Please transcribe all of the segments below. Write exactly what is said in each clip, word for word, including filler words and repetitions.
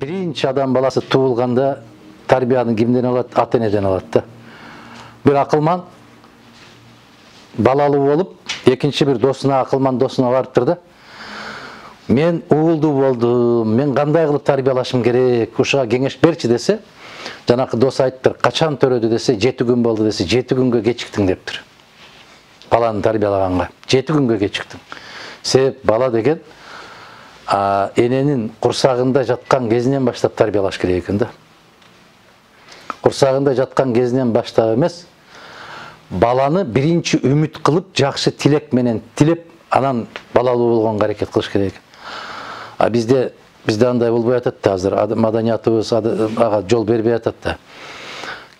биринчи адам баласы туулганда тарбияны кимден алат? Ата энеден алат да. Бир акылман балалуу болуп, экинчи бир досуна акылман досуна барыптыр да. Мен уулдуу болдум, мен кандай кылып тарбиялашым керек, ушуга кеңеш берчи десе, жанакы дос айттыр, качан төрөдү десе, жети күн болду десе, жети күнгө кечиктиң дептир. Баланы тарбиялаганга жети күнгө кечиктиң. Себеп бала деген а, эненин курсагында жаткан кезинен баштап тарбиялаш керек экен да. Курсагында жаткан кезинен баштап эмес, баланы биринчи үмүт кылып, жакшы тилек менен тилеп, анан балалуу болгонго аракет кылыш керек экен. А бизде бизде андай болбой атат да, азыр маданиятыбыз ага жол бербей атат да.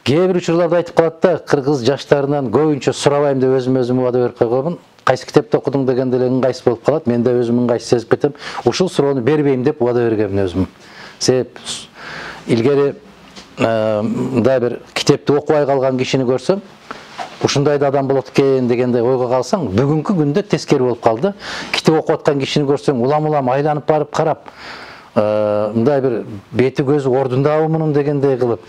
Кээ бир учурларда айтып калат да, кыргыз жаштарынан көбүнчө сурабайм деп өзүм өзүмө убада берип койгонмун. Кайсы китепти окудуң дегенде эле ыңгайсыз болуп калат. Мен да өзүм ыңгайсыз сезип кетем. Ушул суроону бербейм деп убада бергенмин өзүм. Себеп илгери мындай бир китепти окубай калган кишини көрсөм, ушундай да адам болот экен дегенде ойго калсаң, бүгүнкү күндө тескери болуп калды. Китеп окуп аткан кишини көрсөң, улам-улам айланып барып карап, мындай бир бети көзү ордундабы мунун дегендей кылып,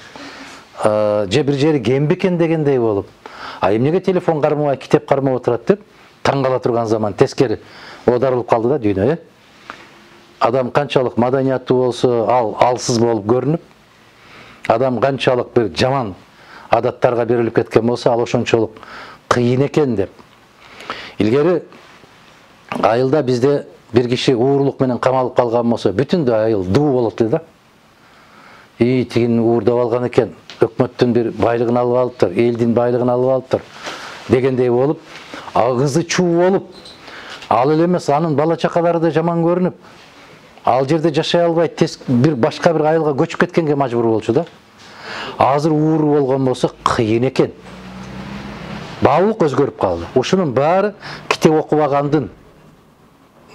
же бир жери кем бекен дегендей болуп, а эмнеге телефон кармабай, китеп кармап отурат деп таң кала турган заман тескери оодарылып калды да дүйнө, э? Адам канчалык маданияттуу болсо, ал алсыз болуп көрүнүп, адам канчалык бир жаман адаттарга берилип кеткен болсо, ал ошончолук кыйын экен деп. Илгери айылда бизде бир киши уурлук менен камалып калган болсо, бүтүндө айыл дуу болот эле да. И тигин уурдап алган экен, өкмөттүн бир байлыгын алып алыптыр, элдин байлыгын алып алыптыр дегендей болуп, агызы чуу болуп, ал эле эмес, анын бала чакалары да жаман көрүнүп, ал жерде жашай албай, бир башка бир айылга көчүп кеткенге мажбур болчу да. Азыр ууру болгон болсо кыйын экен. Баалык өзгөрүп калды. Ушунун баары китеп окубагандын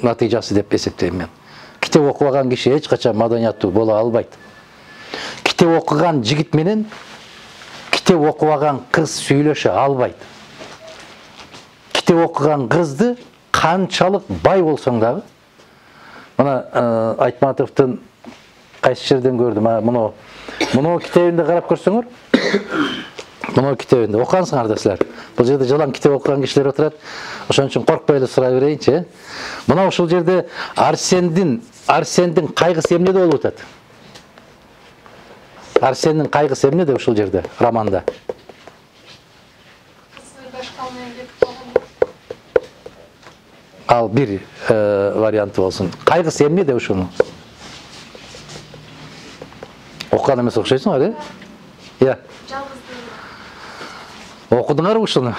натыйжасы деп эсептейм мен. Китеп окубаган киши эч качан маданияттуу боло албайт. Китеп окуган жигит менен китеп окубаган кыз сүйлөшө албайт. Китеп окуган кызды канчалык бай болсоң дагы, мына Айтматовдун кайсы жерден көрдүм, мына мына китебинде карап көрсөңөр, мына китебинде окугансыңар да силер. Бул жерде жалаң китеп окуган кишилер отурат. Ошон үчүн коркпой эле сурай берейинчи. Мына ушул жерде Арсендин Арсендин кайгысы эмнеде болуп атат? Арсендин кайгысы эмнеде ушул жерде романда? Ал бир варианты болсун. Кайгысы эмнеде ушунун? Окуган эмес окшойсуңар, э? Иә. Окудуңарбы ушуну?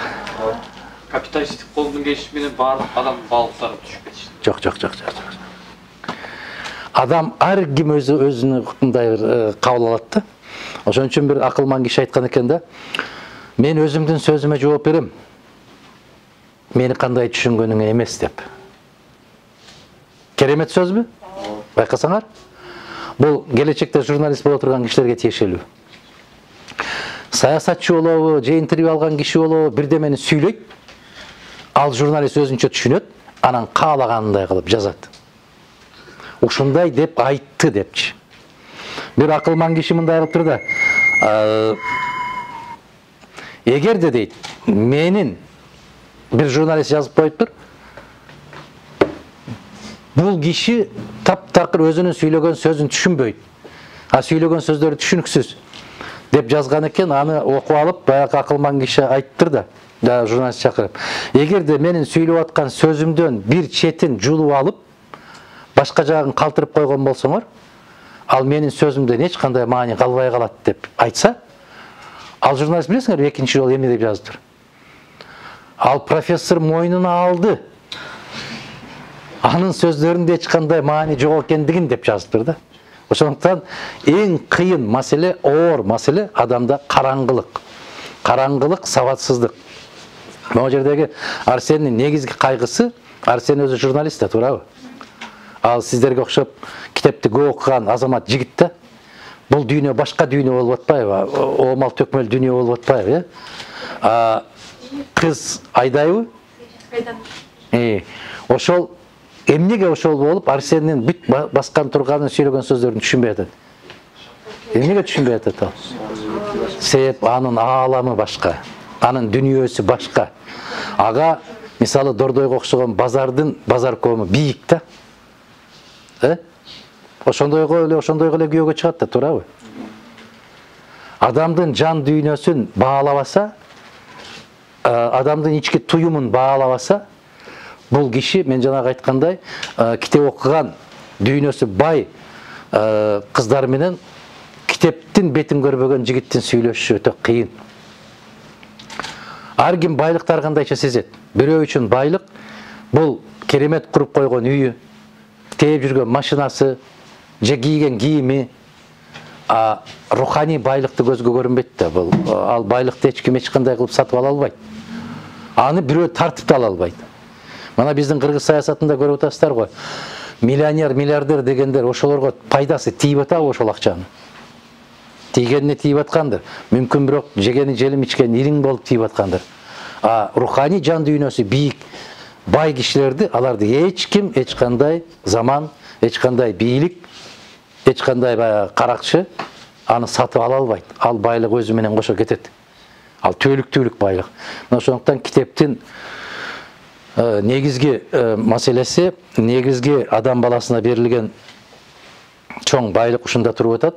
Капиталисттик колдун келиши менен баардык адам балыктары түшүп кетишти. Жок, жок, жок, жок. Адам ар ким өзү өзүнүн мындай бир кабыл алат да. Ошон үчүн бир акылман киши айткан экен да. Мен өзүмдүн сөзүмө жооп берем. Мени кандай түшүнгөнүңө эмес деп. Керемет сөзбү? Байкасаңар? Бул келечекте журналист боло турган кишилерге тиешелүү. Саясатчы болобу, же интервью алган киши болобу, бирдемени сүйлөйт. Ал журналист өзүнчө түшүнөт, анан каалагандай кылып жазат. Ушундай деп айтты депчи. Бир акылман киши мындай кылыптыр да. Эгерде дейт, менин бир журналист жазып коюптур. Бул киши таптакыр өзүнүн сүйлөгөн сөзүн түшүнбөйт. А сүйлөгөн сөздөрү түшүнүксүз деп жазган экен, аны окуп алып, баягы акылман киши айттыр да, да журналист чакырып. Эгерде менин сүйлөп аткан сөзүмдөн бир четин жулуп алып, башка жагын калтырып койгон болсоңор, ал менин сөзүмдөн эч кандай маани калбай калат деп айтса, ал журналист билесиңерби экинчи жолу эмне деп жазыптыр? Ал профессор мойнуна алды. Анын сөздөрүндө эч кандай маани жок экендигин деп жазыптыр да. Ошондуктан эң кыйын маселе, оор маселе адамда караңгылык. Караңгылык, сабатсыздык. Могу жердеги Арсендин негизги кайгысы, Арсен өзү журналист да, туурабы? Ал сиздерге окшоп китепти көп окуган азамат жигит да. Бул дүйнө башка дүйнө болуп атпайбы? Оомал төкмөл дүйнө болуп атпайбы, э? Кыз айдайбы? Айдан. Э, ошол эмнеге ошол болуп, Арсендин бүт баскан турганын, сүйлөгөн сөздөрүн түшүнбөй атат? Эмнеге түшүнбөй атат ал? Себеп анын ааламы башка, анын дүнүйөсү башка. Ага мисалы Дордойго окшогон базардын базар кому бийик да. Э? Ошондойго эле ошондойго эле күйөөгө чыгат да, туурабы? Адамдын жан дүйнөсүн баалабаса, адамдын ички туюмун баалабаса, бул киши мен жанагы айткандай китеп окуган, дүйнөсү бай кыздар менен китептин бетин көрбөгөн жигиттин сүйлөшүшү өтө кыйын. Ар ким байлыкты ар кандайча сезет. Бирөө үчүн байлык бул керемет куруп койгон үйү, тээп жүргөн машинасы, же кийген кийими, а руханий байлыкты көзгө көрүнбөйт да. Бул ал байлыкты эч ким эч кандай кылып сатып ала албайт. Аны бирөө тартып да ала албайт. Мана биздин кыргыз саясатында көрүп атасыздар го. Миллионер, миллиардер дегендер ошолорго пайдасы тийип атабы ошол акчанын? Тийгенине тийип аткандыр. Мүмкүн бирок жегени желим ичкен ириң болуп тийип аткандыр. А руханий жан дүйнөсү бийик, бай кишилерди аларды эч ким, эч кандай заман, эч кандай бийлик, эч кандай каракчы аны сатып ала албайт. Ал байлык өзү менен кошо кетет. Ал түбөлүктүүлүк байлык. Ошондуктан китептин негизги маселеси, негизги адам баласына берилген чоң байлык ушунда туруп атат.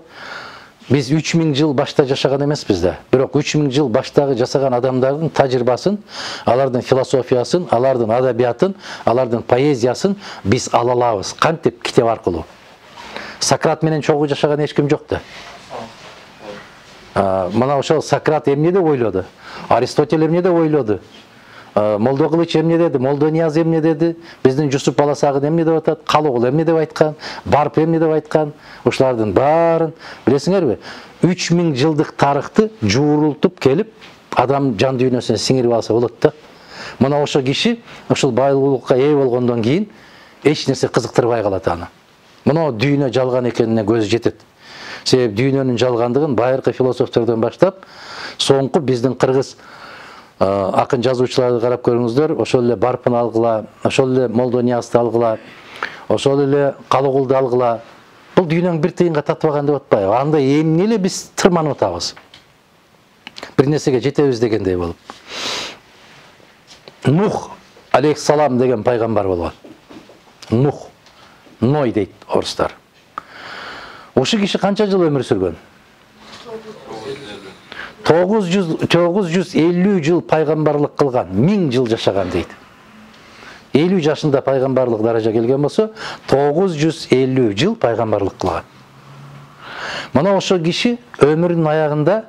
Биз үч миң жыл башта жашаган эмеспиз да. Бирок үч миң жыл баштагы жасаган адамдардын тажрыйбасын, алардын философиясын, алардын адабиятын, алардын поэзиясын биз ала алабыз. Кантип? Китеп аркылуу. Сократ менен чогуу жашаган эч ким жок да. Мына ошол Сократ эмне деп ойлоду? Аристотель эмне деп ойлоду? Молдо Кылыч эмне деди? Молдо Нияз эмне деди? Биздин Жусуп Баласагын эмне деп атат? Калыгул эмне деп айткан? Барп эмне деп айткан? Ушулардын баарын билесиңерби? үч миң жылдык тарыхты жуурултуп келип, адам жан дүйнөсүнө сиңирип алса болот да. Мына ошол киши ушул байлыкка ээ болгондон кийин эч нерсе кызыктырбай калат аны. Мына дүйнө жалган экенине көзү жетет. Себеп дүйнөнүн жалгандыгын байыркы философтордон баштап, соңку биздин кыргыз акын жазуучуларды карап көрүңүздөр, ошол эле Барпын алгыла, ошол эле Молдо Ниязды алгыла, ошол эле Калыгулду алгыла. Бул дүйнөнүн бир тыйынга татбаган деп атпайбы? Анда эмне эле биз тырманып атабыз? Бир нерсеге жетебиз дегендей болуп. Нух алейхиссалам деген пайгамбар болгон. Нух, Ной дейт орустар. Ошол киши канча жыл өмүр сүргөн? тогуз жүз элүү жыл пайгамбарлык кылган, миң жыл жашаган дейт. элүү жашында пайгамбарлык даража келген болсо, тогуз жүз элүү жыл пайгамбарлык кылган. Мына ошол киши өмүрүнүн аягында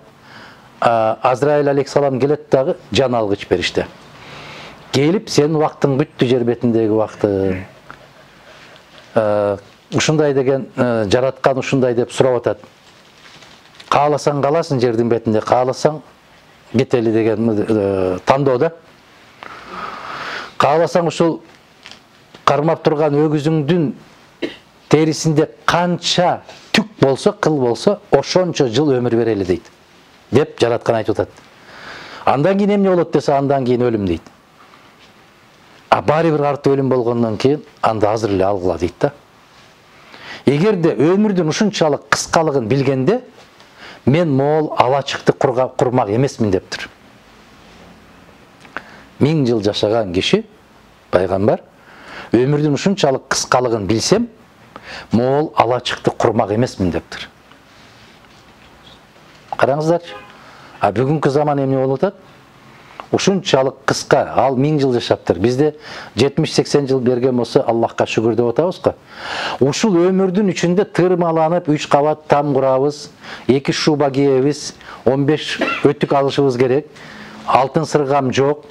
Азраил алейхиссалам келет дагы жан алгыч бериште. Келип, сенин убактың бүттү, жер бетиндеги убактың. Ушундай деген жараткан ушундай деп сурап атат. Кааласаң каласың жердин бетинде, кааласаң кетели деген тандоо да. Кааласаң ушул кармап турган өгүзүңдүн терисинде канча түк болсо, кыл болсо, ошончо жыл өмүр берели дейт. Деп жараткан айтып атат. Андан кийин эмне болот десе, андан кийин өлүм дейт. А баары бир арты өлүм болгондон кийин анда азыр эле алгыла дейт да. Эгерде өмүрдүн ушунчалык кыскалыгын билгенде, мен могул алачыкты курмак эмесмин дептир. Миң жыл жашаган киши, пайгамбар, өмүрдүн ушунчалык кыскалыгын билсем, могул алачыкты курмак эмесмин дептир. Караңыздарчы. А бүгүнкү заман эмне болуп атат? Ушунчалык кыска, ал миң жыл жашаптыр. Бизде жетимиш сексен жыл берген болсо, Аллахка шүгүр деп атабыз го. Ушул өмүрдүн ичинде тырмаланып үч кабат там курабыз, эки шуба кийебиз, он беш өтүк алышыбыз керек, алтын сыргам жок,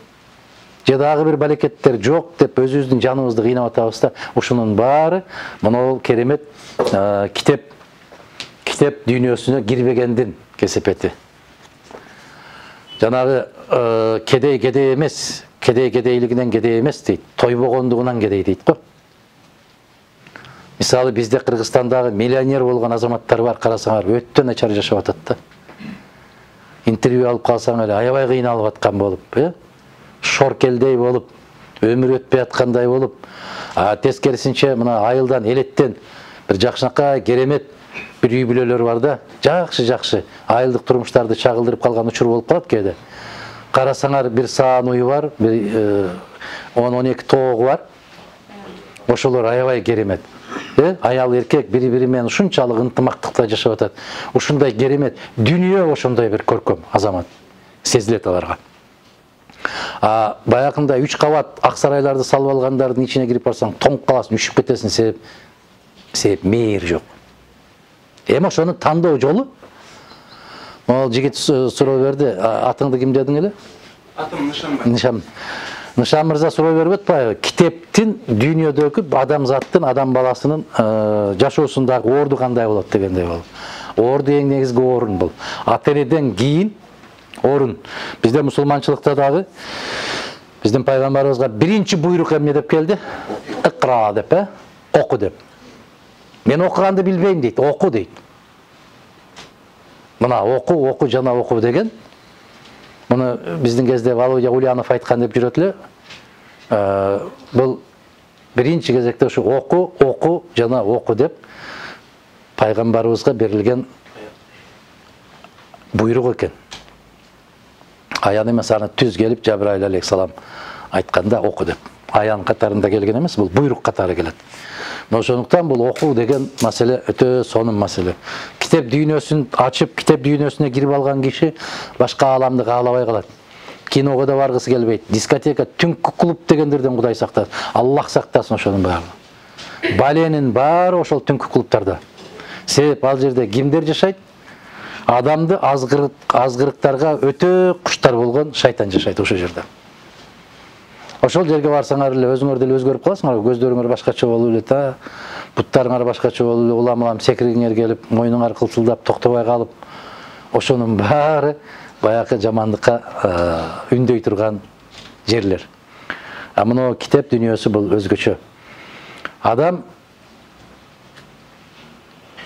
же дагы бир балекеттер жок деп өзүбүздүн жаныбызды кыйнап атабыз да. Ушунун баары мына керемет китеп китеп дүйнөсүнө кирбегендин кесепети. Жанагы кедей кедей эмес, кедей кедейлигинен кедей эмес дейт, тойбогондугунан кедей дейт го. Мисалы бизде Кыргызстандагы миллионер болгон азаматтар бар, карасаңар өтө начар жашап атат да. Интервью алып калсаң эле аябай кыйналып аткан болуп, э? Шоркелдей болуп, өмүр өтпөй аткандай болуп, а тескерисинче мына айылдан, элеттен бир жакшынакай керемет бир үй бүлөлөр бар да, жакшы жакшы айылдык турмуштарды чагылдырып калган учур болуп калат кээде. Карасаңар бир саан уyu бар, бир он он эки тоогу бар. Ошолор аябай керемет. Э, аял эркек бири-бири менен ушунчалык ынтымактыкта жашап атат. Ушундай керемет дүнүйө, ошондой бир көркөм азамат сезилет аларга. А баягында үч кабат ак сарайларды салып алгандардын ичине кирип барсаң, тоңуп каласың, үшүп кетесиң, себеп себеп мейир жок. Эми ошону тандоо жолу. Могул жигит суроо берди, атыңды ким дедиң эле? Атым Нышанбай. Нышан. Нышан мырза суроо берип атпайбы? Китептин дүйнөдөгү адамзаттын, адам баласынын жашоосундагы орду кандай болот дегендей болду. Орду эң негизги орун бул. Ата-энеден кийин орун. Бизде мусулманчылыкта дагы биздин пайгамбарыбызга биринчи буйрук эмне деп келди? Икра деп, э? Оку деп. Мен окуганды билбейм дейт, оку дейт. Мына оку, оку жана оку деген. Муну биздин кезде Володя Ульянов айткан деп жүрөт эле. Э, бул биринчи кезекте ушу оку, оку жана оку деп пайгамбарыбызга берилген буйрук экен. Аян эмес, аны түз келип Жабраил алейхиссалам айтканда оку деп. Аян катарында келген эмес, бул буйрук катары келет. Ошондуктан бул окуу деген маселе өтө сонун маселе. Китеп дүйнөсүн ачып, китеп дүйнөсүнө кирип алган киши башка ааламды каалабай калат. Киного да баргысы келбейт. Дискотека, түнкү клуб дегендерден Кудай сактасын. Аллах сактасын ошонун баары. Баленин баары ошол түнкү клубтарда. Себеп ал жерде кимдер жашайт? Адамды азгырык азгырыктарга өтө куштар болгон шайтан жашайт ошол жерде. Ошол жерге барсаңар эле өзүңөр деле өзгөрүп каласыңар, көздөрүңөр башкача болуп эле та, буттарыңар башкача болуп эле, улам-улам секиригиңер келип, мойнуңар кылчылдап токтобой калып, ошонун баары баягы жамандыкка үндөй турган жерлер. А мына китеп дүйнөсү бул өзгөчө. Адам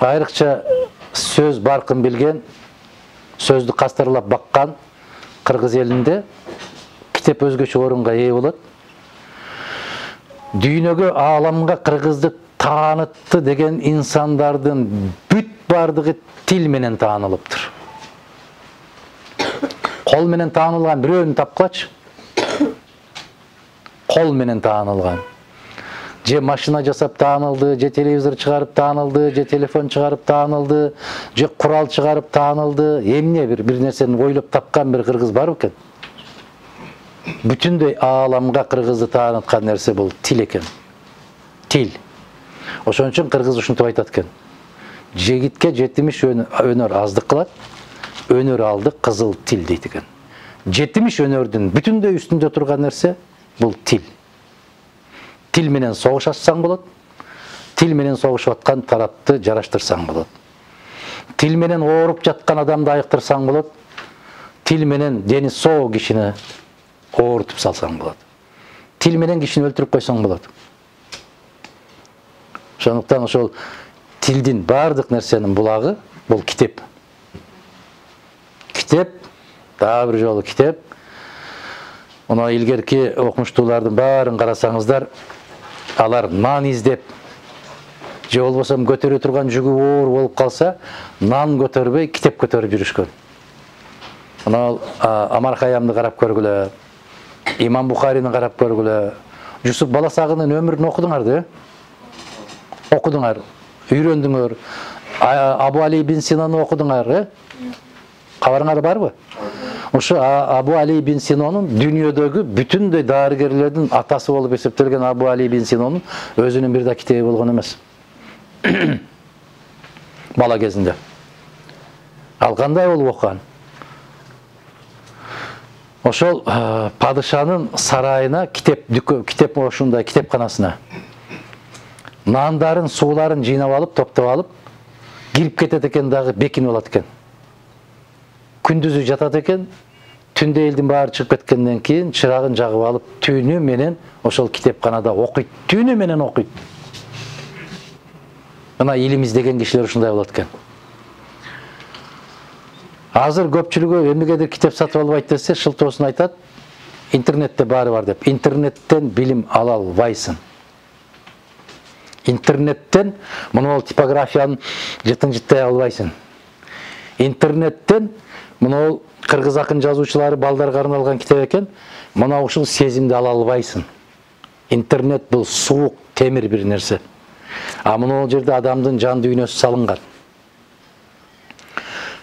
айрыкча сөз баркын билген, сөздү кастарлап баккан кыргыз элинде китеп өзгөчө орунга ээ болот. Дүйнөгө, ааламга кыргызды таанытты деген инсандардын бүт бардыгы тил менен таанылыптыр. Кол менен таанылган бирөөнү тапкылачы. Кол менен таанылган. Же машина жасап таанылды, же телевизор чыгарып таанылды, же телефон чыгарып таанылды, же курал чыгарып таанылды. Эмне бир бир нерсени ойлоп тапкан бир кыргыз бар экен? Бүтүндөй ааламга кыргызды тааныткан нерсе бул тил экен. Тил. Ошон үчүн кыргыз ушинтип айтат экен. Жегитке жетимиш өнөр аздык кылат, өнөр алды кызыл тил дейт экен. жетимиш өнөрдүн бүтүндөй үстүндө турган нерсе бул тил. Тил менен согуш ачсаң болот. Тил менен согушуп аткан тарапты жараштырсаң болот. Тил менен ооруп жаткан адамды айыктырсаң болот. Тил менен дени соо кишини оорутуп салсаң болот. Тил менен кишини өлтүрүп койсоң болот. Ошондуктан ошол тилдин бардык нерсенин булагы бул китеп. Китеп, дагы бир жолу китеп. Мына илгерки окумуштуулардын баарын карасаңыздар, алар нан издеп, же болбосо көтөрө турган жүгү оор болуп калса, нан көтөрбөй, китеп көтөрүп жүрүшкөн. Мына Амар Хайямды карап көргүлө, Имам Бухарини карап көргүлө, Жусуп Баласагынын өмүрүн окудуңар да, э? Окудуңар, үйрөндүңөр. Абу Али ибн Синаны окудуңар, э? Кабарыңар барбы? Ошо Абу Али ибн Синонун дүйнөдөгү бүтүндөй дарыгерлердин атасы болуп эсептелген Абу Али ибн Синонун өзүнүн бир да китеби болгон эмес. Бала кезинде. Ал кандай болуп окуган? Ошол падышанын сарайына китеп китеп ошундай китепканасына нандарын, сууларын жыйнап алып, топтоп алып, кирип кетет экен дагы бекинип алат экен. Күндүзү жатат экен, түндө элдин баары чыгып кеткенден кийин чырагын жагып алып, түнү менен ошол китепканада окуйт, түнү менен окуйт. Мына илим издеген кишилер ушундай болот экен. Азыр көпчүлүгү эмнегедир китеп сатып албайт десе, шылтоосун айтат, интернетте баары бар деп. Интернеттен билим ала албайсың. Интернеттен мына типографияны жытын жыттай албайсың. Интернеттен мына кыргыз акын жазуучулары балдарга арналган китеп экен, мына ушул сезимди ала албайсың. Интернет бул суук темир бир нерсе. А мына жерде адамдын жан дүйнөсү салынган.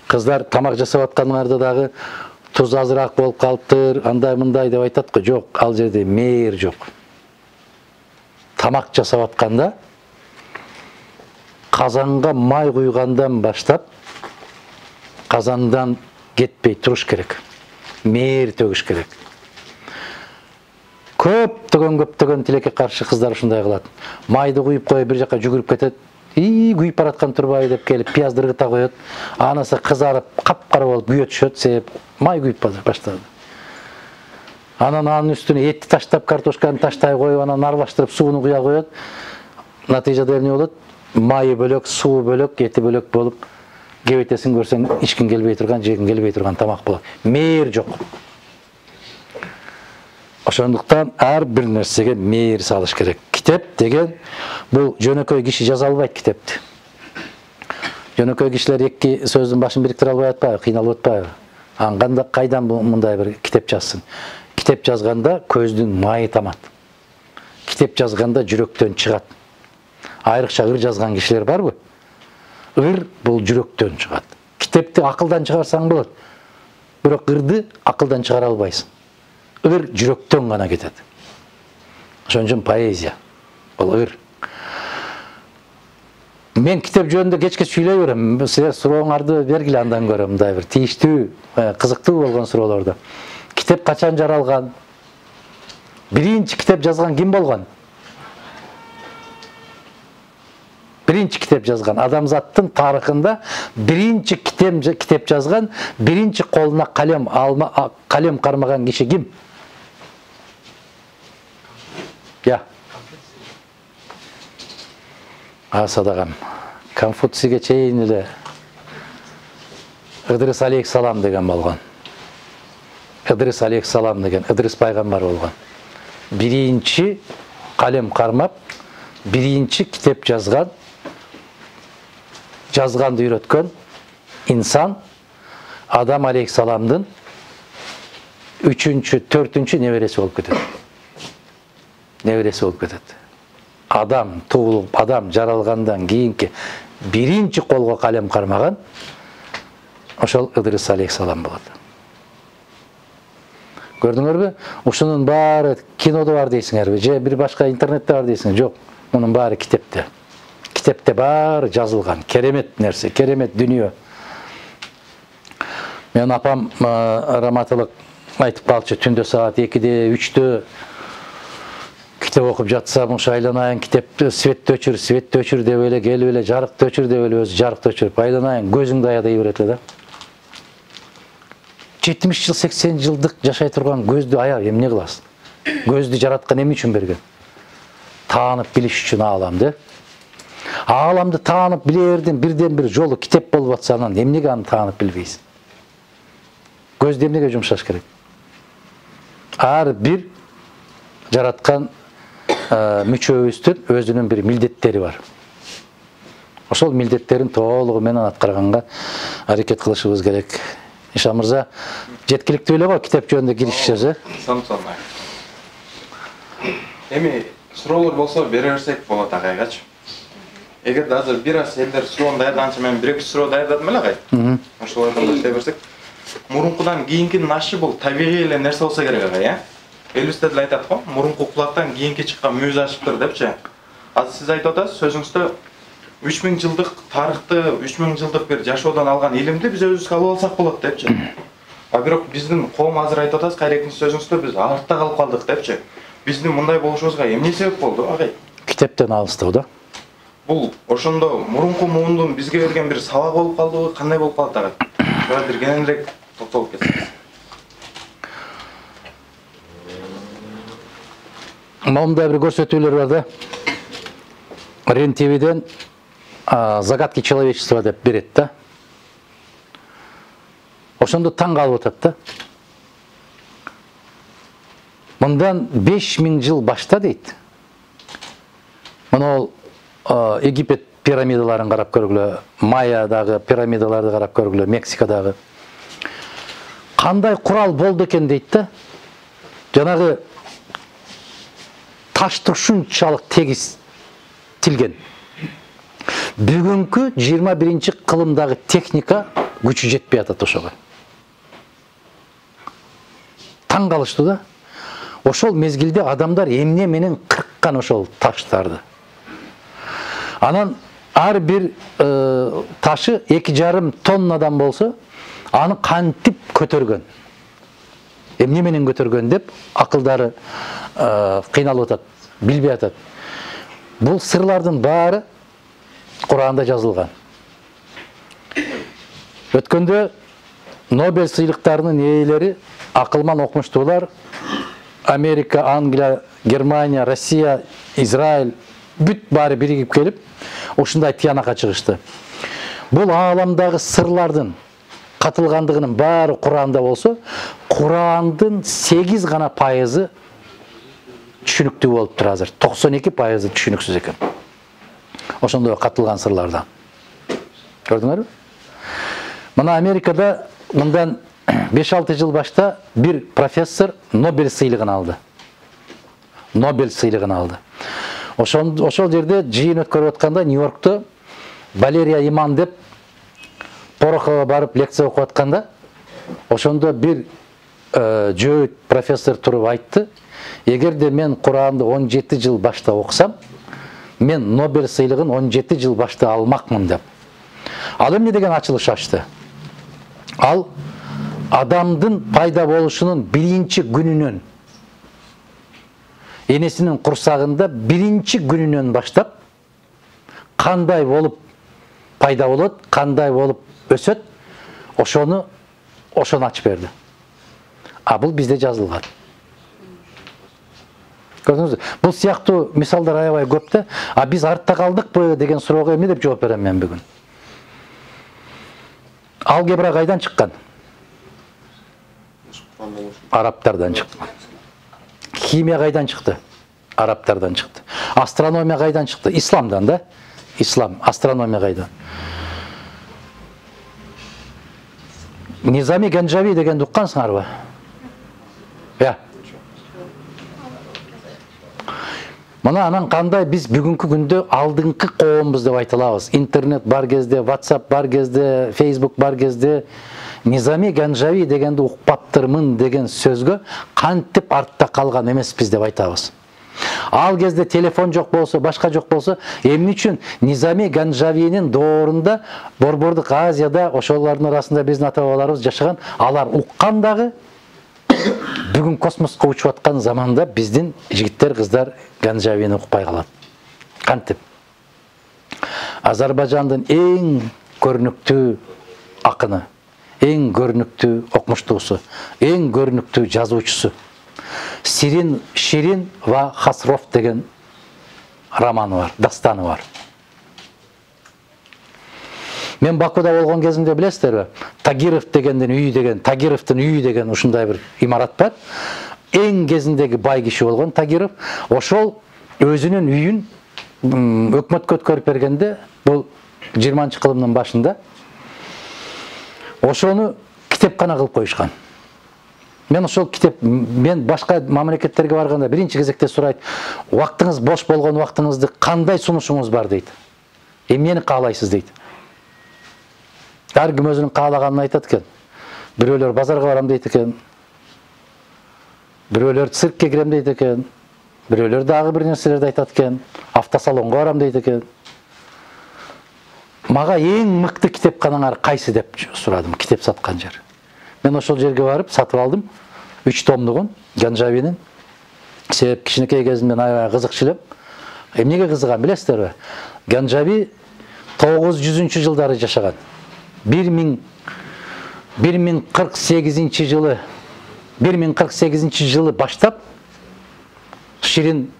Кыздар тамак жасап аткандарда дагы туз азыраак болуп калыптыр, андай мындай деп айтат го. Жок, ал жерде мейир жок. Тамак жасап атканда казанга май куйгандан баштап казандан кетпей туруш керек. Мейир төгүш керек. Көптөгөн көптөгөн тилекке каршы кыздар ушундай кылат. Майды куюп коюп бир жака жүгүрүп кетет. И күйүп бараткан турбайбы деп келип пияз дыргыта коет. Анысы кызарып, капкара болуп күйө түшөт, себеп май күйүп баштады. Анан анын үстүнө этти таштап, картошканы таштай коюп, анан аралаштырып сууну куя коет. Натыйжада эмне болот? Майы бөлөк, суу бөлөк, эти бөлөк болуп, кебетесин көрсөң, ичкин келбей турган, жегин келбей турган тамак болот. Мейир жок. Ошондуктан ар бир нерсеге мейир салыш керек. Китеп деген бул жөнөкөй киши жаза албайт китепти. Жөнөкөй кишилер эки сөздүн башын бириктире албай атпайбы, кыйналып атпайбы? Анда кайдан мындай бир китеп жазсын? Китеп жазганда көздүн майы тамат. Китеп жазганда жүрөктөн чыгат. Айрыкча ыр жазган кишилер барбы? Ыр бул жүрөктөн чыгат. Китепти акылдан чыгарсаң болот. Бирок ырды акылдан чыгара албайсың. Ыр жүрөктөн гана кетет. Ошон үчүн поэзия бул ыр. Мен китеп жөнүндө кечке сүйлөй берем. Силер сурооңарды бергиле, андан көрө мындай бир тийиштүү, кызыктуу болгон суроолорду. Китеп качан жаралган? Биринчи китеп жазган ким болгон? Биринчи китеп жазган, адамзаттын тарыхында биринчи китеп китеп жазган, биринчи колуна калем алма калем кармаган киши ким? Я. Асадагам. Конфуцийге чейин эле Ыдырыс алейхисалам деген болгон. Ыдырыс алейхисалам деген Ыдырыс пайгамбар болгон. Биринчи калем кармап, биринчи китеп жазган, жазганды үйрөткөн инсан Адам алейхисаламдын үчүнчү, төртүнчү небереси болуп кетет. Небереси болуп кетет. Адам туулуп, адам жаралгандан кийинки биринчи колго калем кармаган ошол Ыдырыс алейхисалам болот. Көрдүңөрбү? Ушунун баары кинодо бар дейсиңерби, же бир башка интернетте бар дейсиңер? Жок, мунун баары китепте. Китепте баары жазылган. Керемет нерсе, керемет дүнүйө. Мен апам раматылык айтып калчу, түндө саат экиде, үчтө китеп окуп жатсам, ушу айланайын китепти светти өчүр, светти өчүр деп эле, келип эле жарыкты өчүр деп эле өзү жарыкты өчүрүп айланайын, көзүңдү ая дей берет эле да. жетимиш жыл, сексен жылдык жашай турган көздү ая эмне кыласың? Көздү жараткан эмне үчүн берген? Таанып билиш үчүн ааламды. Ааламды таанып билердин бирден бир жолу китеп болуп атса, анан эмнеге аны таанып билбейсиң? Көздү эмнеге жумшаш керек? Ар бир жараткан мүчөбүздүн өзүнүн бир милдеттери бар. Ошол милдеттерин толугу менен аткарганга аракет кылышыбыз керек. Иша мырза, жеткиликтүү эле го китеп жөнүндө киришишиз, э? Самсонай. Эми суроолор болсо бере берсек болот агайгачы. Эгерде азыр бир аз элдер суроону даярдаганча мен бир эки суроо даярдадым эле агай. Ошолордон баштай берсек, мурункудан кийинкинин ашы бул табигый эле нерсе болсо керек агай, э? Элибизде деле айтат го, мурунку кулактан кийинки чыккан мүйүз ашыптыр депчи. Азыр сиз айтып атасыз сөзүңүздө үч миң жылдык тарыхты, үч миң жылдык бир жашоодон алган илимди биз өзүбүз алып алсак болот депчи. А бирок биздин коом азыр айтып атасыз, кайрекин сөзүңүздө биз артта калып калдык депчи. Биздин мындай болушубузга эмне себеп болду, агай? Китептен алыстоо да. Бул ошондо мурунку муундун бизге берген бир сабак болуп калдыбы, кандай болуп калат агай? Ошого бир кененирээк токтолуп кетсеңиз. Мындай бир көрсөтүүлөр бар да. Рен ТВден загадки человечества деп берет да. Ошондо таң калып атат да. Мындан беш миң жыл башта дейт. Мына Египет пирамидаларын карап көргүлө, Майядагы пирамидаларды карап көргүлө, Мексикадагы. Кандай курал болду экен дейт да. Жанагы ташты ушунчалык тегиз тилген. Бүгүнкү жыйырма биринчи кылымдагы техника күчү жетпей атат ошого. Таң калыштуу да. Ошол мезгилде адамдар эмне менен кырккан ошол таштарды. Анан ар бир э, ташы эки жарым тоннадан болсо, аны кантип көтөргөн. Эмне менен көтөргөн деп акылдары э, кыйналып атат, билбей атат. Бул сырлардын баары Куранда жазылган. Өткөндө Нобель сыйлыктарынын ээлери акылман окумуштуулар Америка, Англия, Германия, Россия, Израиль бүт баары биригип келип, ушундай тыянакка чыгышты. Бул ааламдагы сырлардын катылгандыгынын баары Куранда болсо, Курандын сегиз гана пайызы түшүнүктүү болуп тур азыр. токсон эки пайызы түшүнүксүз экен. Ошондой катылган сырлардан. Көрдүңөрбү? Мына Америкада мындан беш алты жыл башта бир профессор Нобель сыйлыгын алды. Нобель сыйлыгын алды. Ошол ошол жерде жыйын өткөрүп атканда Нью-Йоркто Валерия Иман деп Порохова барып лекция окуп атканда, ошондо бир э, жөөт профессор туруп айтты: "Эгерде мен Куранды он жети жыл башта окусам, мен Нобель сыйлыгын он жети жыл башта алмакмын" деп. Ал эмне деген ачылыш ачты? Ал адамдын пайда болушунун биринчи күнүнөн, энесинин курсагында биринчи күнүнөн баштап кандай болуп пайда болот, кандай болуп өсөт, ошону ошону ачып берди. А бул бизде жазылган. Көрдүңүзбү? Бул сыяктуу мисалдар аябай көп да. А биз артта калдыкпы деген суроого эмне деп жооп берем мен бүгүн? Алгебра кайдан чыккан? Арабтардан чыкты. Химия кайдан чыкты? Арабтардан чыкты. Астрономия кайдан чыкты? Исламдан да. Ислам, астрономия кайдан? Низами Ганджави дегенди уккансыңарбы? Я. Мына анан кандай биз бүгүнкү күндө алдыңкы коомбуз деп айта алабыз. Интернет бар кезде, WhatsApp бар кезде, Facebook бар кезде Низами Ганджави дегенди укпаптырмын деген сөзгө кантип артта калган эмеспиз деп айтабыз. Ал кезде телефон жок болсо, башка жок болсо, эмне үчүн Низами Ганджавинин доорунда Борбордук Азияда ошолордун арасында биздин ата-бабаларыбыз жашаган, алар уккан дагы бүгүн космоско учуп аткан заманда биздин жигиттер, кыздар Ганджавини укпай калат. Кантип? Азербайжандын эң көрүнүктүү акыны, эң көрүнүктүү окумуштуусу, эң көрүнүктүү жазуучусу Сирин Ширин ва Хасров деген романы бар, дастаны бар. Мен Бакуда болгон кезимде билесиздерби? Тагиров дегендин үйү деген, Тагировдун үйү деген ушундай бир имарат бар. Эң кезиндеги бай киши болгон Тагиров, ошол өзүнүн үйүн өкмөткө өткөрүп бергенде, бул жыйырманчы кылымдын башында, ошону китепкана кылып коюшкан. Мен ошол китеп, мен башка мамлекеттерге барганда биринчи кезекте сурайт: "Убактыңыз бош болгон убактыңызды кандай сунушуңуз бар?" дейт. "Эмнени каалайсыз?" дейт. Ар ким өзүнүн каалаганын айтат экен. Бирөөлөр базарга барам дейт экен. Бирөөлөр циркке кирем дейт экен. Бирөөлөр дагы бир нерселерди айтат экен. Автосалонго барам дейт экен. Мага эң мыкты китепканаңар кайсы деп сурадым, китеп саткан жер. Мен ошол жерге барып сатып алдым үч томдугун Ганджавинин. Себеп кичинекей кезимден аябай кызыкчу элем. Эмнеге кызыгам билесиздерби? Ганджави тогуз жүзүнчү жылдары жашаган. бир миң кырк сегизинчи жылы бир миң кырк сегизинчи жылы баштап Ширин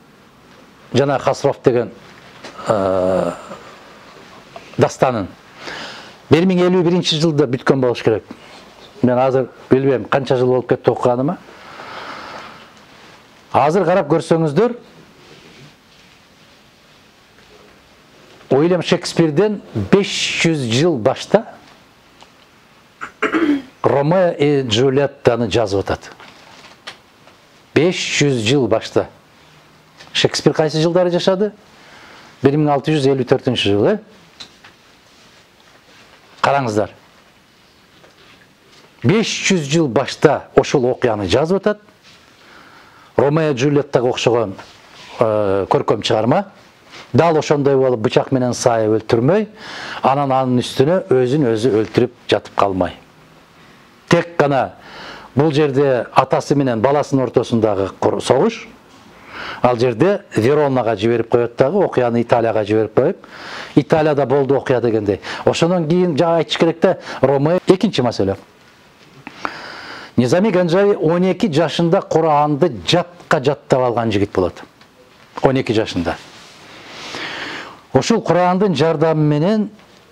жана Хасров деген дастанын бир миң элүү биринчи жылда бүткөн болуш керек. Мен азыр билбейм канча жыл болуп кетти окуганыма. Азыр карап көрсөңүздөр, Уильям Шекспирден беш жүз жыл башта Ромео и Джульеттаны жазып атат. беш жүз жыл башта. Шекспир кайсы жылдары жашады? бир миң алты жүз элүү төртүнчү жыл, э? Караңыздар. беш жүз жыл башта ошол окуяны жазып атат. Ромео и Джульеттага окшогон көркөм чыгарма. Дал ошондой болуп бычак менен сай өлтүрмөй, анан анын үстүнө өзүн өзү өлтүрүп жатып калмай. Тек гана бул жерде атасы менен баласынын ортосундагы согуш, ал жерде Веронага жиберип коет дагы, окуяны Италияга жиберип коюп, Италияда болду окуя дегендей. Ошондон кийин жана айтыш керек да, Ромео экинчи маселе. Низами Ганжави он эки жашында Куранды жатка жаттап алган жигит болот. он эки жашында. Ошол Курандын жардамы менен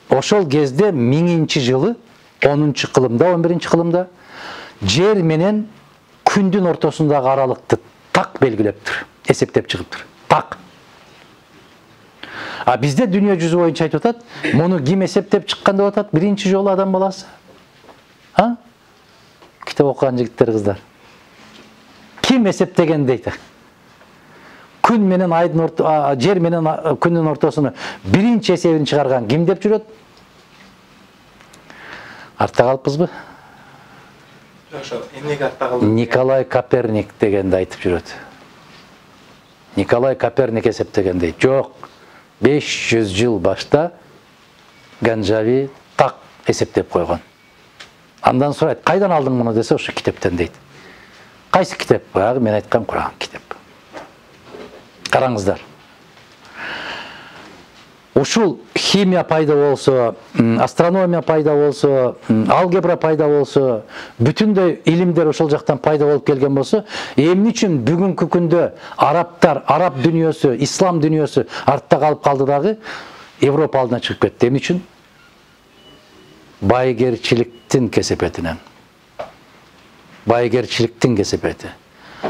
ошол кезде миңинчи жылы онунчу кылымда, он биринчи кылымда жер менен күндүн ортосундагы аралыкты так белгилептир, эсептеп чыгыптыр. Так. А бизде дүйнө жүзү боюнча айтып атат, муну ким эсептеп чыккан деп атат? Биринчи жолу адам баласы. А? Китеп окуган жигиттер, кыздар. Ким эсептеген дейт? Күн менен айдын орто, жер менен күндүн ортосуну биринчи эсебин чыгарган ким деп жүрөт? Артта калыппызбы? Эмнеге артта калды? Николай Коперник дегенди айтып жүрөт. Николай Коперник эсептеген дейт. Жок, беш жүз жыл башта Ганжави так эсептеп койгон. Андан сурайт, кайдан алдың муну десе, ошо китептен дейт. Кайсы китеп? Баягы мен айткан Куран китеп. Караңыздар. Ушул химия пайда болсо, астрономия пайда болсо, алгебра пайда болсо, бүтүндөй илимдер ошол жактан пайда болуп келген болсо, эмне үчүн бүгүнкү күндө арабтар, араб дүйнөсү, ислам дүйнөсү артта калып калды дагы, Европа алдына чыгып кетти? Эмне үчүн? Байгерчиликтин кесепетинен. Байгерчиликтин кесепети.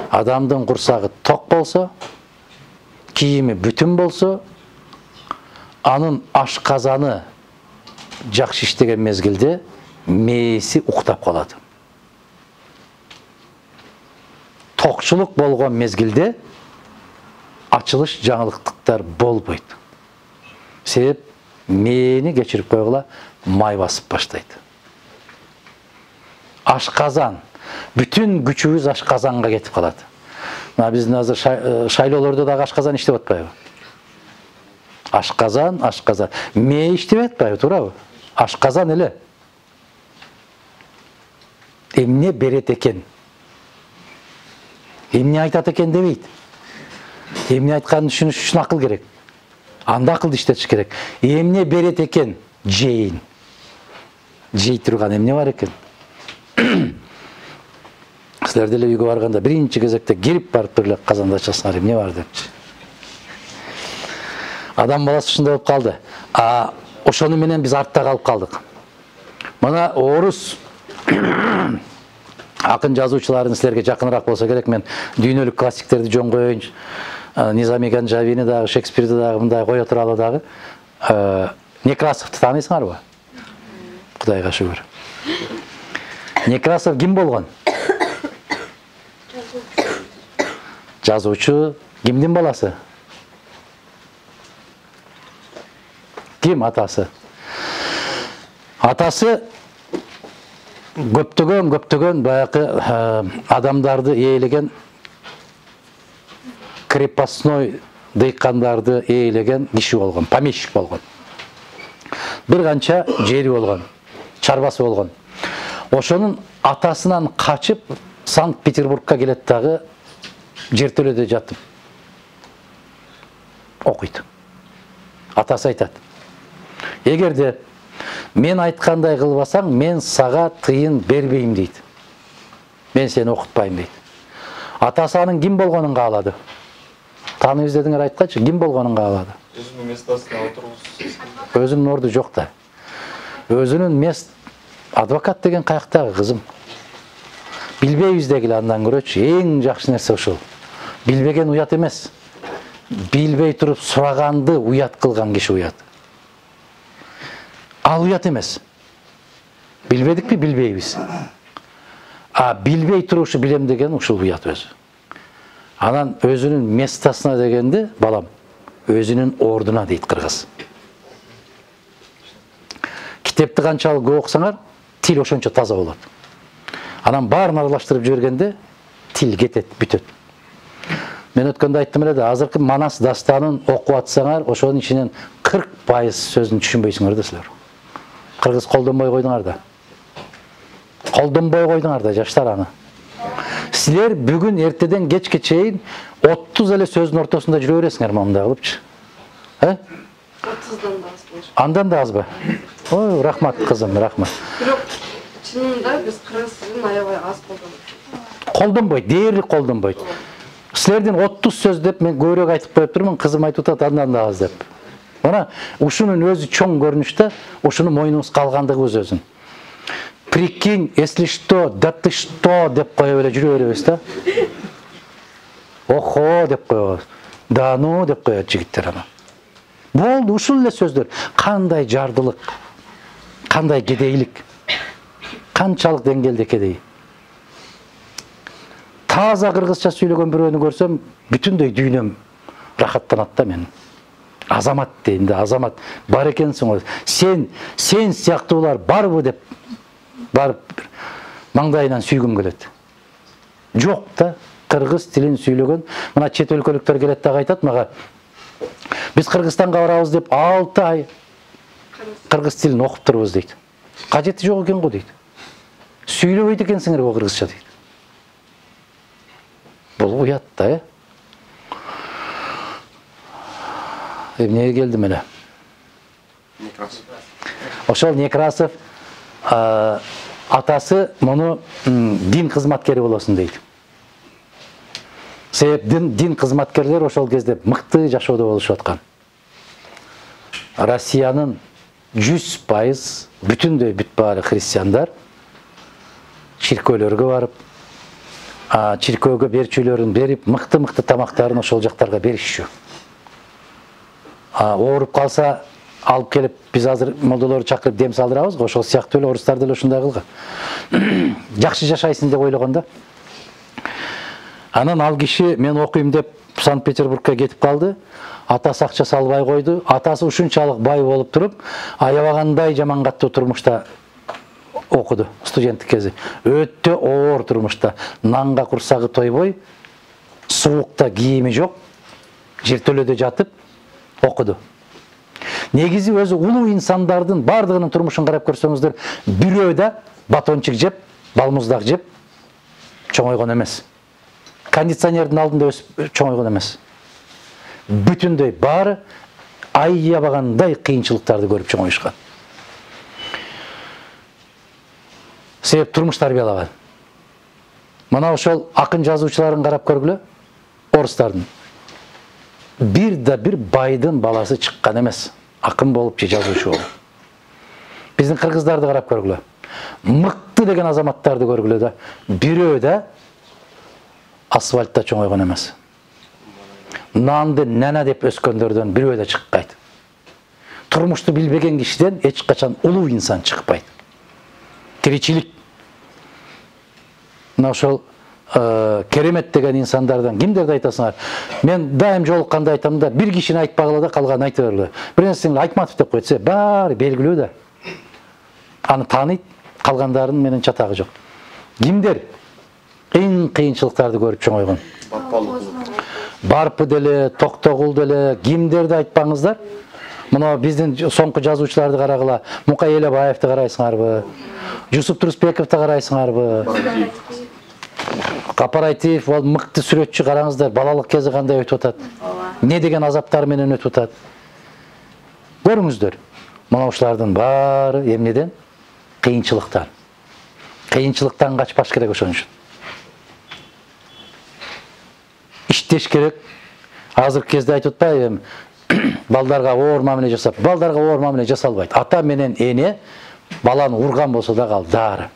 Адамдын курсагы ток болсо, кийими бүтүн болсо, анын ашказаны жакшы иштеген мезгилде мээси уктап калат. Токчулук болгон мезгилде ачылыш жаңылыктыктар болбойт. Себеп мээни кечирип койгула май басып баштайт. Ашказан, бүтүн күчүбүз ашказанга кетип калат. Мына биздин азыр шайлоолордо дагы ашказан иштеп атпайбы? Ашказан, ашказан. Мээ иштеп атпайбы, туурабы? Ашказан эле. Эмне берет экен? Эмне айтат экен дебейт. Эмне айтканын түшүнүш үчүн акыл керек. Анда акылды иштетиш керек. Эмне берет экен? Жейин. Жей турган эмне бар экен? Силер деле үйгө барганда биринчи кезекте кирип барып туруп эле казанда ачасыңар, эмне бар депчи. Адам баласы ушундай болуп калды. А ошону менен биз артта калып калдык. Мына орус акын жазуучуларын силерге жакыныраак болсо керек, мен дүйнөлүк классиктерди жөн коеюнчу. Низами Ганжавини дагы, Шекспирди дагы мындай кое туралы дагы. Некрасовду тааныйсыңарбы? Кудайга шүгүр. Некрасов ким болгон? Жазуучу. Кимдин баласы? Ким атасы? Атасы көптөгөн көптөгөн баягы адамдарды ээлеген, крепостной дыйкандарды ээлеген киши болгон, помещик болгон. Бир канча жери болгон, чарбасы болгон. Ошонун атасынан качып Санкт-Петербургка келет дагы, жертөлөдө жатып окуйт. Атасы айтат: эгерде мен айткандай кылбасаң, мен сага тыйын бербейм дейт. Мен сени окутпайм дейт. Атасы анын ким болгонун каалады. Тааныйбыз дедиңер, айткачы, ким болгонун каалады. Өзүнүн местосуна отургузсуз. Өзүнүн орду жок да. Өзүнүн мест адвокат деген каяктагы, кызым? Билбейбиз дегиле, андан көрөчү. Эң жакшы нерсе ушул. Билбеген уят эмес. Билбей туруп сураганды уят кылган киши уят. Ал уят эмес. Билбедикпи, билбейбиз. А билбей турушу билем деген ушул уят өзү. Анан өзүнүн местосуна дегенде, балам, өзүнүн ордуна дейт кыргыз. Китепти канчалык көп окусаңар, тил ошончо таза болот. Анан баарын аралаштырып жибергенде тил кетет, бүтөт. Мен өткөндө айттым эле да, азыркы Манас дастанын окуп атсаңар, ошонун ичинен кырк пайыз сөзүн түшүнбөйсүңөр да силер. Кыргыз колдонбой койдуңар да. Колдонбой койдуңар да, жаштар аны. Силер бүгүн эртеден кечке чейин отуз эле сөздүн ортосунда жүрө бересиңер мындай кылыпчы. Э? отуздан да аз болуш. Андан да азбы? Ой, рахмат кызым, рахмат. Бирок чынында биз кыргыз тилин аябай аз колдонобуз. Колдонбойт, дээрлик колдонбойт. Силердин отуз сөз деп мен көбүрөөк айтып коюп турмун, кызым айтып атат андан да аз деп. Мына ушунун өзү чоң көрүнүштө, ушуну мойнубуз калгандыгыбыз өзүн. Прикинь, если что, да ты что деп коюп эле жүрө беребиз да. Охо деп коебуз. Да ну деп коет жигиттер ана. Болду, ушул эле сөздөр. Кандай жардылык, кандай кедейлик, канчалык деңгээлде кедей. Таза кыргызча сүйлөгөн бирөөнү көрсөм, бүтүндөй дүйнөм рахаттанат да мен. Азамат дейм да, азамат бар экенсиң го. Сен, сен сыяктуулар барбы деп барып маңдайынан сүйгүм келет. Жок да, кыргыз тилин сүйлөгөн. Мына чет өлкөлүктөр келет да айтат мага. Биз Кыргызстанга барабыз деп алты ай кыргыз тилин окуп турбуз дейт. Кажети жок экен го дейт. Сүйлөбөйт экенсиңер го кыргызча дейт. Бул уят да, э? Эмнеге келдим эле? Некрасов. Ошол Некрасов атасы муну дин кызматкери болосун дейт. Себеп дин кызматкерлер ошол кезде мыкты жашоодо болушуп аткан. Россиянын жүз пайыз бүтүндөй бүт баары христиандар чиркөөлөргө барып, чиркөөгө берчүлөрүн берип, мыкты-мыкты тамактарын ошол жактарга беришчү. Ооруп калса алып келип, биз азыр молдолорду чакырып дем салдырабыз го, ошол сыяктуу эле орустар деле ушундай кылган. Жакшы жашайсың деп ойлогон да. Анан ал киши мен окуйм деп Санкт-Петербургка кетип калды. Атасы акча салбай койду. Атасы ушунчалык бай болуп туруп, аябагандай жаман каттуу турмушта окуду студенттик кези. Өтө оор турмушта. Нанга курсагы тойбой, суукта кийими жок, жертөлөдө жатып окуду. Негизи өзү улуу инсандардын бардыгынын турмушун карап көрсөңүздөр, бирөө да батончик жеп, балмуздак жеп чоңойгон эмес. Кондиционердин алдында өсүп чоңойгон эмес. Бүтүндөй баары аябагандай кыйынчылыктарды көрүп чоңоюшкан. Себеп турмуш тарбиялаган. Мына ошол акын жазуучуларын карап көргүлө, орустардын. Бир да бир байдын баласы чыккан эмес. Акын болуп же жазуучу болуп. Биздин кыргыздарды карап көргүлө. Мыкты деген азаматтарды көргүлө да, бирөө да асфальтта чоңойгон эмес. Нанды нана деп өскөндөрдөн бирөө да чыкпайт. Турмушту билбеген кишиден эч качан улуу инсан чыкпайт. Тиричилик. Мына ошол керемет деген инсандардан кимдерди айтасыңар? Мен дайым жолукканда айтам да, бир кишини айтпагыла да калганын айта бергиле. Бир нерсени Айтматов деп койсо, баары белгилүү да. Аны тааныйт, калгандарын менен чатагы жок. Кимдер эң кыйынчылыктарды көрүп чоңойгон? Барпы деле, Токтогул деле, кимдерди айтпаңыздар. Мына биздин соңку жазуучуларды карагыла, Мукай Элебаевди карайсыңарбы? Жусуп Турусбековди карайсыңарбы? Капарайтиев, ол мыкты сүрөтчү, караңыздар, балалык кези кандай өтүп атат. Не деген азаптар менен өтүп атат. Көрүңүздөр. Мына ушулардын баары эмнеден? Кыйынчылыктан. Кыйынчылыктан качпаш керек ошон үчүн. Иштеш керек. Азыркы кезде айтып атпайбы, балдарга оор мамиле жасап, балдарга оор мамиле жасалбайт. Ата менен эне баланы урган болсо да кал дары.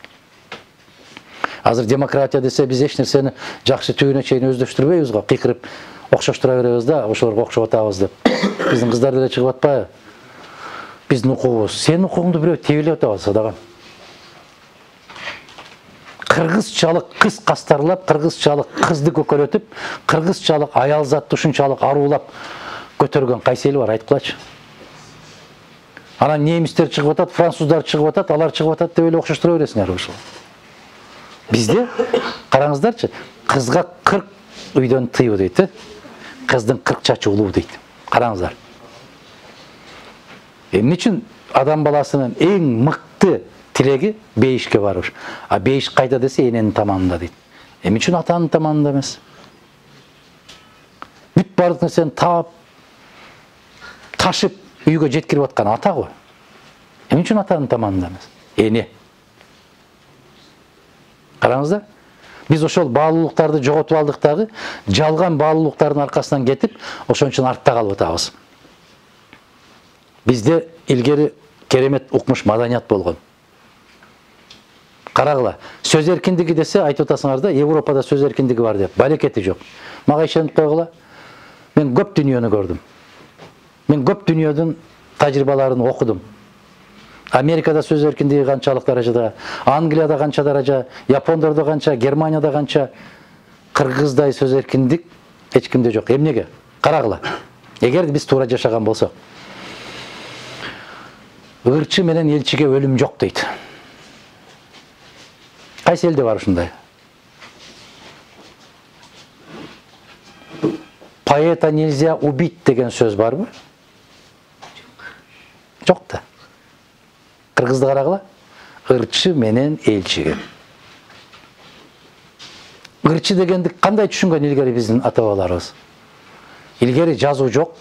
Азыр демократия десе биз эч нерсени жакшы түбүнө чейин өздөштүрбөйбүз го, кыйкырып окшоштура беребиз да, ошолорго окшоп атабыз деп. Биздин кыздар деле чыгып атпайбы? биздин укугубуз. Сенин укугуңду бирөө тебелеп атабы садаган. Кыргызчалык кыз кастарлап, кыргызчалык кызды көкөрөтүп, кыргызчалык аял затты ушунчалык аруулап көтөргөн кайсы эл бар, айткылачы. Анан немистер чыгып атат, француздар чыгып атат, алар чыгып атат деп эле окшоштура бересиңер ушул. Бизде караңыздарчы, кызга кырк үйдөн тыйбы дейт, кыздын кырк чачы улуу дейт. Караңыздар. Эмне үчүн адам баласынын эң мыкты тилеги бейишке барыш. А бейиш кайда десе эненин таманында дейт. Эмне үчүн атанын таманында эмес? Бүт бардык нерсени таап, ташып үйгө жеткирип аткан ата го. Эмне үчүн атанын таманында эмес? Эне. Караңыздар. Биз ошол баалуулуктарды жоготуп алдык дагы, жалган баалуулуктардын аркасынан кетип, ошон үчүн артта калып атабыз. Бизде илгери керемет укмуш маданият болгон. Карагыла, сөз эркиндиги десе айтып атасыңар да, Европада сөз эркиндиги бар деп. Балекети жок. Мага ишенип койгула. Мен көп дүйнөнү көрдүм. Мен көп дүйнөдүн тажрыйбаларын окудум. Америкада сөз эркиндиги канчалык даражада, Англияда канча даража, Япондордо канча, Германияда канча, кыргыздай сөз эркиндик эч кимде жок. Эмнеге? Карагыла. Эгер биз туура жашаган болсок, ырчы менен элчиге өлүм жок дейт. Кайсы элде бар ушундай? Поэта нельзя убить деген сөз барбы? Жок да. Кыргызды карагыла. Ырчы менен элчиге. Ырчы дегенди кандай түшүнгөн илгери биздин ата бабаларыбыз? Илгери жазуу жок.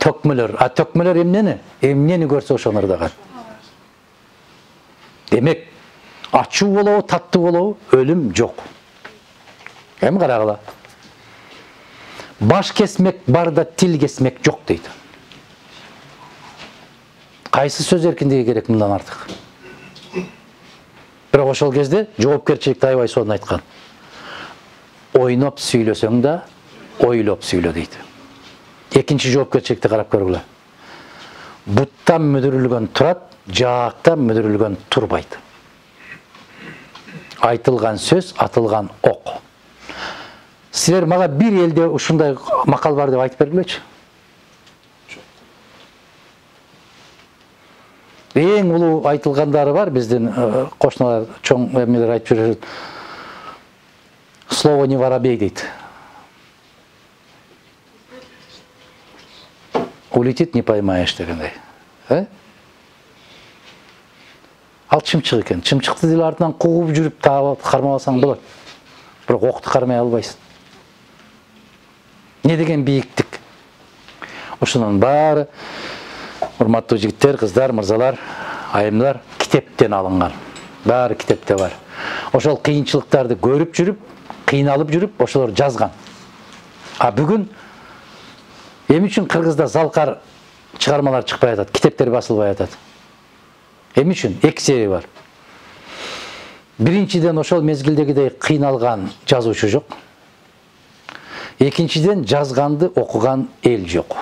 Төкмөлөр. А төкмөлөр эмнени? Эмнени көрсө ошону ырдаган. Демек, ачуу болобу, таттуу болобу, өлүм жок. Эми карагыла. Баш кесмек бар да тил кесмек жок дейт. Кайсы сөз эркиндиги керек мындан артык? Бирок ошол кезде жоопкерчиликти аябай сонун айткан. Ойноп сүйлөсөң да, ойлоп сүйлө дейт. Экинчи жоопкерчиликти карап көргүлө. Буттан мүдүрүлгөн турат, жаактан мүдүрүлгөн турбайт. Айтылган сөз, атылган ок. Силер мага бир элде ушундай макал бар деп айтып бергилечи. Эң улуу айтылгандары бар биздин кошуналар, чоң эмнелер айтып жүрөт. Слово не воробей дейт. Улетит, не поймаешь дегендей. Э? Ал чымчык экен. Чымчыкты деле артынан кууп жүрүп таап кармап алсаң болот. Бирок окту кармай албайсың. Не деген бийиктик? Ошонун баары, урматтуу жигиттер, кыздар, мырзалар, айымдар, китептен алынган. Баары китепте бар. Ошол кыйынчылыктарды көрүп жүрүп, кыйналып жүрүп, ошолор жазган. А бүгүн эмне үчүн Кыргызда залкар чыгармалар чыкпай атат, китептер басылбай атат? Эмне үчүн? Эки себеби бар. Биринчиден, ошол мезгилдегидей кыйналган жазуучу жок. Экинчиден, жазганды окуган эл жок.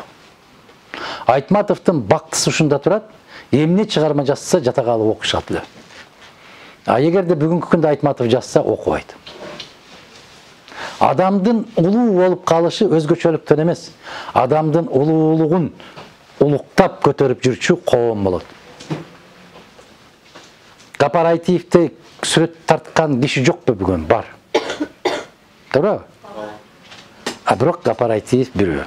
Айтматовдун бактысы ушунда турат, эмне чыгарма жазса жата калып окушат эле. А эгерде бүгүнкү күндө Айтматов жазса окубайт. Адамдын улуу болуп калышы өзгөчөлүктөн эмес, адамдын улуулугун улуктап көтөрүп жүрчү коом болот. Гапар Айтиевди сүрөт тарткан киши жокпу бүгүн? Бар. Туурабы? А бирок Гапар Айтиев бирөө.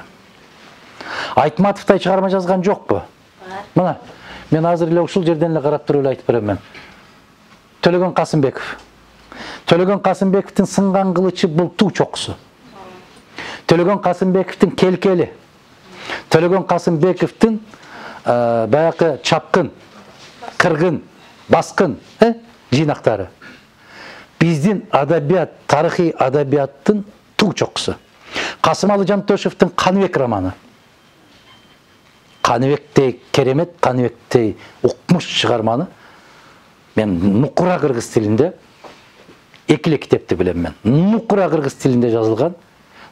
Айтматовдай чыгарма жазган жокпу? Бар. Мына, мен азыр эле ушул жерден эле карап туруп эле айтып берем мен. Төлөгөн Касымбеков. Төлөгөн Касымбековдун сынган кылычы бул туу чокусу. Төлөгөн Касымбековдун келкели. Төлөгөн Касымбековдун баягы чапкын, кыргын, баскын, э, жыйнактары. Биздин адабият, тарыхый адабияттын туу чокусу. Касымалы Жантөшевдин Каныбек романы. Каныбектей керемет, Каныбектей укмуш чыгарманы мен нукура кыргыз тилинде эки эле китепти билем мен. Нукура кыргыз тилинде жазылган,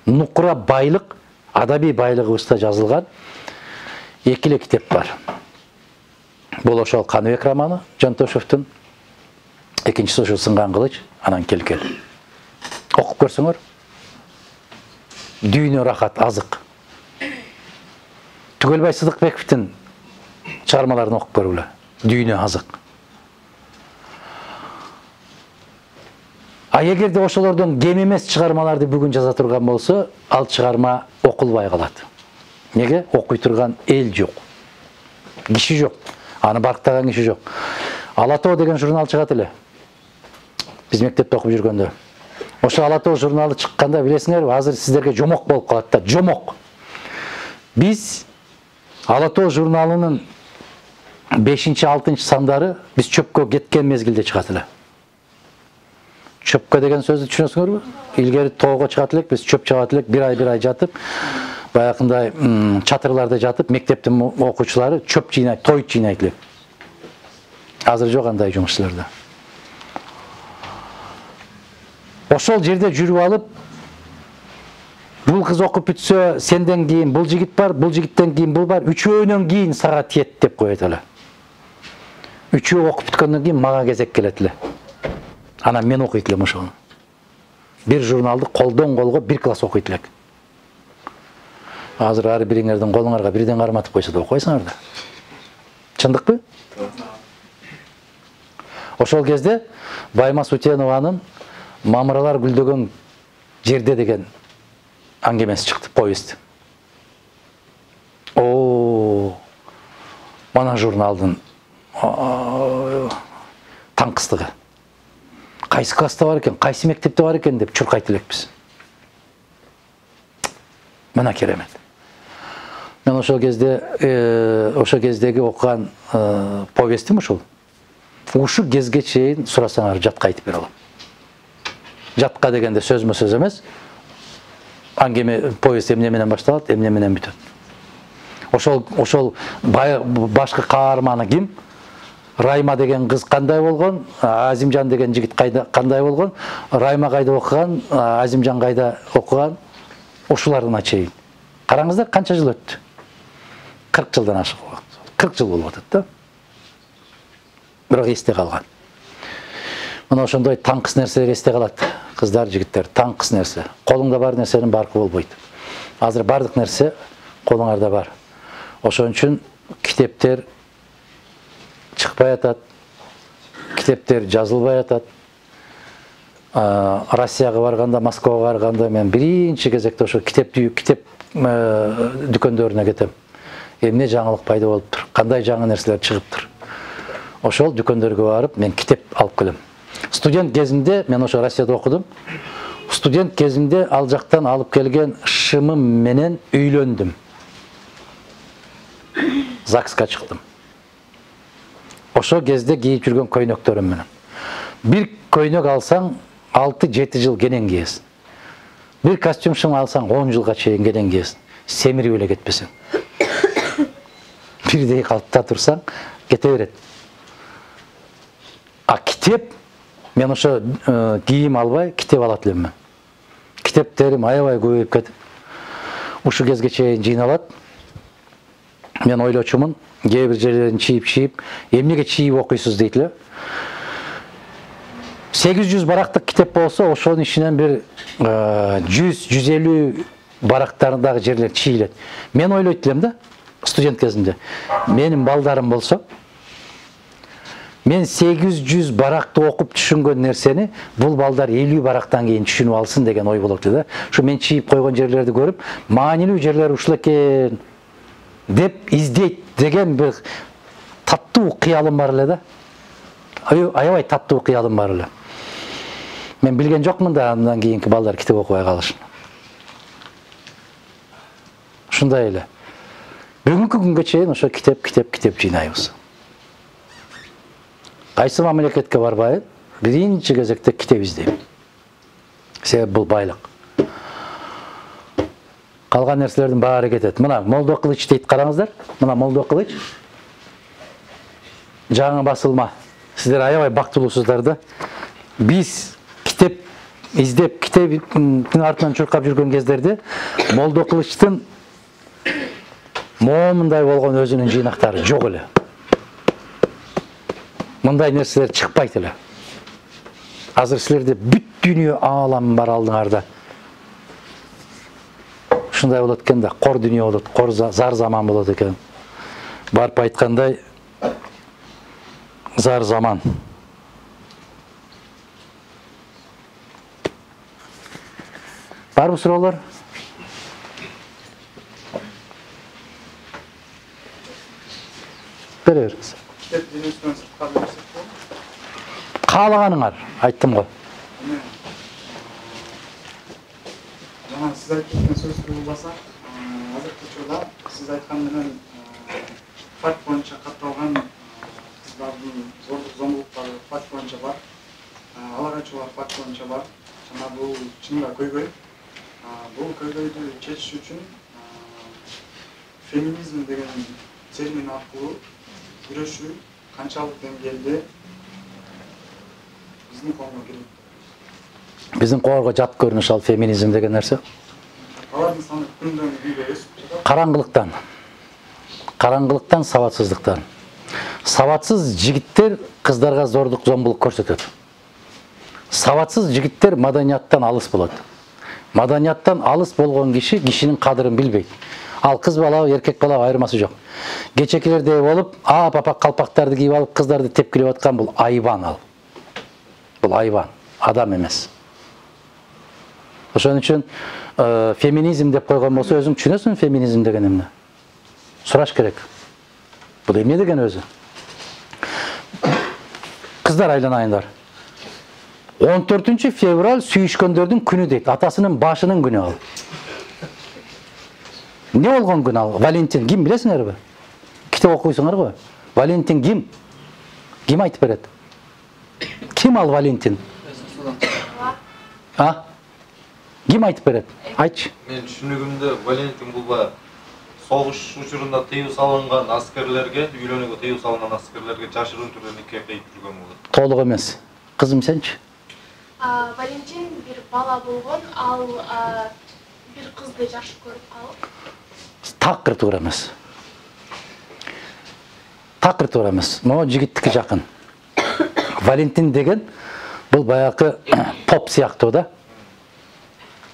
нукура байлык, адабий байлыгыбызда жазылган эки эле китеп бар. Бул ошол Каныбек романы Жантошевдун, экинчиси ошо Сынган кылыч, анан Келкел. Окуп көрсөңөр. Дүйнө рахат, азык. Түгөлбай Сыдыкбековдун чыгармаларын окуп көргүлө. Дүйнө азык. А эгерде ошолордон кем эмес чыгармаларды бүгүн жаза турган болсо, ал чыгарма окулбай калат. Неге? Окуй турган эл жок. Киши жок. Аны барктаган киши жок. Ала тоо деген журнал чыгат эле. Биз мектепте окуп жүргөндө. Ошо Ала тоо журналы чыкканда билесиңерби, азыр сиздерге жомок болуп калат да, жомок. Биз Ала тоо журналынын бешинчи алтынчы сандары биз чөпкө кеткен мезгилде чыгат эле. Чөпкө деген сөздү түшүнөсүңөрбү? Илгери тоого чыгат элек, биз чөп чыгат элек, бир ай бир ай жатып, баягындай чатырларда жатып, мектептин окуучулары чөп жыйнайт, той жыйнайт элек. Азыр жок андай жумуш силерде. Ошол жерде жүрүп алып, бул кыз окуп бүтсө, сенден кийин бул жигит бар, бул жигиттен кийин бул бар, үчөөнөн кийин сага тиет деп коет эле. Үчөө окуп бүткөндөн кийин мага кезек келет эле. Анан мен окуйт элем ошону. Бир журналды колдон колго бир класс окуйт элек. Азыр ар бириңердин колуңарга бирден карматып койсо да окуйсуңар да. Чындыкпы? Ошол кезде Баймас Утенованын Мамыралар гүлдөгөн жерде деген аңгемеси чыкты, повесть. О, мана журналдын таңкыстыгы. Кайсы класста бар экен, кайсы мектепте бар экен деп чуркайт элекпиз. Мына керемет. Мен ошол кезде, ошол кездеги окуган повестим ушул. Ушу кезге чейин сурасаңар жатка айтып бере алам. Жатка дегенде сөзмө сөз эмес. Аңгеме повесть эмне менен башталат, эмне менен бүтөт. Ошол ошол башкы каарманы ким? Райма деген кыз кандай болгон? Азимжан деген жигит кандай болгон? Райма кайда окуган? Азимжан кайда окуган? Ошоларына чейин. Караңыздар, канча жыл өттү? кырк жылдан ашык убакыт. кырк жыл болуп атат да. Бирок эсте калган. Мына ошондой таңкыс нерселер эсте калат. Кыздар, жигиттер, таңкыс нерсе. Колуңда бар нерсенин баркы болбойт. Азыр бардык нерсе колуңарда бар. Ошон үчүн китептер чыкпай атат. Китептер жазылбай атат. Россияга барганда, Москвага барганда мен биринчи кезекте ошо китеп китеп дүкөндөрүнө кетем. Эмне жаңылык пайда болуптур? Кандай жаңы нерселер чыгыптыр? Ошол дүкөндөргө барып мен китеп алып келем. Студент кезимде мен ошо Россияда окудум. Студент кезимде ал жактан алып келген шымым менен үйлөндүм. ЗАГСка чыктым. Ошо кезде кийип жүргөн көйнөктөрүм менен. Бир көйнөк алсаң алты жети жыл кенен кийесиң. Бир костюм шым алсаң он жылга чейин кенен кийесиң. Семирип эле кетпесең. Бирдей калыпта турсаң кете берет. А китеп, мен ошо кийим албай китеп алат элем мен. Китептерим аябай көбөйүп кетип, ушу кезге чейин жыйналат. Мен ойлочумун, кээ бир жерлерин чийип-чийип, эмнеге чийип окуйсуз дейт эле. сегиз жүз барактык китеп болсо, ошонун ичинен бир жүз жүз элүү барактарындагы жерлер чийилет. Мен ойлойт элем да, студент кезимде. Менин балдарым болсо, мен сегиз жүз баракты окуп түшүнгөн нерсени бул балдар элүү барактан кийин түшүнүп алсын деген ой болот эле да. Ушу мен чийип койгон жерлерди көрүп, маанилүү жерлери ушул экен деп издейт деген бир таттуу кыялым бар эле да. Аябай таттуу кыялым бар эле. Мен билген жокмун да андан кийинки балдар китеп окубай калышын. Ушундай эле. Бүгүнкү күнгө чейин ошо китеп, китеп, китеп жыйнайбыз. Кайсы мамлекетке барбайын, биринчи кезекте китеп издейм. Себеп бул байлык. Калган нерселердин баары кетет. Мына Молдо Кылыч дейт, караңыздар. Мына Молдо Кылыч. Жаңы басылма. Сиздер аябай бактылуусуздар да. Биз китеп издеп, китептин артынан чуркап жүргөн кездерде Молдо Кылычтын момундай болгон өзүнүн жыйнактары жок эле. Мындай нерселер чыкпайт эле. Азыр силерде бүт дүйнө аалам бар алдыңарда. Ушундай болот экен да, кор дүйнө болот, кор зар заман болот экен. Барып айткандай зар заман. Барбы суроолор? Бере бериңиз. Каалаганыңар, айттым го. Жана сиз айтып кеткен сөздү уласак, азыркы учурда сиз айткан менен факт боюнча катталган кыздардын зордук зомбулуктары факт боюнча бар. Алар ачуулар факт боюнча бар. Жана бул чынында көйгөй. Бул көйгөйдү чечиш үчүн феминизм деген термин аркылуу күрөшүү канчалык деңгээлде биздин коомго кирет? Биздин коомго жат көрүнүш ал феминизм деген нерсе. Алардын саны күндөн күнгө өсүп жатат. Караңгылыктан. Караңгылыктан, сабатсыздыктан. Сабатсыз жигиттер кыздарга зордук, зомбулук көрсөтөт. Сабатсыз жигиттер маданияттан алыс болот. Маданияттан алыс болгон киши кишинин кадырын билбейт. Ал кыз бала, эркек бала айырмасы жок. Кечекилердей болуп, а папа калпактарды кийип алып кыздарды тепкилеп аткан бул айбан ал. Бул айбан, адам эмес. Ошон үчүн феминизм деп койгон болсо өзүң түшүнөсүң феминизм деген эмне? Сураш керек. Бул эмне деген өзү? Кыздар айланайындар. он төртүнчү февраль сүйүшкөндөрдүн күнү дейт. Атасынын башынын күнү ал. Не болгон күн ал? Валентин ким билесиңерби? Китеп окуйсуңар го. Валентин ким? Ким айтып берет? Ким ал Валентин? А? Ким айтып берет? Айтчы. Мен түшүнүгүмдө Валентин бул баягы согуш учурунда тыюу салынган аскерлерге, үйлөнүүгө тыюу салынган аскерлерге жашыруун түрдө нике кыйып жүргөн болот. Толук эмес. Кызым сенчи? Валентин бир бала болгон, ал бир кызды жакшы көрүп калып. Такыр туура эмес. Такыр туура эмес. Могу жигиттики жакын. Валентин деген бул баягы поп сыяктуу да.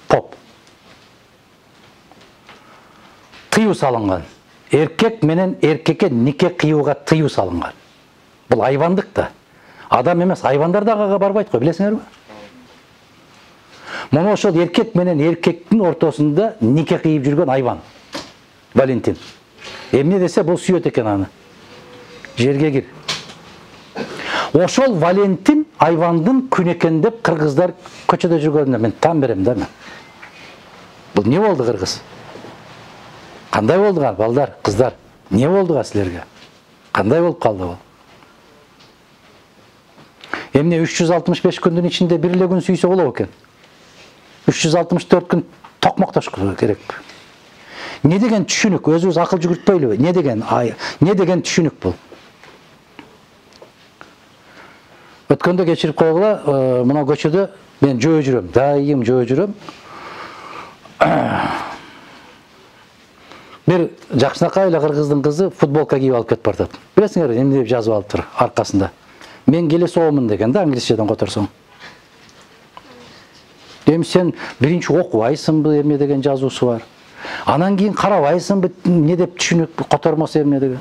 Поп. Тыюу салынган. Эркек менен эркекке нике кыюуга тыюу салынган. Бул айбандык да. Адам эмес, айбандар да ага барбайт го, билесиңерби? Мына ошол эркек менен эркектин ортосунда нике кыйып жүргөн айбан. Валентин. Эмне десе бул сүйөт экен аны. Жерге кир. Ошол Валентин айбандын күнү экен деп кыргыздар көчөдө жүргөнүнө мен таң берем да мен. Бул не болду кыргыз? Кандай болду балдар, кыздар? Не болду силерге? Кандай болуп калды бул? Эмне үч жүз алтымыш беш күндүн ичинде бир эле күн сүйсө болобу экен? үч жүз алтымыш төрт күн токмоктош керек. Не деген түшүнүк? Өзүбүз акыл жүгүртпөйлүбү? Не деген ай, не деген түшүнүк бул? Өткөндө кечирип койгула, мына көчөдө мен жөө жүрөм, дайым жөө жүрөм. Бир жакшынакай эле кыргыздын кызы футболка кийип алып кетип бартат. Билесиңерби, эмне деп жазып алыптыр аркасында? Мен келе соомун деген да, англисчеден которсоң. Эми сен биринчи окубайсыңбы, эмне деген жазуусу бар. Анан кийин карабайсыңбы, не деп түшүнүк котормосу эмне деген.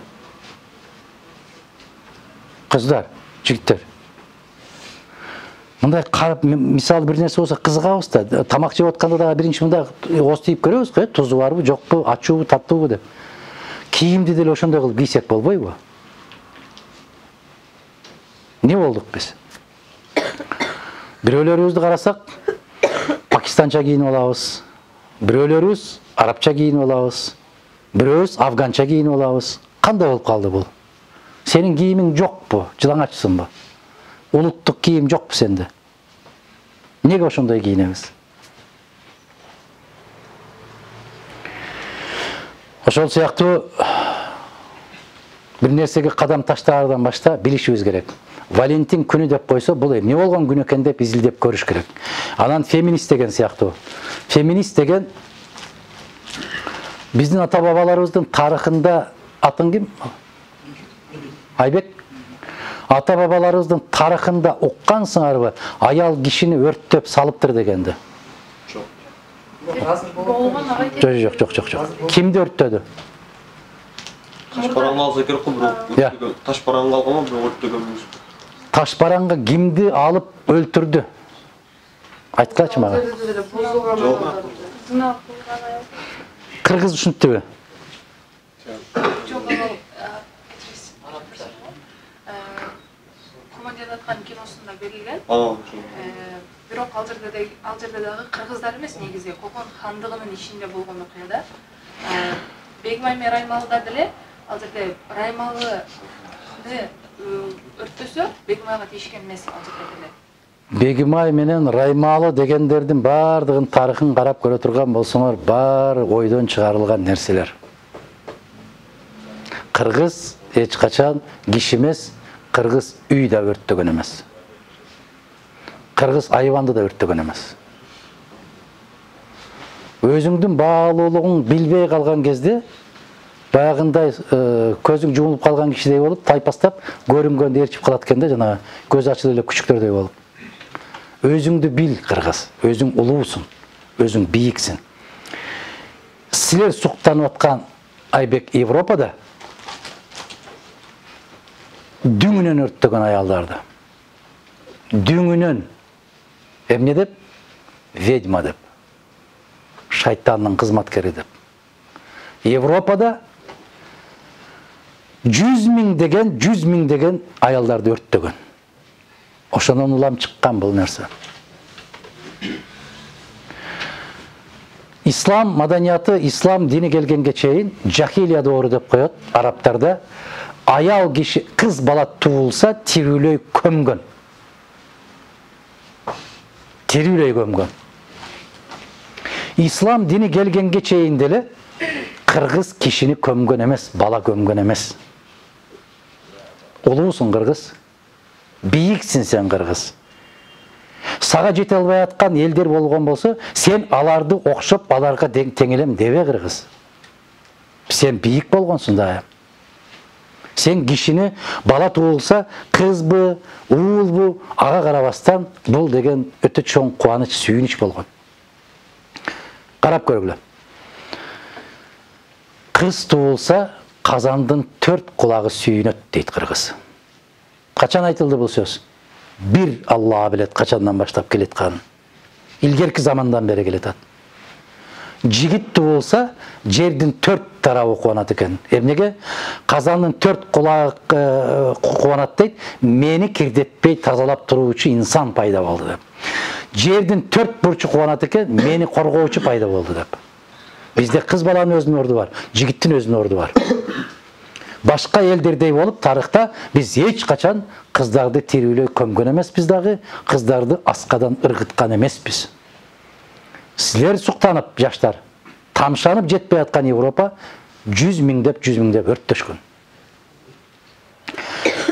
Кыздар, жигиттер. Мындай карап, мисалы бир нерсе болсо кызыгабыз да, тамак жеп атканда дагы биринчи мындай ооз тийип көрөбүз го, тузу барбы, жокпу, ачуубу, таттуубу деп. Кийимди деле ошондой кылып кийсек болбойбу? Не болдук биз? Бирөөлөрүбүздү карасак, пакистанча кийинип алабыз. Бирөөлөрүбүз арабча кийинип алабыз. Бирөөбүз афганча кийинип алабыз. Кандай болуп калды бул? Сенин кийимиң жокпу? Жылаңачсыңбы? Улуттук кийим жокпу сенде? Неге ошондой кийинебиз? Ошол сыяктуу бир нерсеге кадам таштаардан башта билишибиз керек. Валентин күнү деп койсо, бул эмне болгон күн экен деп изилдеп көрүш керек. Анан феминист деген сыяктуу. Феминист деген Биздин ата бабаларыбыздын тарыхында атын ким? Айбек. Ата бабаларыбыздын тарыхында уккансыңарбы? Аял кишини өрттөп салыптыр дегенди. болгон агай. Жок, жок, жок, жок. Кимди өрттөдү? Таш параңга алса керек кой, бирок таш параңга алган, бирок өрттөгөн эмес. Таш параңга кимди алып өлтүрдү? Айткачы мага. Кыргыз ушинтпи? Жок, ал командир аткан киносунда берилген. Бирок ал жерде ал жерде дагы кыргыздар эмес, негизи Кокон хандыгынын ичинде болгон окуяда. Бегимай менен Раймалыда деле ал жерде Раймалыны өрттөсө, Бегимайга тийишкен эмес ал жерде деле. Бегимай менен Раймалы дегендердин бардыгын тарыхын карап көрө турган болсоңор, баары ойдон чыгарылган нерселер. Кыргыз эч качан киши эмес, кыргыз үй да өрттөгөн эмес. Кыргыз айванды да өрттөгөн эмес. Өзүңдүн баалуулугуң билбей калган кезде баягындай көзүң жумулуп калган кишидей болуп, тайпастап көрүнгөндү ээрчип калат экен да, жана көз ачылып эле күчүктөрдөй болуп. Өзүңдү бил, кыргыз. Өзүң улуусуң, өзүң бийиксиң. Силер суктанып аткан Айбек Европада дүңүнөн өрттөгөн аялдарды. Дүңүнөн эмне деп? Ведьма деп. Шайтандын кызматкери деп. Европада жүз миң деген, жүз миң деген аялдарды өрттөгөн. Ошонун улам чыккан бул нерсе. Ислам маданияты, ислам дини келгенге чейин жахилия доору деп коет арабтарда. Аял киши кыз бала туулса тирүүлөй көмгөн. Тирүүлөй көмгөн. Ислам дини келгенге чейин деле кыргыз кишини көмгөн эмес, бала көмгөн эмес. Улуусуң кыргыз. Бийиксин сен кыргыз. Сага жете албай аткан элдер болгон болсо, сен аларды окшоп, аларга теңелем дебе кыргыз. Сен бийик болгонсуң да. Сен кишини бала туулса, кызбы, уулбу, ага карабастан бул деген өтө чоң кубаныч, сүйүнүч болгон. Карап көргүлө. Кыз туулса, казандын төрт кулагы сүйүнөт дейт кыргыз. Качан айтылды бул сөз? Бир Алла билет качандан баштап келетканын. Илгерки замандан бери келетат. Жигит туулса, жердин төрт тарабы кубанат экен. Эмнеге? Казандын төрт кулагы кубанат дейт, мени кирдетпей тазалап туруучу инсан пайда болду деп. Жердин төрт бурчу кубанат экен, мени коргоочу пайда болду деп. Бизде кыз баланын өзүнүн орду бар, жигиттин өзүнүн орду бар. Башка элдердей болуп, тарыхта биз эч качан кыздарды тирүүлөй көмгөн эмеспиз дагы, кыздарды аскадан ыргыткан эмеспиз. Силер суктанып, жаштар, тамшанып жетпей аткан Европа жүз миңдеп, жүз миңдеп өрттөшкөн.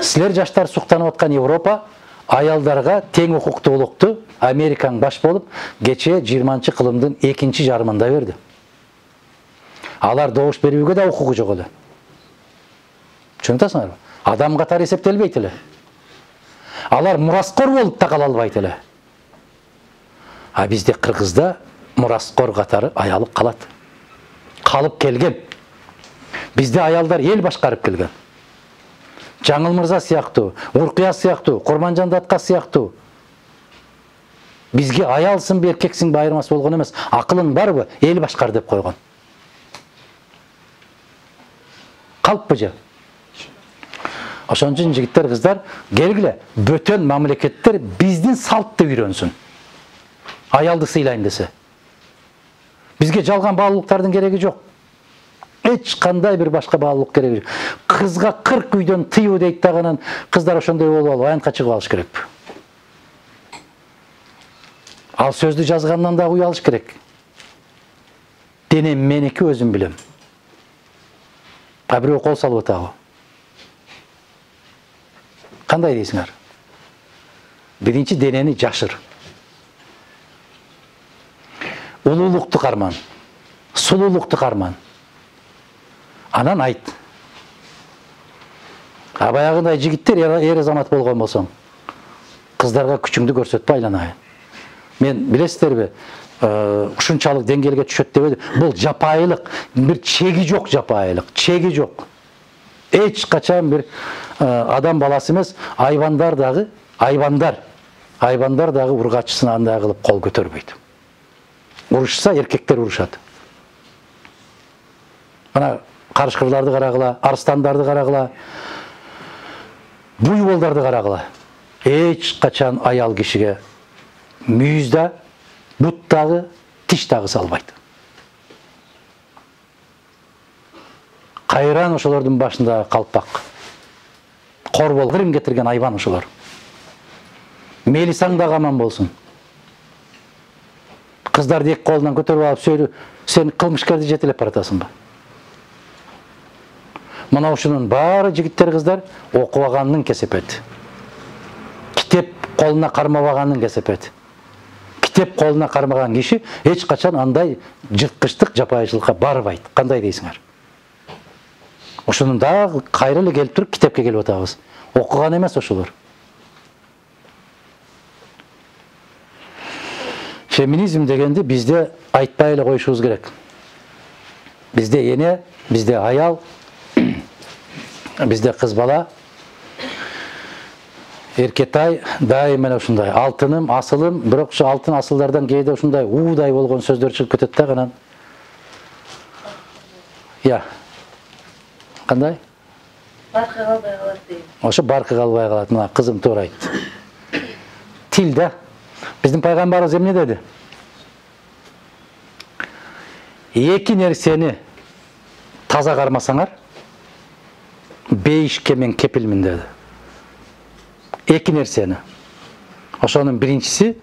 Силер жаштар суктанып аткан Европа аялдарга тең укуктуулукту Америкаң баш болуп, кече жыйырманчы кылымдын экинчи жарымында берди. Алар добуш берүүгө да укугу жок эле. Түшүнөсүңөрбү? Адам катары эсептелбейт эле. Алар мураскор болуп да кала албайт эле. А бизде кыргызда мураскор катары аялып калат. Калып келген. Бизде аялдар эл башкарып келген. Жаңыл Мырза сыяктуу, Уркуя сыяктуу, Курманжан Датка сыяктуу. Бизге аялсыңбы, эркексиңби айырмасы болгон эмес. Акылың барбы? Эл башкар деп койгон. Калппы же? Ошон үчүн жигиттер, кыздар, келгиле, бөтөн мамлекеттер биздин салтты үйрөнсүн. Аялды сыйлайын десе. Бизге жалган баалуулуктардын кереги жок. Эч кандай бир башка баалуулук кереги жок. Кызга кырк үйдөн тыюу дейт дагынан, кыздар ошондой болуп алып, аянтка чыгып алыш керек. Ал сөздү жазгандан дагы уялыш керек. Денем меники, өзүм билем. А бирөө кол салып атабы? Кандай дейсиңер? Биринчи денени жашыр. Улуулукту карман. Сулуулукту карман. Анан айт. А баягындай жигиттер эр азамат болгон болсоң, кыздарга күчүңдү көрсөтпө айланайын. Мен билесиздерби, ушунчалык деңгээлге түшөт деп бул жапайылык, бир чеги жок жапайылык, чеги жок. Эч качан бир адам баласы эмес, айбандар дагы, айбандар, айбандар дагы ургачысын андай кылып кол көтөрбөйт. Урушса эркектер урушат. Мына карышкырларды карагыла, арстандарды карагыла, буйволдарды карагыла. Эч качан аял кишиге мүйүз да, бут дагы, тиш дагы салбайт. Кайран ошолордун башында калпак. Корбол кырым кетирген айбан ошолор. Мелисаң дагы аман болсун. Кыздарды эки колунан көтөрүп алып сөйлү, сен кылмышкерди жетелеп баратасыңбы? Мына ушунун баары жигиттер, кыздар окубаганын кесепети. Китеп колуна кармабаганын кесепети. Китеп колуна кармаган киши эч качан андай жырткычтык, жапайычылыкка барбайт. Кандай дейсиңер? Ошонун дагы кайра эле келип туруп китепке келип атабыз. Окуган эмес ошолор. Феминизм дегенди бизде айтпай эле коюшубуз керек. Бизде эне, бизде аял, бизде кыз бала, эркетай дайыма эле ушундай алтыным, асылым, бирок ушу алтын асылдардан кээде ушундай уудай болгон сөздөр чыгып кетет да анан. Я. Кандай? Баркы калбай калат дейм. Ошо баркы калбай калат. Мына кызым туура айтты. Тил да. Биздин пайгамбарыбыз эмне деди? Эки нерсени таза кармасаңар, бейишке мен кепилмин деди. Эки нерсени. Ошонун биринчиси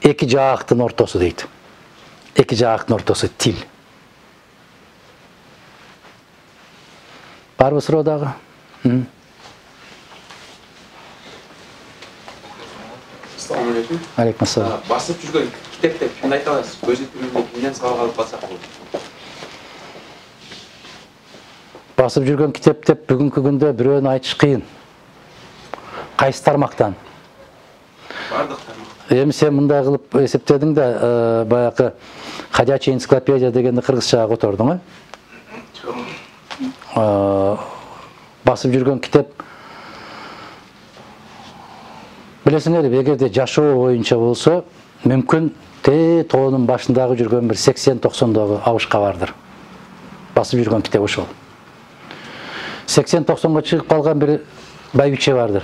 эки жаактын ортосу дейт. Эки жаактын ортосу тил. Барбы суроо дагы? Ассаламу алейкум. Алейкум ассалам. Басып жүргөн китепте кимди айта аласыз? Көз тилинде кимден сабак алып калсак болот? Басып жүргөн китеп деп бүгүнкү күндө бирөөнү айтыш кыйын. Кайсы тармактан? Бардык тармактан. Эми сен мындай кылып эсептедиң да, баягы ходячая энциклопедия дегенди кыргызчага котордуң, э? Басып жүргөн китеп. Билесиңерби, эгерде жашоо боюнча болсо, мүмкүн те тоонун башындагы жүргөн бир сексен токсондогу абышка бардыр. Басып жүргөн китеп ошол. сексен токсонго чыгып калган бир байбиче бардыр.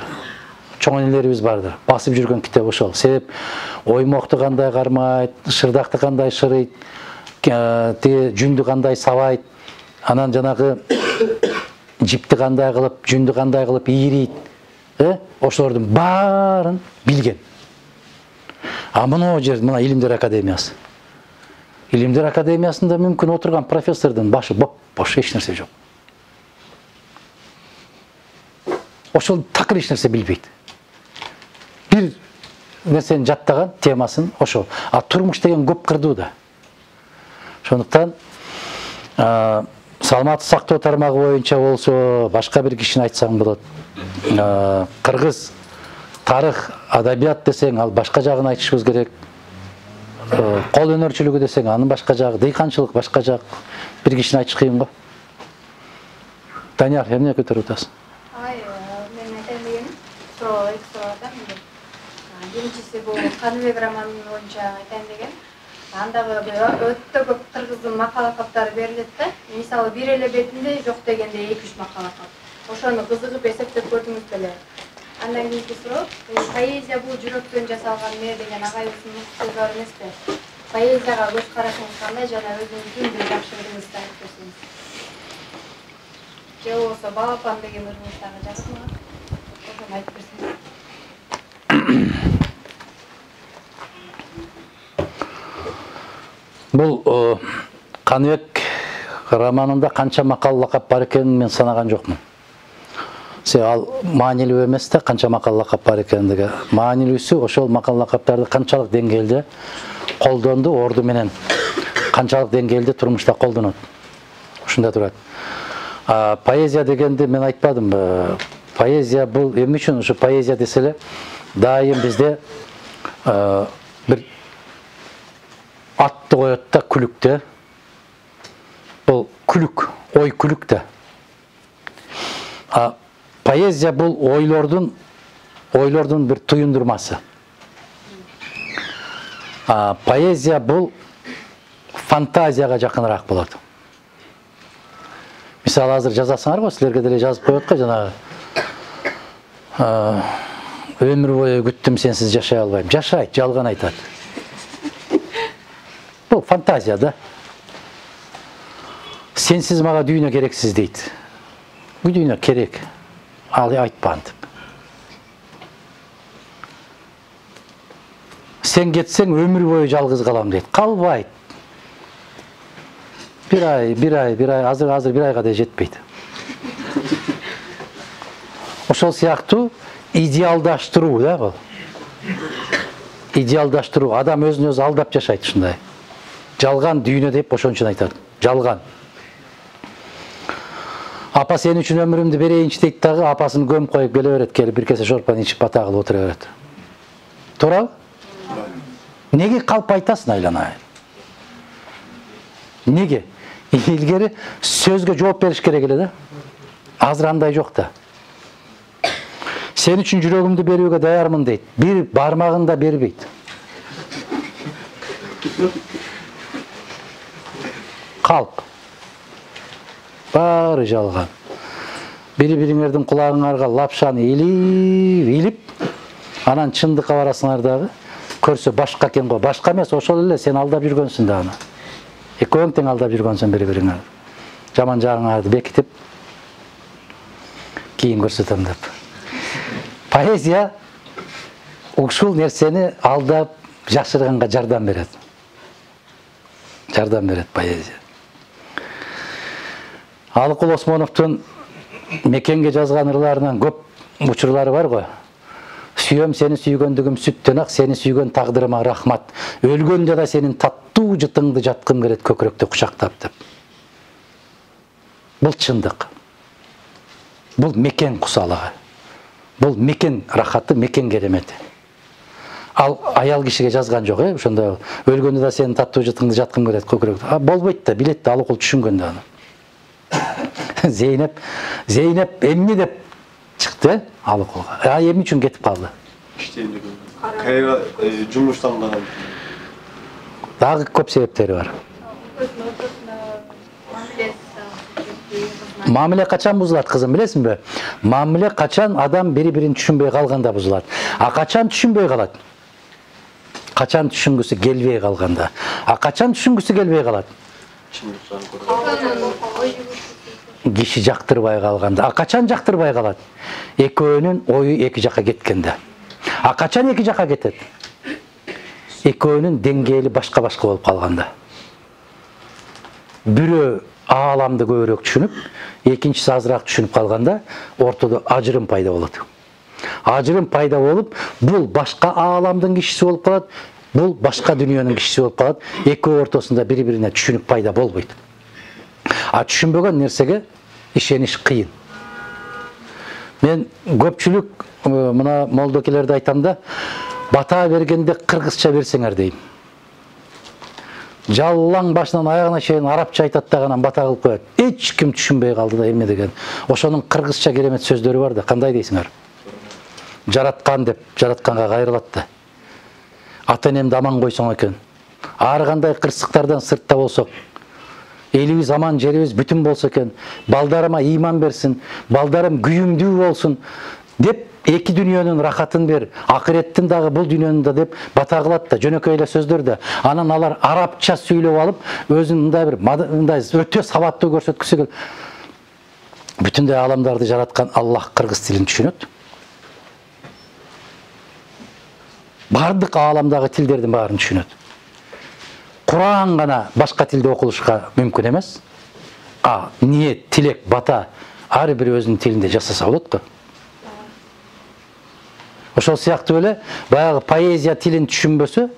Чоң энелерибиз бардыр. Басып жүргөн китеп ошол. Себеп оймокту кандай кармайт, шырдакты кандай шырыйт, тиги жүндү кандай сабайт, анан жанагы жипти кандай кылып, жүндү кандай кылып ийрийт. Э? Ошолордун баарын билген. А мына жер, мына Илимдер академиясы. Илимдер академиясында мүмкүн отурган профессордун башы боп-бош, эч нерсе жок. Ошол такыр эч нерсе билбейт. Бир нерсени жаттаган, темасын ошол. А турмуш деген көп кырдуу да. Ошондуктан саламаттык сактоо тармагы боюнча болсо, башка бир кишини айтсаң болот. Кыргыз тарых, адабият десең, ал башка жагын айтышыбыз керек. Кол өнөрчүлүгү десең, анын башка жагы, дыйканчылык башка жак. Бир кишини айтыш кыйын го. Данияр, эмне көтөрүп атасың? Ай, мен айтайын дегеним, суроо эки суроо атам. Биринчиси бул Каныбек романын боюнча айтайын деген. Андагы өтө көп кыргыздын макала каптары берилет да. Мисалы бир эле бетинде жок дегенде эки үч макала кап. Ошону кызыгып эсептеп көрдүңүз беле? Андан кийинки суроо, поэзия бул жүрөктөн жасалган мээ деген агайыбыздын сөзү бар эмеспи? Поэзияга көз карашыңыз кандай жана өзүңүздүн бир жакшы ырыңызды айтып берсеңиз? Же болбосо балапан деген ырыңыз дагы жакшымы? Ошону айтып берсеңиз. Бул Каныбек романында канча макал лакап бар экенин мен санаган жокмун. Се ал маанилүү эмес да, канча макал лакап бар экендиги. Маанилүүсү ошол макал лакаптарды канчалык деңгээлде колдонду, орду менен канчалык деңгээлде турмушта колдонот. Ушунда турат. А поэзия дегенди мен айтпадымбы. Поэзия бул эмне үчүн ушу поэзия деселе дайым бизде бир атты коет да күлүк да. Бул күлүк, ой күлүк да. А поэзия бул ойлордун ойлордун бир туюндурмасы. А поэзия бул фантазияга жакыныраак болот. Мисалы азыр жазасыңар го, силерге деле жазып коет го жанагы өмүр бою күттүм сенсиз жашай албайм. Жашайт, жалган айтат. Бул фантазия да. Сенсиз мага дүйнө керексиз дейт. Бул дүйнө керек. Ал айтпан деп. Сен кетсең өмүр бою жалгыз калам дейт. Калбайт. Bir ay, bir ay, bir ay, азыр азыр bir айга да жетпейт. Ошол сыяктуу идеалдаштыруу да бул. Идеалдаштыруу. Адам өзүн өзү алдап жашайт ушундай. Жалган дүйнө деп ошон үчүн айтат. Жалган. Апа сен үчүн өмүрүмдү берейинчи дейт дагы, апасын көмүп коюп келе берет, келип бир кесе шорпаны ичип бата кылып отура берет. Туурабы? Неге калп айтасың айланайын? Неге? Илгери сөзгө жооп бериш керек эле да. Азыр андай жок да. Сен үчүн жүрөгүмдү берүүгө даярмын дейт. Бир бармагын да бербейт. Калп. Баары жалган. Бири-бириңердин кулагыңарга лапшаны илип, илип, анан чындыкка барасыңар дагы. Көрсө башка экен го. Башка эмес, ошол эле сен алдап жүргөнсүң да аны. Экөөң тең алдап жүргөнсүң бири-бириңер. Жаман жагыңарды бекитип, кийин көрсөтөм деп. Поэзия ушул нерсени алдап жакшырганга жардам берет. Жардам берет поэзия. Алыкул Осмоновдун Мекенге жазган ырларынан көп учурлары бар го. Сүйөм сени сүйгөндүгүм сүттөн ак, сени сүйгөн тагдырыма рахмат. Өлгөндө да сенин таттуу жытыңды жаткым келет көкүрөктө кучактап деп. Бул чындык. Бул мекен кусалыгы. Бул мекен рахаты, мекен керемети. Ал аял кишиге жазган жок, э, ошондо өлгөндө да сенин таттуу жытыңды жаткым келет көкүрөктө. А болбойт да, билет да, Алыкул түшүнгөндө аны. Зейнеп, Зейнеп эмне деп чыкты Алыкулга. А эмне үчүн кетип калды? Кайра жумуштан Дагы көп себептери бар. Мамиле качан бузулат, кызым, билесиңби? Мамиле качан адам бири-бирин түшүнбөй калганда бузулат. А качан түшүнбөй калат? Качан түшүнгүсү келбей калганда. А качан түшүнгүсү келбей калат? Киши жактырбай калганда. А качан жактырбай калат? Экөөнүн ою эки жакка кеткенде. А качан эки жакка кетет? Экөөнүн деңгээли башка-башка болуп калганда. Бирөө ааламды көбүрөөк түшүнүп, экинчиси азыраак түшүнүп калганда ортодо ажырым пайда болот. Ажырым пайда болуп, бул башка ааламдын кишиси болуп калат, бул башка дүйнөнүн кишиси болуп калат. Экөө ортосунда бири-бирине түшүнүк пайда болбойт. А түшүнбөгөн нерсеге ишениш кыйын. Мен көпчүлүк мына молдокелерди айтам да, бата бергенде кыргызча берсеңер дейм. Жаллаң башынан аягына чейин арабча айтат да анан бата кылып коет. Эч ким түшүнбөй калды да эмне деген. Ошонун кыргызча керемет сөздөрү бар да, кандай дейсиңер? Жараткан деп, жаратканга кайрылат да. Ата-энемди аман койсоң экен. Ар кандай кырсыктардан сыртта болсок, элибиз аман, жерибиз бүтүн болсо экен, балдарыма ыйман берсин, балдарым күйүмдүү болсун деп эки дүйнөнүн рахатын бер, акыреттин дагы бул дүйнөнүн да деп бата кылат да, жөнөкөй эле сөздөр да. Анан алар арабча сүйлөп алып, өзүн мындай бир мындай өтө сабаттуу көрсөткүсү келип, бүтүндөй ааламдарды жараткан Аллах кыргыз тилин түшүнөт. Бардык ааламдагы тилдердин баарын түшүнөт. Куран гана башка тилде окулушка мүмкүн эмес. А ниет, тилек, бата ар бир өзүнүн тилинде жасаса болот го. Ошол сыяктуу эле баягы поэзия тилин түшүнбөсө,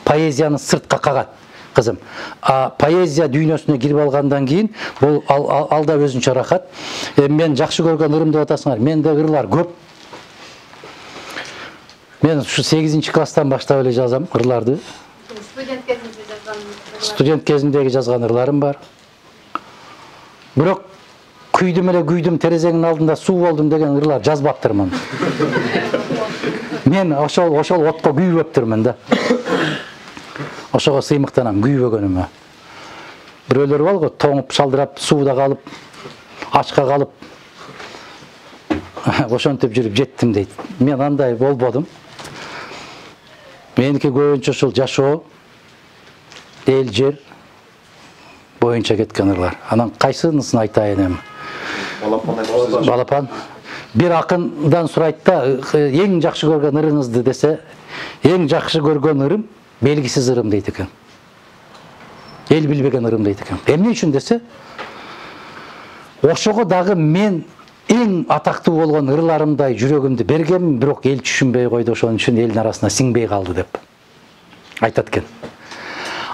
поэзияны сыртка кагат. кызым. А поэзия дүйнөсүнө кирип алгандан кийин бул ал, ал, алда өзүнчө рахат. Э, мен жакшы көргөн ырым деп атасыңар. Менде ырлар көп. Мен ушу сегизинчи класстан баштап эле жазам ырларды. Студент кезинде жазган. Студент кезимдеги жазган ырларым бар. Бирок күйдүм эле күйдүм, терезеңдин алдында суу болдум деген ырлар жазбаптырмын. Мен ошол ошол отко күйбөптүрмүн да. Ошого сыймыктанам күйбөгөнүмө. Бирөөлөр бар го, тоңуп шалдырап, сууда калып, ачка калып, ошентип жүрүп жеттим дейт. Мен андай болбодум. Меники көбүнчө ушул жашоо, эл жер боюнча кеткен ырлар. Анан кайсынысын айтайын эми? Балапан айтасыз. Балапан. Бир акындан сурайт да, эң жакшы көргөн ырыңызды десе, эң жакшы көргөн ырым белгисиз ырым дейт экен. Эл билбеген ырым дейт экен. Эмне үчүн десе, ошого дагы мен эң атактуу болгон ырларымдай жүрөгүмдү бергем, бирок эл түшүнбөй койду, ошон үчүн элдин арасына сиңбей калды деп айтат экен.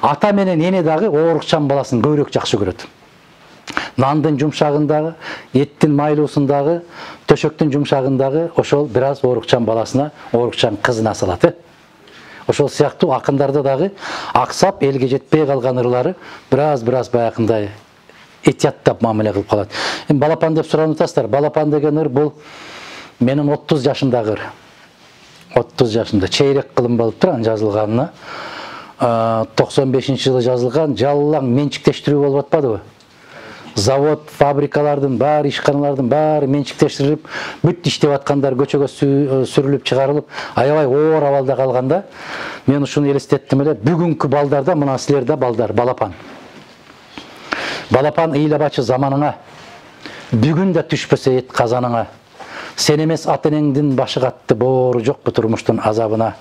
Ата менен эне дагы оорукчан баласын көбүрөөк жакшы көрөт. Нандын жумшагындагы, эттин майлуусундагы, төшөктүн жумшагындагы ошол бир аз оорукчан баласына, оорукчан кызына салат. Ошол сыяктуу акындарда дагы аксап элге жетпей калган ырлары бир аз бир аз баягындай этияттап мамиле кылып калат. Эми балапан деп суранып атасыздар. Балапан деген ыр бул менин отуз жашымдагы ыр. отуз жашымда чейрек кылым болуп тур анын жазылганына. токсон бешинчи жылы жазылган, жалаң менчиктештирүү болуп атпадыбы? Завод, фабрикалардын баары, ишканалардын баары менчиктештирип, бүт иштеп аткандар көчөгө сүрүлүп чыгарылып, аябай оор абалда калганда, мен ушуну элестеттим эле, бүгүнкү балдарда мына силерде балдар, балапан. Балапан ыйлабачы заманыңа, бүгүн да түшпөсө эт казаныңа. Сен эмес ата энеңдин башы катты, боору жокпу турмуштун азабына.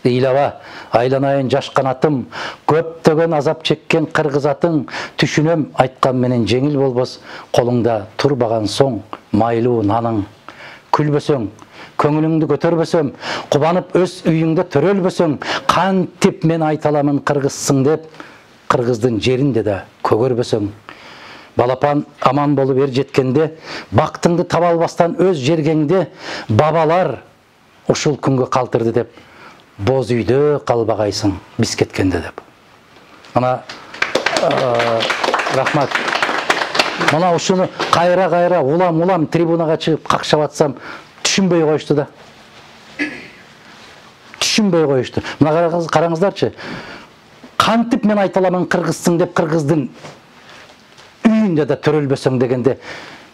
Ыйлаба, айланайын жаш канатым, көптөгөн азап чеккен кыргыз атың, түшүнөм айткан менен жеңил болбос, колуңда турбаган соң майлуу наның. Күлбөсөң, көңүлүңдү көтөрбөсөм, кубанып өз үйүңдө төрөлбөсөң, кантип мен айталамын кыргызсың деп, кыргыздын жеринде да көгөрбөсөң. Балапан аман болуп эр жеткенде, бактыңды таба албастан өз жергеңде, бабалар ушул күнгө калтырды деп, боз үйдө калбагайсың биз кеткенде деп. Ана рахмат. Мына ушуну кайра-кайра улам-улам трибунага чыгып какшап атсам, түшүнбөй коюшту да. Түшүнбөй коюшту. Мына караңыздарчы. Кантип мен айталамын кыргызсың деп, кыргыздын үйүндө да төрөлбөсөң дегенде,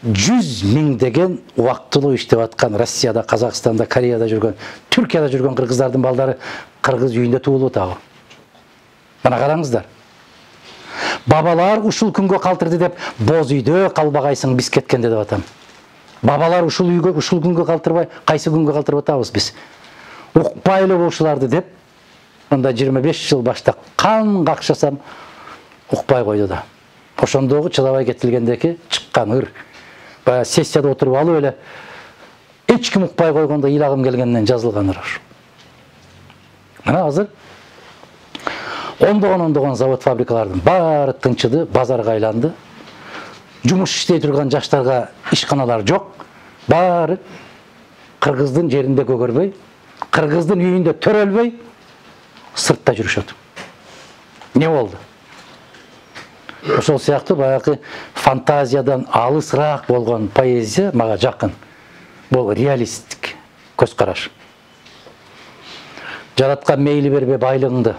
жүз миңдеген убактылуу иштеп аткан Россияда, Казакстанда, Кореяда жүргөн, Түркияда жүргөн кыргыздардын балдары кыргыз үйүндө туулуп атабы. Мына караңыздар. Бабалар ушул күнгө калтырды деп, боз үйдө калбагайсың биз кеткенде деп атам. Бабалар ушул үйгө, ушул күнгө калтырбай, кайсы күнгө калтырып атабыз биз? Укпайлы ушуларды деп, анда жыйырма беш жыл баштап кан какшасам укпай койду да. Ошондогу чыдабай кетилгендеки чыккан ыр. Баягы сессияда отуруп алып эле эч ким укпай койгондо ыйлагым келгенден жазылган ыр. Мына азыр ондогон ондогон завод фабрикалардын баары тынчыды, базарга айланды. Жумуш иштей турган жаштарга ишканалар жок. Баары кыргыздын жеринде көгөрбөй, кыргыздын үйүндө төрөлбөй, сыртта жүрүшөт. Не болду? Ошол сыяктуу баягы фантазиядан алысыраак болгон поэзия мага жакын. Бул реалисттик көз караш. Жараткан мейли бербе байлыгыңды,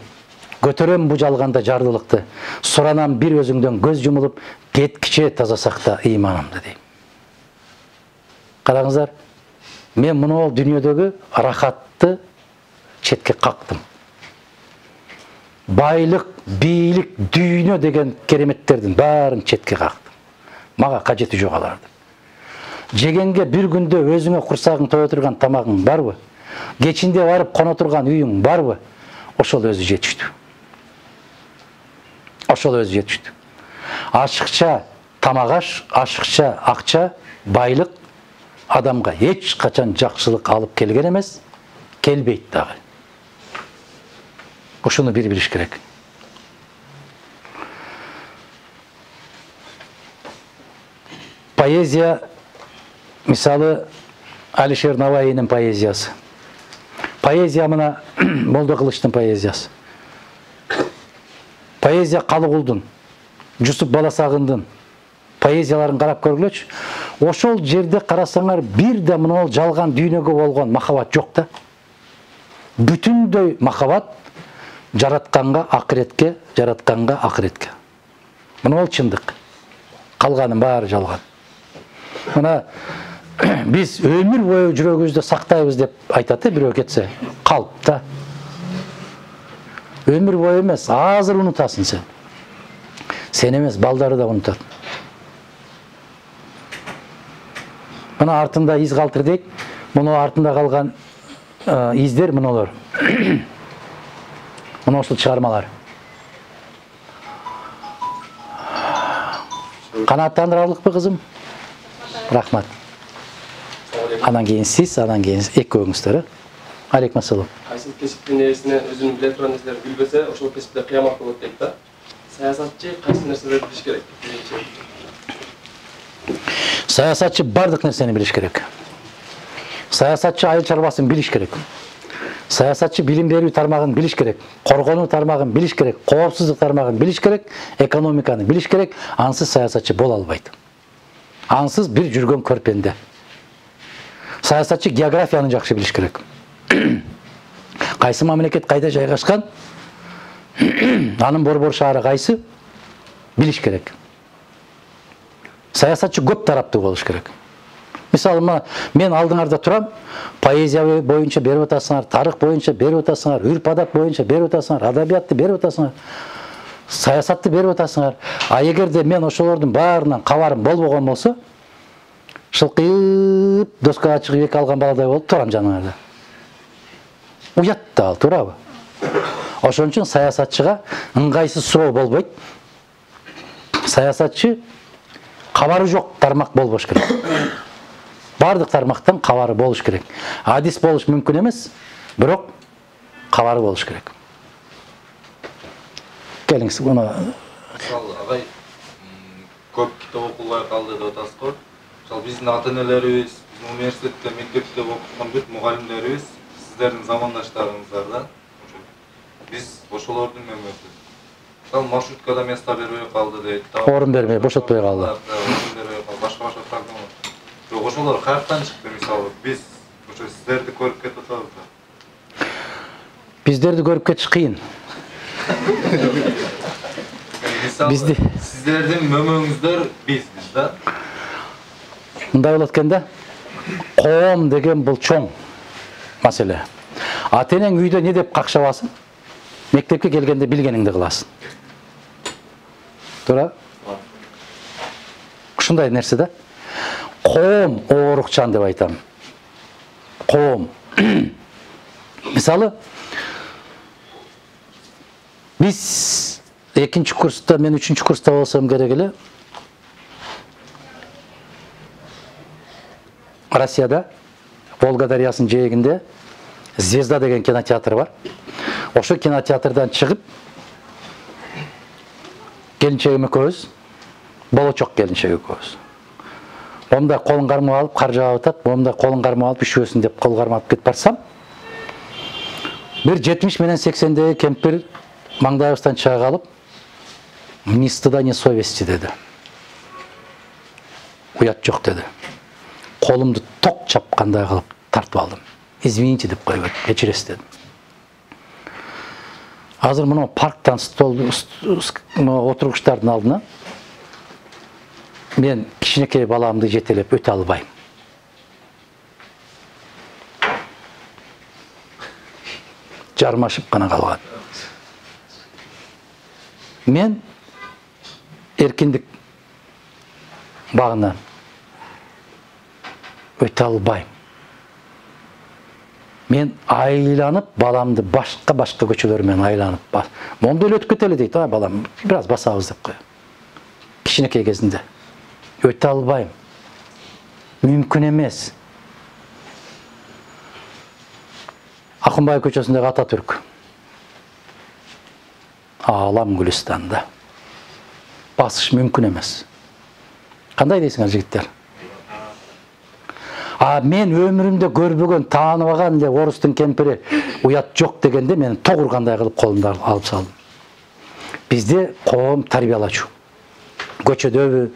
көтөрөм бу жалганда жардылыкты, суранам бир өзүңдөн көз жумулуп, кеткиче таза сакта ыйманымды дейм. Караңыздар, мен мына дүйнөдөгү рахатты четке кактым. Байлык, бийлик, дүйнө деген кереметтердин баарын четке кактым. Мага кажети жок аларды. Жегенге бир күндө өзүңө курсагың тое турган тамагың барбы? Кечинде барып коно турган үйүң барбы? Ошол өзү жетиштүү. Ошол өзү жетиштүү. Ашыкча тамак аш, ашыкча акча, байлык адамга эч качан жакшылык алып келген эмес, келбейт дагы. Ушуну бир билиш керек. Поэзия, мисалы, Алишер Наваинин поэзиясы. Поэзия мына Молдо Кылычтын поэзиясы. Поэзия Калыгулдун, Жусуп Баласагындын поэзияларын карап көргүлөчү. Ошол жерде карасаңар, бир да мына жалган дүйнөгө болгон махабат жок да. Бүтүндөй махабат жаратканга, акыретке, жаратканга, акыретке. Мына ол чындык. Калганын баары жалган. Мына биз өмүр бою жүрөгүбүздө сактайбыз деп айтат, бирөө кетсе, калп да. Өмүр бою эмес, азыр унутасың сен. Сен эмес, балдары да унутат. Мына артында из калтыр дейт. Мына артында калган издер мыналар. Мына ушул чыгармалар. Канааттандыралыкпы, кызым? Рахмат. Анан кийин сиз, анан кийин экөөңүздөр. Алейкум ассалам. Кайсы кесиптин ээсине өзүнүн биле турган нерселерди билбесе, ошол кесипте кыямат болот дейт да. Саясатчы кайсы нерселерди билиш керек? Саясатчы бардык нерсени билиш керек. Саясатчы айыл чарбасын билиш керек. Саясатчы билим берүү тармагын билиш керек. Коргонуу тармагын билиш керек. Коопсуздук тармагын билиш керек. Экономиканы билиш керек. Ансыз саясатчы боло албайт. Ансыз бир жүргөн көрпенде. Саясатчы географияны жакшы билиш керек. Кайсы мамлекет кайда жайгашкан? Анын борбор шаары кайсы? Билиш керек. Саясатчы көп тараптуу болуш керек. Мисалы, мен алдыңарда турам, поэзия боюнча берип атасыңар, тарых боюнча берип атасыңар, үрп-адат боюнча берип атасыңар, адабиятты берип атасыңар, саясатты берип атасыңар. А эгерде мен ошолордун баарынан кабарым болбогон болсо, шылкыйып доскага чыгып эки алган баладай болуп турам жаныңарда. Уят да ал, туурабы? Ошон үчүн саясатчыга ыңгайсыз суроо болбойт. Саясатчы кабары жок тармак болбош керек. Бардык тармактан кабары болуш керек. Адис болуш мүмкүн эмес, бирок кабары болуш керек. Келиңиз, мына мисалы, агай көп китеп окугай калды деп атасыз го. Мисалы, биздин ата-энелерибиз, биздин университетте, мектепте окуткан бүт мугалимдерибиз сиздердин замандаштарыңыздар да. Биз ошолордун мөмөсү. Мисалы, маршруткада место бербей калды дейт. Орун бербей, бошотпой калды. Башка-башка проблема. Бирок ошолор каяктан чыкты, мисалы, биз ошо сиздерди көрүп кетип атабыз да. Биздерди көрүп кетиш кыйын. Бизди сиздердин мөмөңүздөр бизбиз да. Мындай болот экен да. Коом деген бул чоң маселе. Ата-энең үйдө не деп какшабасын? Мектепке келгенде билгениңди кыласың. Туура? Ушундай нерсе да. Коом оорукчан деп айтам. Коом. Мисалы, биз экинчи курста, мен үчүнчү курста болсом керек эле, Россияда, Волга дарыясынын жээгинде Звезда деген кинотеатр бар. Ошо кинотеатрдан чыгып, келинчегим экөөбүз, болочок келинчек экөөбүз. Момда колун кармап алып, кар жаап атат, момда колун кармап алып, üşүбөсүн деп кол кармап кетип барсам, бир жетимиш менен сексендеги кемпир маңдайыбыздан чыга калып, ни стыда, ни совести деди. Уят жок деди. Колумду ток чапкандай кылып тартып алдым. Извините деп койбойт, кечиресиз дедим. Азыр мына парктан стол отургучтардын алдына мен кичинекей баламды жетелеп өтө албайм. Жармашып гана калган. Мен эркиндик багынан өтө албайм. Мен айланып, баламды башка-башка көчөлөр менен айланып, момда эле өтүп кетели дейт, а балам, бир аз басабыз деп коём. Кичинекей кезинде өтө албайм. Мүмкүн эмес. Акынбай көчөсүндөгү Ататүрк. Алам Гүлистанда. Басыш мүмкүн эмес. Кандай дейсиңер, жигиттер? А мен өмүрүмдө көрбөгөн, тааныбаган эле орустун кемпири уят жок дегенде мен тогур кандай кылып колумду алып салдым. Бизде коом тарбиялачу. Көчөдөбү,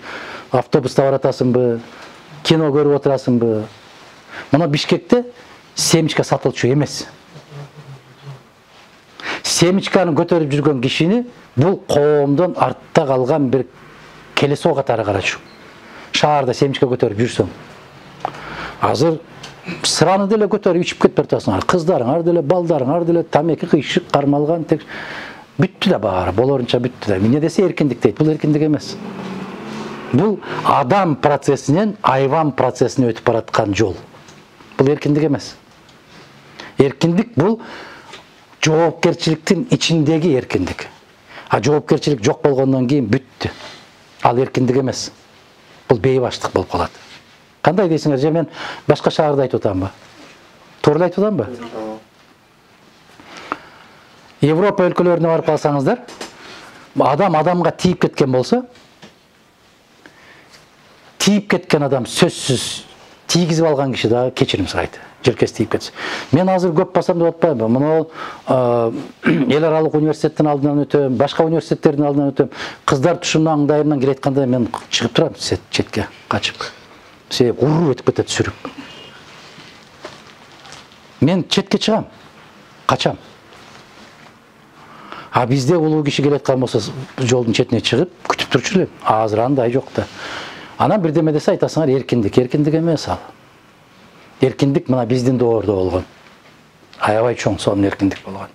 автобуста баратасыңбы, кино көрүп отурасыңбы? Мына Бишкекте семечка сатылчу эмес. Семечканы көтөрүп жүргөн кишини бул коомдон артта калган бир келесоо катары карачу. Шаарда семечка көтөрүп жүрсөң, азыр сыраны деле көтөрүп ичип кетип баратасыңар. Кыздарыңар деле, балдарыңар деле тамеки кыйшык кармалган, тек бүттү да баары, болорунча бүттү да. Эмне десе эркиндик дейт. Бул эркиндик эмес. Бул адам процессинен айван процессине өтүп бараткан жол. Бул эркиндик эмес. Эркиндик бул жоопкерчиликтин ичиндеги эркиндик. А жоопкерчилик жок болгондон кийин бүттү. Ал эркиндик эмес. Бул бейбаштык болуп калат. Кандай дейсиңер? Же мен башка шаарда айтып атамбы? Туура айтып атамбы? Европа өлкөлөрүнө барып калсаңыздар, адам адамга тийип кеткен болсо, тийип кеткен адам сөзсүз тийгизип алган киши дагы кечирим сурайт. Желкеси тийип кетсе. Мен азыр көп басам деп атпайбы. Мына эл аралык университеттин алдынан өтөм, башка университеттердин алдынан өтөм. Кыздар тушумдан аңдайымдан келе айтканда мен чыгып турам четке, качып. Себеп уруп өтүп кетет сүрүп. Мен четке чыгам, качам. А бизде улуу киши келе аткан болсо жолдун четине чыгып күтүп турчу элем. Азыр андай жок да. Анан бирдеме десе айтасыңар эркиндик, эркиндик эмес ал. Эркиндик мына биздин доордо болгон. Аябай чоң сонун эркиндик болгон.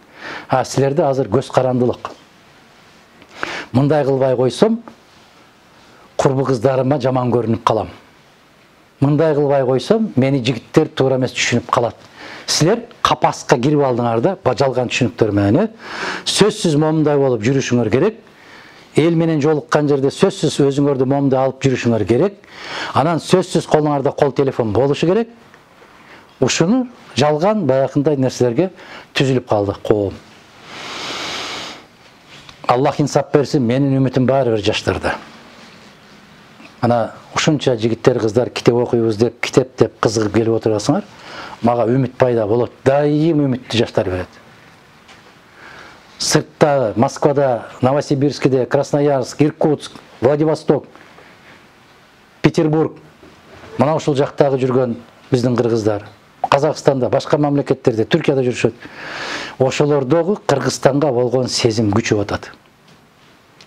А силерде азыр көз карандылык. Мындай кылбай койсом, курбу кыздарыма жаман көрүнүп калам. Мындай кылбай койсом, мени жигиттер туура эмес түшүнүп калат. Силер капаска кирип алдыңар да, жалган түшүнүктөр менен, сөзсүз момундай болуп жүрүшүңөр керек. Эл менен жолуккан жерде сөзсүз өзүңөрдү момундай алып жүрүшүңөр керек. Анан сөзсүз колуңарда кол телефон болушу керек. Ушуну жалган баягындай нерселерге түзүлүп калды коом. Аллах инсап берсин, менин үмүтүм баары бир жаштарда. Ана ушунча жигиттер, кыздар китеп окуйбуз деп, китеп деп кызыгып келип отурасыңар, мага үмүт пайда болот. Дайым үмүттү жаштар берет. Сыртта, Москвада, Новосибирскиде, Красноярск, Иркутск, Владивосток, Петербург, мына ушул жактагы жүргөн биздин кыргыздар, Казакстанда, башка мамлекеттерде, Түркияда жүрүшөт. Ошолордогу Кыргызстанга болгон сезим күчөп атат.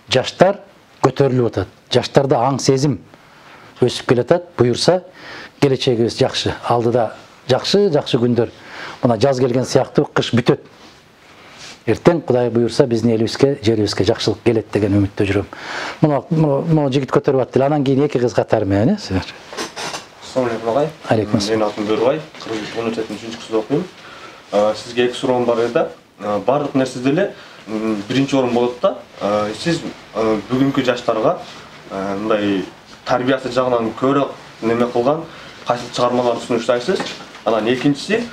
Жаштар көтөрүлүп атат. Жаштарда аң сезим өсүп келатат. Буюрса, келечегибиз жакшы. Алдыда жакшы, жакшы күндөр. Мына жаз келген сыяктуу кыш бүтөт. Эртең Кудай буюрса биздин элибизге, жерибизге жакшылык келет деген үмүттө жүрөм. Мына мына жигит көтөрүп аттыр. Анан кийин эки кыз катары менен, э? Assalamu alaikum agay. Alaikum assalam. Менин атым Бөрбай, Кыргыз университетинин үчүнчү курсунда окуйм. Сизге эки суроом бар эди. Бардык нерседе эле биринчи орун болот да. Сиз бүгүнкү жаштарга мындай тарбиясы жагынан көрөк неме кылган кайсы чыгармаларды сунуштайсыз? Анан экинчиси,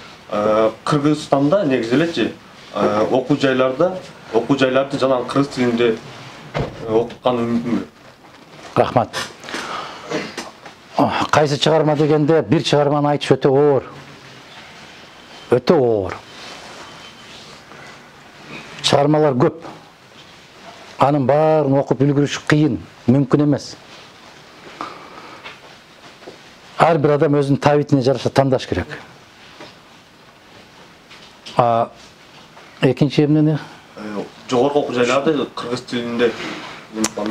Кыргызстанда негизи элечи окуу жайларда, окуу жайларды жалаң кыргыз тилинде окуткан мүмкүнбү? Рахмат. Кайсы чыгарма дегенде бир чыгарманы айтыш өтө оор. Өтө оор. Чыгармалар көп. Анын баарын окуп үлгүрүш кыйын, мүмкүн эмес. Ар бир адам өзүнүн табитине жараша тандаш керек. А экинчи эмне? Жогорку окуу жайларды кыргыз тилинде.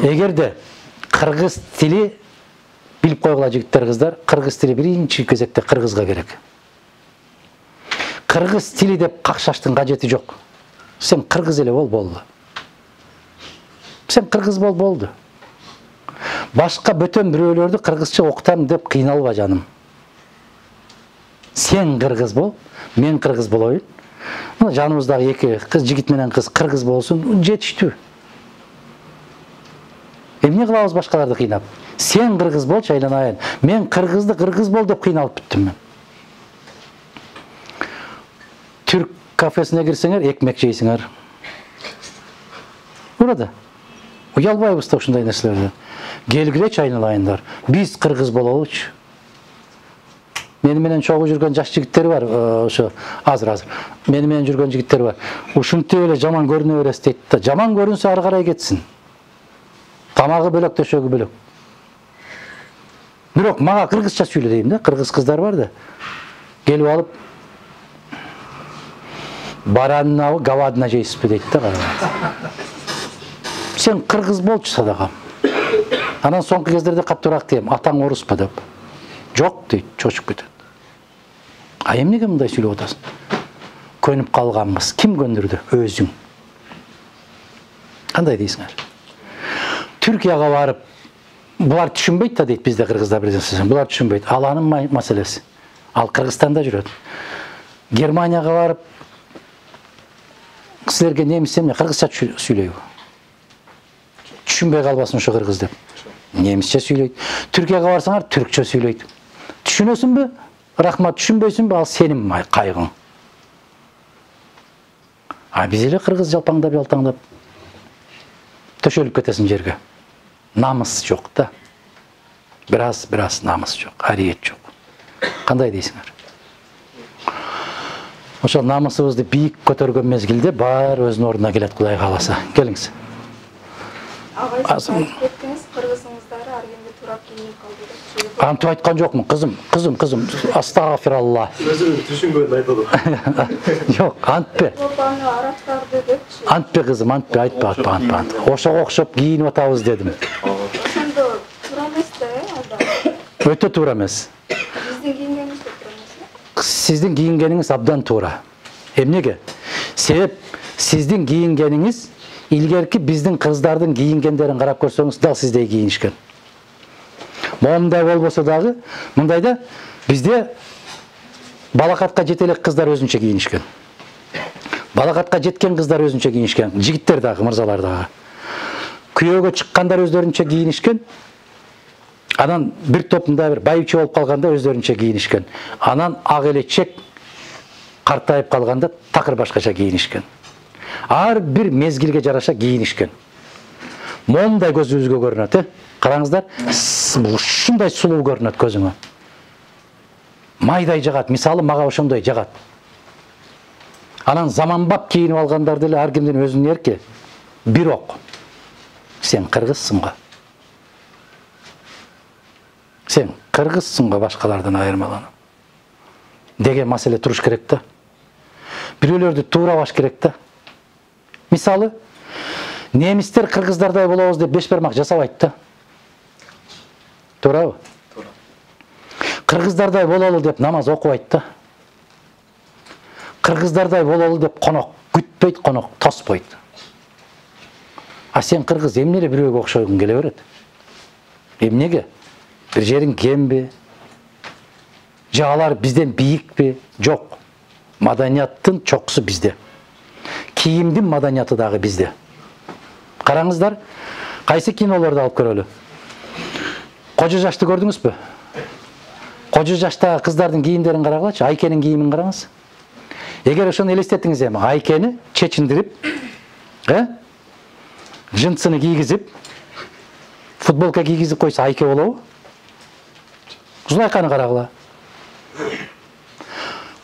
Эгерде кыргыз тили билип койгула жигиттер, кыздар, кыргыз тили биринчи кезекте кыргызга керек. Кыргыз тили деп какшаштын кажети жок. Сен кыргыз эле бол, болду. Сен кыргыз бол, болду. Башка бөтөн бирөөлөрдү кыргызча окутам деп кыйналба, жаным. Сен кыргыз бол, мен кыргыз болоюн. Мына жаныбыздагы эки кыз, жигит менен кыз кыргыз болсун, жетиштүү. Эмне кылабыз башкаларды кыйнап? Сен кыргыз болчу, айланайын. Мен кыргызды кыргыз бол деп кыйналып бүттүм мен. Түрк кафесине кирсеңер, экмек жейсиңер. Урада. Уялбайбыз да ушундай нерселерден. Келгилечи, айналайындар. Биз кыргыз бололучу. Мени менен чогуу жүргөн жаш жигиттер бар, ошо азыр азыр. Мени менен жүргөн жигиттер бар. Ушинтип эле жаман көрүнө бересиз дейт да. Жаман көрүнсө ары карай кетсин. Тамагы бөлөк, төшөгү бөлөк. Бирок мага кыргызча сүйлө дейм да. Кыргыз кыздар бар да. Келип алып бараннабы, говадина жейсизби дейт да. Сен кыргыз болчу садагам. Анан соңку кездерде каттуураак дейм, атаң оруспу деп. Жок дейт, чочуп кетет. А эмнеге мындай сүйлөп атасың? Көнүп калганбыз. Ким көндүрдү? Өзүң. Кандай дейсиңер? Түркияга барып, булар түшүнбөйт да дейт бизде кыргыздар президент. Булар түшүнбөйт. Ал анын маселеси. Ал Кыргызстанда жүрөт. Германияга барып, силерге немис эмне кыргызча сүйлөйбү? Түшүнбөй калбасын ошо кыргыз деп. Немисче сүйлөйт. Түркияга барсаңар түркчө сүйлөйт. Түшүнөсүңбү? Рахмат, түшүнбөйсүңбү? Ал сенин кайгың. А биз эле кыргыз жалпаңдап жалтаңдап төшөлүп кетесиң жерге. Намыс жок да. Бираз бираз намыс жок, ариет жок. Кандай дейсиңер? Ошол намысыбызды бийик көтөргөн мезгилде баары өзүнүн ордуна келет, Кудай кааласа. Келиңиз. Агай, сиз айтып кеттиңиз, кыргызыңыздары ар кимге турап кийинип калды деп. Антип айткан жокмун, кызым, кызым, кызым. Астагфиралла. Өзүн түшүнгөнүн айтады. Жок, антпе. Европаны арабтарды депчи. Антпе кызым, антпе, айтпа, айтпа, айтпа. Ошого окшоп кийинип атабыз дедим. Ошондо туура эмес да, алда. Өтө туура эмес. Биздин кийингенибиз да туура эмес. Сиздин кийингениңиз абдан туура. Эмнеге? Себеп сиздин кийингениңиз илгерки биздин кыздардын кийингендерин карап көрсөңүз дал сиздей кийинишкен. Момундай болбосо дагы, мындайда бизде балакатка жете элек кыздар өзүнчө кийинишкен. Балакатка жеткен кыздар өзүнчө кийинишкен, жигиттер дагы, мырзалар дагы. Күйөөгө чыккандар өздөрүнчө кийинишкен. Анан бир топ мындай бир байчу болуп калганда өздөрүнчө кийинишкен. Анан ак элечек картайып калганда такыр башкача кийинишкен. Ар бир мезгилге жараша кийинишкен. Момундай көзүбүзгө көрүнөт, э? Караңыздар, ушундай сулуу көрүнөт көзүңө. Майдай жагат, мисалы мага ошондой жагат. Анан заманбап кийинип алгандар деле ар кимдин өзүнүн эрки. Бирок сен кыргызсың го. Сен кыргызсың го башкалардан айырмаланып. Деген маселе туруш керек да. Бирөөлөрдү туурабаш керек да. Мисалы, немистер кыргыздардай болобуз деп беш бармак жасабайт да. Туурабы? Туура. Кыргыздардай бололу деп намаз окубайт да. Кыргыздардай бололу деп конок күтпөйт, конок тоспойт. А сен кыргыз эмнеге бирөөгө окшойгуң келе берет? Эмнеге? Бир жериң кемби? Же алар бизден бийикпи? Жок. Маданияттын чокусу бизде. Кийимдин маданияты дагы бизде. Караңыздар, кайсы кинолорду алып көрөлү? Кожо жашты көрдүңүзбү? Кожо жаштагы кыздардын кийимдерин карагылачы, Айкенин кийимин караңыз. Эгер ошону элестеттиңиз эми, Айкени чечиндирип, э? Жынсыны кийгизип, футболка кийгизип койсо Айке болобу? Зулайканы карагыла.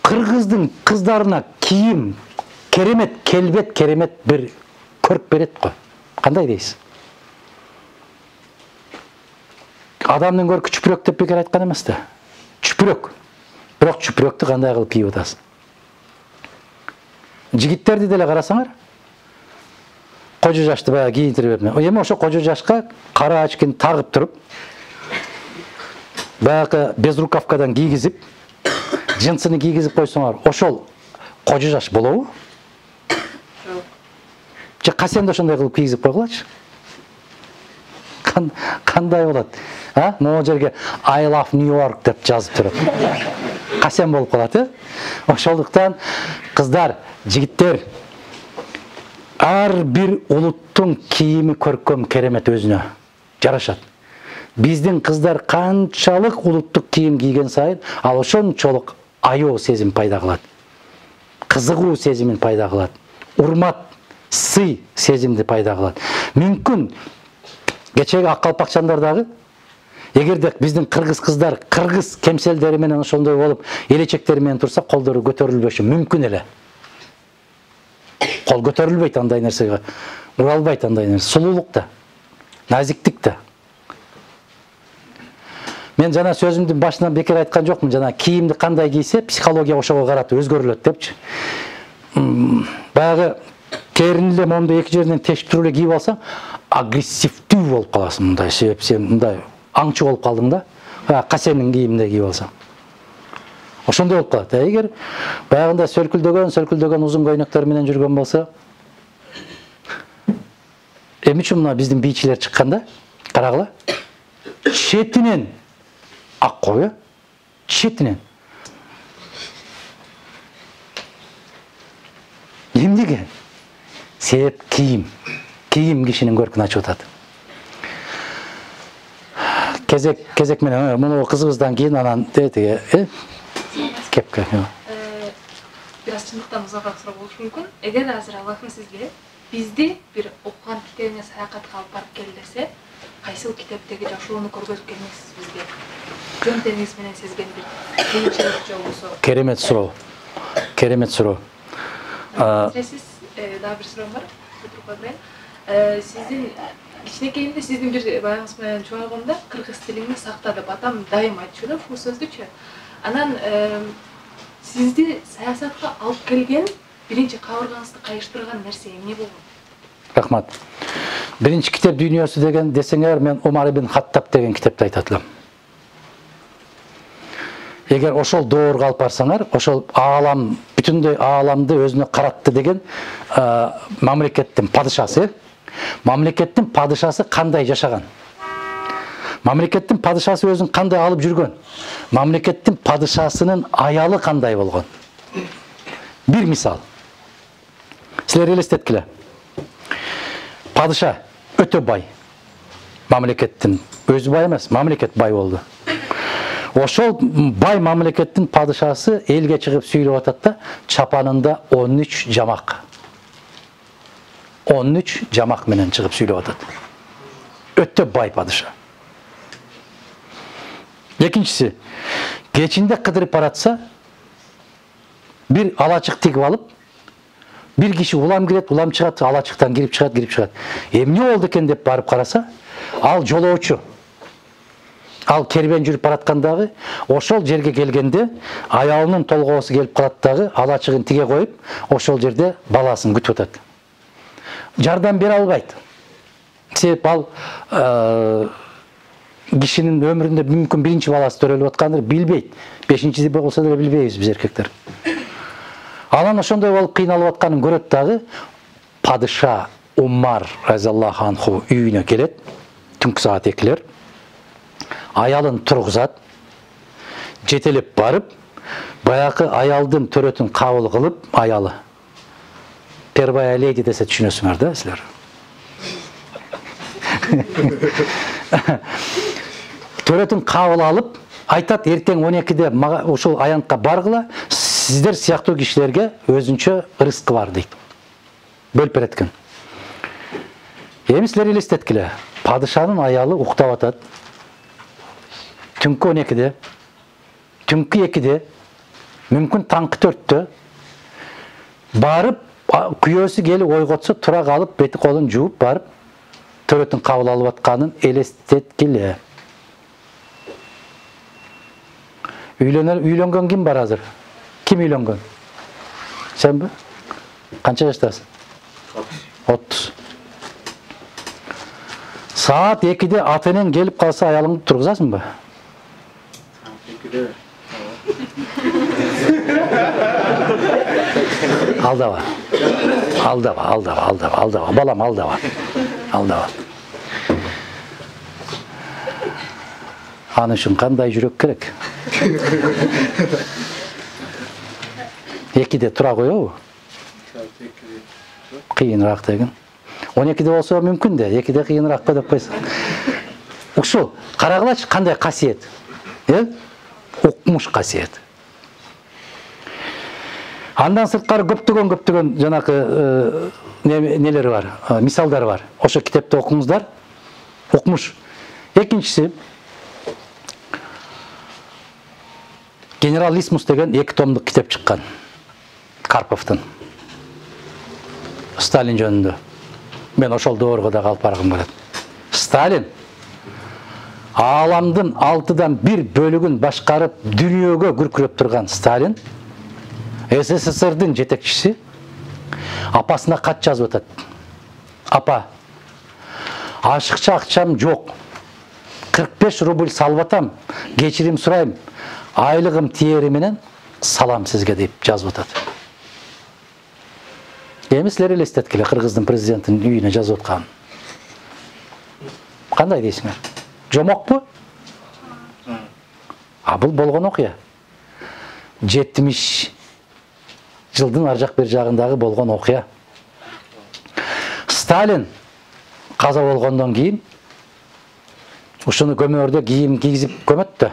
Кыргыздын кыздарына кийим керемет, келбет керемет бир көрк берет го. Кандай дейсиз? Адамдын көркү чүпүрөк деп бекер айткан эмес да. Чүпүрөк. Бирок чүпүрөктү кандай кылып кийип атасың? Жигиттерди деле карасаңар, кожо жашты баягы кийинтирип берме. Эми ошо кожо жашка кара очкини тагып туруп, баягы безрукавкадан кийгизип, жынсыны кийгизип койсоңор, ошол кожо жаш болобу? Жок. Же касенди ошондой кылып кийгизип койгулачы. Кандай болот? А? Могу жерге I love New York деп жазып турат. Касен болуп калат, э? Ошондуктан кыздар, жигиттер, ар бир улуттун кийими көркөм керемет өзүнө жарашат. Биздин кыздар канчалык улуттук кийим кийген сайын, ал ошончолук аяоо сезим пайда кылат. Кызыгуу сезимин пайда кылат. Урмат, сый сезимди пайда кылат. Мүмкүн кечеги ак калпакчандар дагы Эгерде биздин кыргыз кыздар кыргыз кемселдери менен ошондой болуп, элечектери менен турса, колдору көтөрүлбөшү мүмкүн эле. Кол көтөрүлбөйт андай нерсеге. Ура албайт андай нерсе. Сулуулук да, назиктик да. Мен жана сөзүмдүн башынан бекер айткан жокмун, жана кийимди кандай кийсе, психология ошого карата өзгөрүлөт депчи. Баягы терини эле момундай эки жеринен тештирип эле кийип алсаң, агрессивдүү болуп каласың мындай, себеп сен мындай аңчы болуп калдың да. Касенин кийиминде кийип алсаң. Ошондой болуп калат. Эгер баягында сөлкүлдөгөн, сөлкүлдөгөн узун көйнөктөр менен жүргөн болсо, эми үчүн мына биздин бийчилер чыкканда, карагыла. Четинен ак кой, четинен. Эмнеге? Себеп кийим. Кийим кишинин көркүн ачып атат. Кезек кезек менен муну кызыбыздан кийин анан дети, э? Кепке. Бир аз чындыктан узакыраак суроо болушу мүмкүн. Эгер азыр Аллахым сизге бизди бир окуган китебиңе саякатка алып барып кел десе, кайсыл китептеги жашоону көргөзүп келмексиз бизге? Жөн теңиз менен сезген бир кыйынчылык же болбосо. Керемет суроо. Керемет суроо. Сиз дагы бир суроом бар. Туруп берейин. Сиздин кичинекейимде сиздин бир баягыңыз менен чогойгондо кыргыз тилиңди сакта деп атам дайым айтчу да, бул сөздүчү. Анан сизди саясатка алып келген, биринчи кабыргаңызды кайыштырган нерсе эмне болгон? Рахмат. Биринчи китеп дүйнөсү деген десеңер, мен Умар ибн Хаттаб деген китепти айтат элем. Эгер ошол доорго алып барсаңар, ошол аалам, бүтүндөй ааламды өзүнө каратты деген мамлекеттин падышасы, мамлекеттин падышасы кандай жашаган? Мамлекеттин падышасы өзүн кандай алып жүргөн? Мамлекеттин падышасынын аялы кандай болгон? Бир мисал. Силер элестеткиле. Падыша өтө бай. Мамлекеттин өзү бай эмес, мамлекет бай болду. Ошол бай мамлекеттин падышасы элге чыгып сүйлөп атат да, чапанында он үч жамак. он үч жамак менен чыгып сүйлөп атат. Өтө бай падыша. Экинчиси, кечинде кыдырып баратса, бир алачык тигип алып, бир киши улам кирет, улам чыгат, алачыктан кирип чыгат, кирип чыгат. Эмне болду экен деп барып караса, ал жолоочу. Ал кербен жүрүп бараткандагы, ошол жерге келгенде аялынын толгоосу келип калат дагы, алачыгын тиге коюп, ошол жерде баласын күтүп атат. Жардам бере албайт. Себеп ал кишинин өмүрүндө мүмкүн биринчи баласы төрөлүп атканды билбейт. Бешинчиси болсо деле билбейбиз биз эркектер. Анан ошондой болуп кыйналып атканын көрөт дагы, падыша Умар разиаллаху анху үйүнө келет, түнкү саат экилер. Аялын тургузат, жетелеп барып, баягы аялдын төрөтүн кабыл кылып, аялы. Первая леди десе түшүнөсүңөр да силер. Төрөтүн кабыл алып, айтат эртең он экиде ушул аянтка баргыла, сиздер сыяктуу кишилерге өзүнчө рызкы бар дейт. Бөлүп берет экен. Эми силер элестеткиле, падышанын аялы уктап атат. Түнкү он экиде, түнкү экиде, мүмкүн таңкы төрттө барып, күйөөсү келип ойготсо, тура калып, бети колун жууп барып, төрөтүн кабыл алып атканын элестеткиле. Үйлөнгөн ким бар азыр? Ким үйлөнгөн? Сенби? Канча жаштасың? отуз. Саат экиде ата-энең келип калса, аялыңды тургузасыңбы? экиде. Алдава. Алдава, алдава, алдава, алдава. Балам, алдава. Алдава. Аны үчүн кандай жүрөк керек? Экиде тура коебу? Кыйыныраак деген. он экиде болсо мүмкүн да, экиде кыйыныраак деп койсоң. Ушул карагылачы кандай касиет? Э? Укмуш касиет. Андан сырткары көптөгөн көптөгөн жанакы нелери бар, мисалдары бар. Ошо китепти окуңуздар. Укмуш. Экинчиси, Генерал Исмус деген эки томдук китеп чыккан. Карповдун. Сталин жөнүндө. Мен ошол доорго да калып баргым келет. Сталин ааламдын алтыдан бир бөлүгүн башкарып дүйнөгө күркүрөп турган Сталин СССРдин жетекчиси апасына кат жазып атат. Апа, ашыкча акчам жок. кырк беш рубль салып атам. Кечирим сурайм. Айлыгым тиери менен салам сизге деп жазып атат. Эми силер элестеткиле Кыргыздын президентинин үйүнө жазып атканын. Кандай дейсиңер? Жомокпу? А бул болгон окуя. жетимиш жылдын ар жак бер жагындагы болгон окуя. Сталин каза болгондон кийин ушуну көмөрдө кийим кийгизип көмөт да.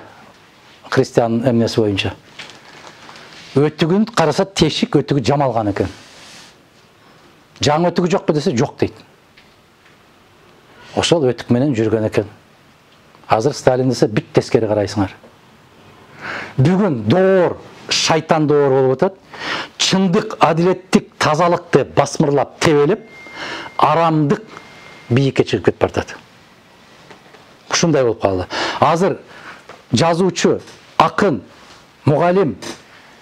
Христиан эмнеси боюнча. Өтүгүн караса тешик, өтүгү жамалган экен. Жаңы өтүгү жокпу десе жок дейт. Ошол өтүк менен жүргөн экен. Азыр Сталин десе бүт тескери карайсыңар. Бүгүн доор, шайтан доор болуп атат. Чындык, адилеттик, тазалыкты басмырлап, тебелеп, арамдык бийикке чыгып кетип бартат. Ушундай болуп калды. Азыр жазуучу, акын, мугалим,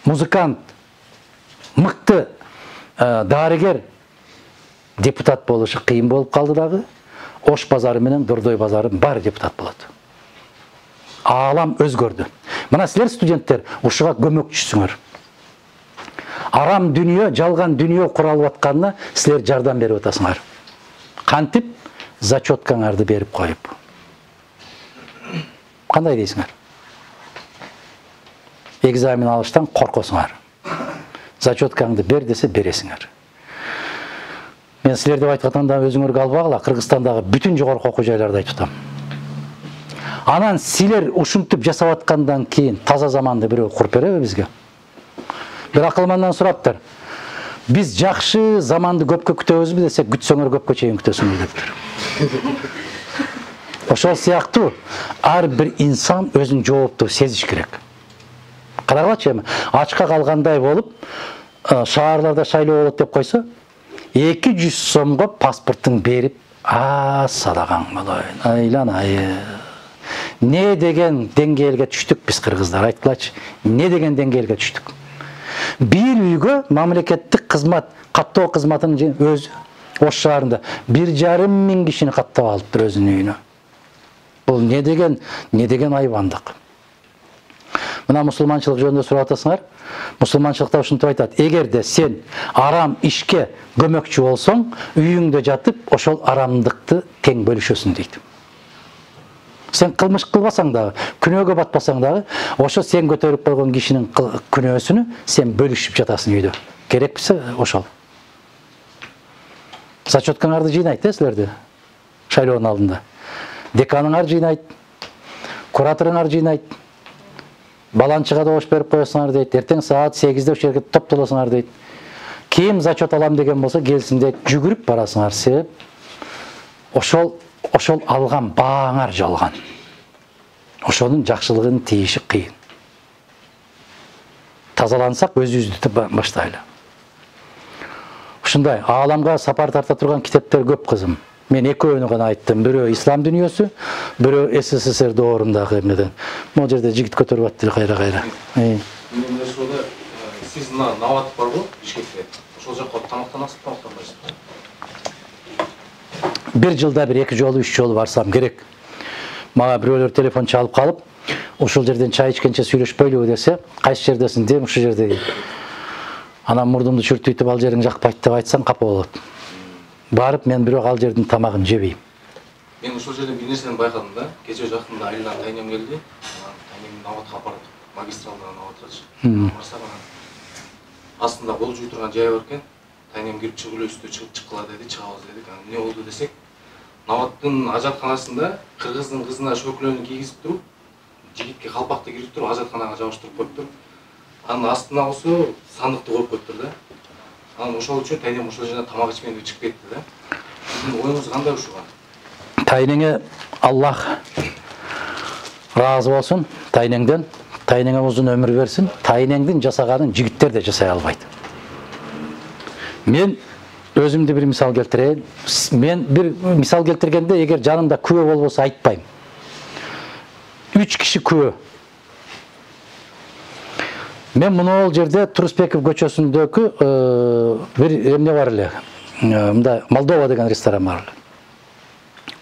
музыкант, мыкты дарыгер депутат болушу кыйын болуп калды дагы. Ош базары менен Дордой базары баары депутат болот. Аалам өзгөрдү. Мына силер студенттер ушуга көмөкчүсүңөр. Арам дүнүйө, жалган дүнүйө куралып атканына силер жардам берип атасыңар. Кантип зачеткаңарды берип коюп. Кандай дейсиңер? Экзамен алыштан коркосуңар. Зачеткаңды бер десе бересиңер. Мен силер деп айтканда өзүңөргө албагыла, Кыргызстандагы бүтүн жогорку окуу жайларды айтып атам. Анан силер ушинтип жасап аткандан кийин таза заманды бирөө куруп береби бизге? Бир акылмандан сураптыр. Биз жакшы заманды көпкө күтөбүзбү десе, күтсөңөр көпкө чейин күтөсүңөр деп. Ошол сыяктуу ар бир инсан өзүн жооптуу сезиш керек. Карагылачы эми, ачка калгандай болуп, шаарларда шайлоо болот деп койсо, эки жүз сомго паспортун берип, а садаган болоюн, айланайы. Не деген деңгээлге түштүк биз кыргыздар, айткылачы. Не деген деңгээлге түштүк. Бир үйгө мамлекеттик кызмат, каттоо кызматынын өзү Ош шаарында бир жарым миң кишини каттап алыптыр өзүнүн үйүнө. Бул не деген, не деген айбандык. Мына мусулманчылык жөнүндө сурап атасыңар. Мусулманчылыкта ушинтип айтат: эгерде сен арам ишке көмөкчү болсоң, үйүңдө жатып, ошол арамдыкты тең бөлүшөсүң дейт. Сен кылмыш кылбасаң дагы, күнөөгө батпасаң дагы, ошо сен көтөрүп койгон кишинин күнөөсүнү сен бөлүшүп жатасың үйдө. Керекписе ошол. Зачеткаңарды жыйнайт да силерди шайлоонун алдында. Деканыңар жыйнайт, кураторуңар жыйнайт. Баланчыга добуш берип коесуңар дейт. Эртең саат сегизде ошол жерге топтолосуңар дейт. Ким зачет алам деген болсо келсин дейт. Жүгүрүп барасыңар, себеп ошол ошол алган бааңар жалган. Ошонун жакшылыгын тийиши кыйын. Тазалансак өзүбүздү баштайлы. Ушундай ааламга сапар тарта турган китептер көп кызым. Мен экөөнү гана айттым. Бирөө ислам дүйнөсү, бирөө СССР доорундагы эмнеден. Могу жерде жигит көтөрүп аттыр кайра-кайра. Мен ошолда сиз мына Нават барбы Бишкекте? Ошол жакка тамактанасызбы, тамактанбайсызбы? Бир жылда бир эки жолу, үч жолу барсам керек. Мага бирөөлөр телефон чалып калып, ушул жерден чай ичкенче сүйлөшпөйлүбү десе, кайсы жердесиң дем, ушул жерде. Анан мурдумду чүртүйтүп ал жериң жакпайт деп айтсаң капа болот. Барып мен бирок ал жердин тамагын жебейм. Мен ошол жерден бир нерсени байкадым да. Кече жакында Айлан тайнем келди. Тайнем Наватка апарып, магистралдан Наватчы. Барсак анан астында кол жууй турган жай бар экен. Тайнем кирип чыгып эле үстү чыгып чыккыла деди, чыгабыз дедик. Анан эмне болду десек, Наваттын ажатканасында кыргыздын кызына шөкөлөнү кийгизип туруп, жигитке калпакты кирип туруп, ажатканага жабыштырып коюптур. Анын астына болсо сандыкты коюп коюптур да. Анан ошол үчүн тайнем ошол жерден тамак ичмей чыгып кетти да. Сиздин оюңуз кандай ушуга? Тайнеңе Аллах разы болсун, тайнеңден Тайнеңе узун өмүр берсин. Тайнеңдин жасаганын жигиттер да жасай албайт. Мен өзүмдү бир мисал келтирейин. Мен бир мисал келтиргенде эгер жанымда күбө болбосо айтпайм. Үч киши күбө. Мен мынол жерде Турусбеков көчөсүндөгү бир эмне бар эле. Мында Молдова деген ресторан бар эле.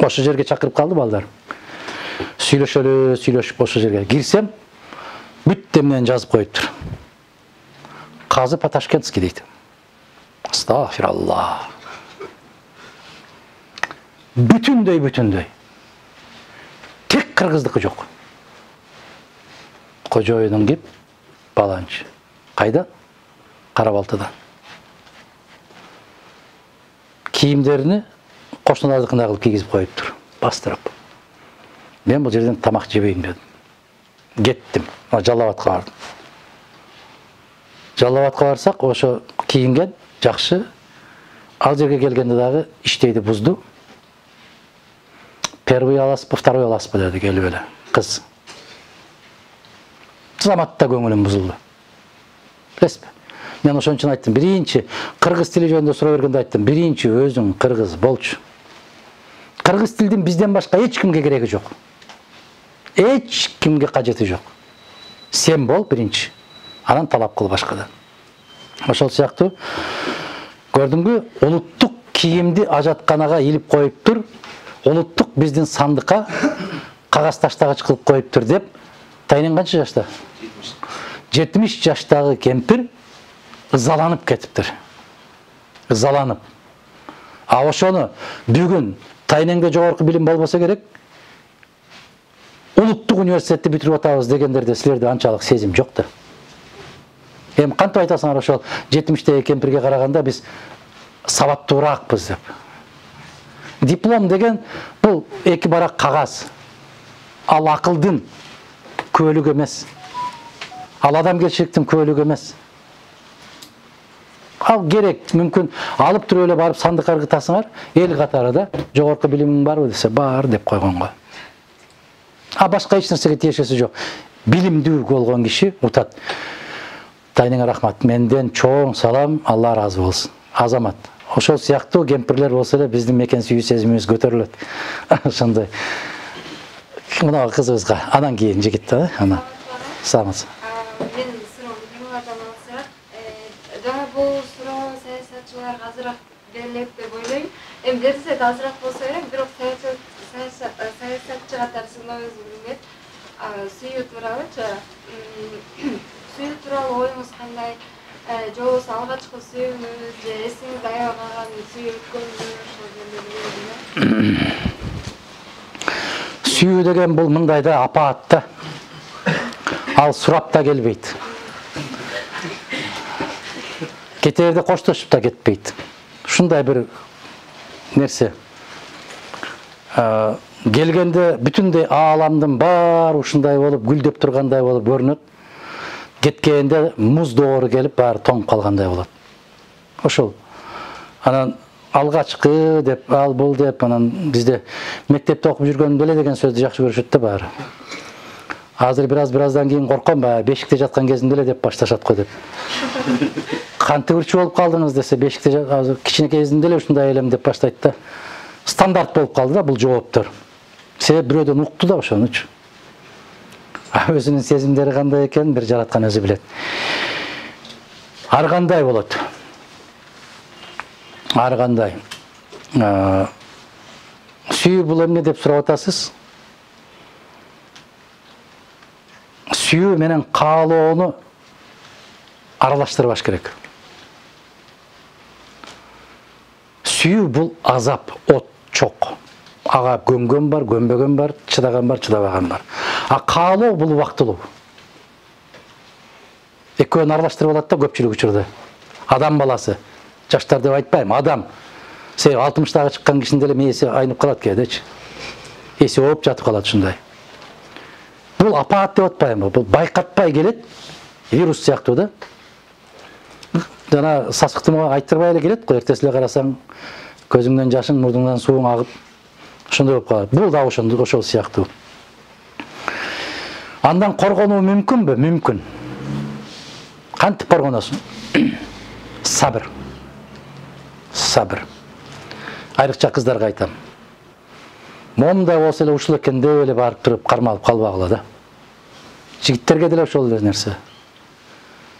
Ошо жерге чакырып калды балдар. Сүйлөшөлү, сүйлөшүп ошо жерге кирсем, бүт эмнени жазып коюптур. Казы по-ташкентски дейт. Астагфираллах. Бүтүндөй бүтүндөй. Тек кыргыздыкы жок. Кожоюнун кеп, баланчы. Кайда? Карабалтыдан. Кийимдерини кошуналардыкындай кылып кийгизип коюптур, бастырып. Мен бул жерден тамак жебейм дедим. Кеттим. Жалал абадка бардым. Жалал абадка барсак, ошо кийинген жакшы. Ал жерге келгенде дагы иштейди бузду. Первый аласызбы, второй аласызбы деди келип эле. Кыз. Заматта көңүлүм бузулду. Билесизби? Мен ошон үчүн айттым, биринчи кыргыз тили жөнүндө суроо бергенде айттым, биринчи өзүң кыргыз болчу. Кыргыз тилдин бизден башка эч кимге кереги жок. Эч кимге кажети жок. Сен бол биринчи. Анан талап кыл башкадан. Ошол сыяктуу көрдүңбү, улуттук кийимди ажатканага илип коюптур. Улуттук биздин сандыкка кагаз таштагыч кылып коюптур деп. Тайнең канча жашта? жетимиш жаштагы кемпир ызаланып кетиптир. Ызаланып. А ошону бүгүн Тайнеңде жогорку билим болбосо керек. Улуттук университетти бүтүрүп атабыз дегендерде силерде анчалык сезим жок да. Эми кантип айтасыңар ошол жетимиштеги кемпирге караганда биз сабаттуураакпыз деп. Диплом деген бул эки барак кагаз. Ал акылдын көөлүгү эмес. Ал адамгерчиликтин көөлүгү эмес. Ал керек, мүмкүн алып туруп эле барып сандыкка ыргытасыңар, эл катарында жогорку билимиң барбы десе, бар деп койгонго. А башка эч нерсеге тиешеси жок. Билимдүү болгон киши утат. Тайнеңе рахмат. Менден чоң салам, Алла разы болсун. Азамат. Ошол сыяктуу кемпирлер болсо эле биздин мекен сүйүү сезимибиз көтөрүлөт. Ошондой. Мына кызыбызга анан кийин жигит да, ана. Саламатсыз. Мен суроомду теңирден алсак, жана бул суроо саясатчыларга азыраак берилет деп ойлойм. Эми берсе да азыраак болсо керек, бирок саясатчы катары сыйлооңуз билмет. Сүйүү туурабычы? Сүйүү тууралуу оюңуз кандай? Же болбосо алгачкы сүйүүңүз, же эсиңизде аябай калган сүйүү өткөнүңүз ошол жөнүндө. Сүйүү деген бул мындай да апаат да. Ал сурап да келбейт. Кетерде коштошуп да кетпейт. Ушундай бир нерсе. Келгенде бүтүндөй ааламдын баары ушундай болуп, гүлдөп тургандай болуп көрүнөт. Кеткенде муз доору келип баары тоңуп калгандай болот. Ошол. Анан алгачкы деп, ал бул деп, анан бизде мектепте окуп жүргөндө эле деген сөздү жакшы көрүшөт да баары. Азыр бираз бираздан кийин корком, баягы бешикте жаткан кезинде эле деп башташат го деп. Кантип ырчы болуп калдыңыз десе, бешикте азыр кичинекей кезинде эле ушундай элем деп баштайт да. Стандарт болуп калды да бул жооптор. Себеп бирөөдөн укту да ошонучу. Өзүнүн сезимдери кандай экенин бир жараткан өзү билет. Ар кандай болот? Ар кандай. Сүйүү бул эмне деп сурап атасыз? Сүйүү менен каалоону аралаштырбаш керек. Сүйүү бул азап, от, чок. Ага көнгөн бар, көнбөгөн бар, чыдаган бар, чыдабаган бар. А каалоо бул убактылуу. Экөөнү аралаштырып алат да көпчүлүк учурда. Адам баласы, жаштар деп айтпайм, адам. Себеби алтымыштагы чыккан кишинин деле мээси айнып калат кээдечи. Эси ооп жатып калат ушундай. Бул апаат деп атпайм, бул байкатпай келет, вирус сыяктуу да. Жана сасыктымга айттырбай эле келет го, эртеси эле карасаң көзүңдөн жашың, мурдуңдан сууң агып, ошондой болуп калат. Бул да ошондой ошол сыяктуу. Андан коргонуу мүмкүнбү? Мүмкүн. Кантип коргоносуң? Сабыр. Сабыр. Айрыкча кыздарга айтам. Момундай болсо эле ушул экен деп эле барып туруп кармалып калбагыла да. Жигиттерге деле ошол эле нерсе.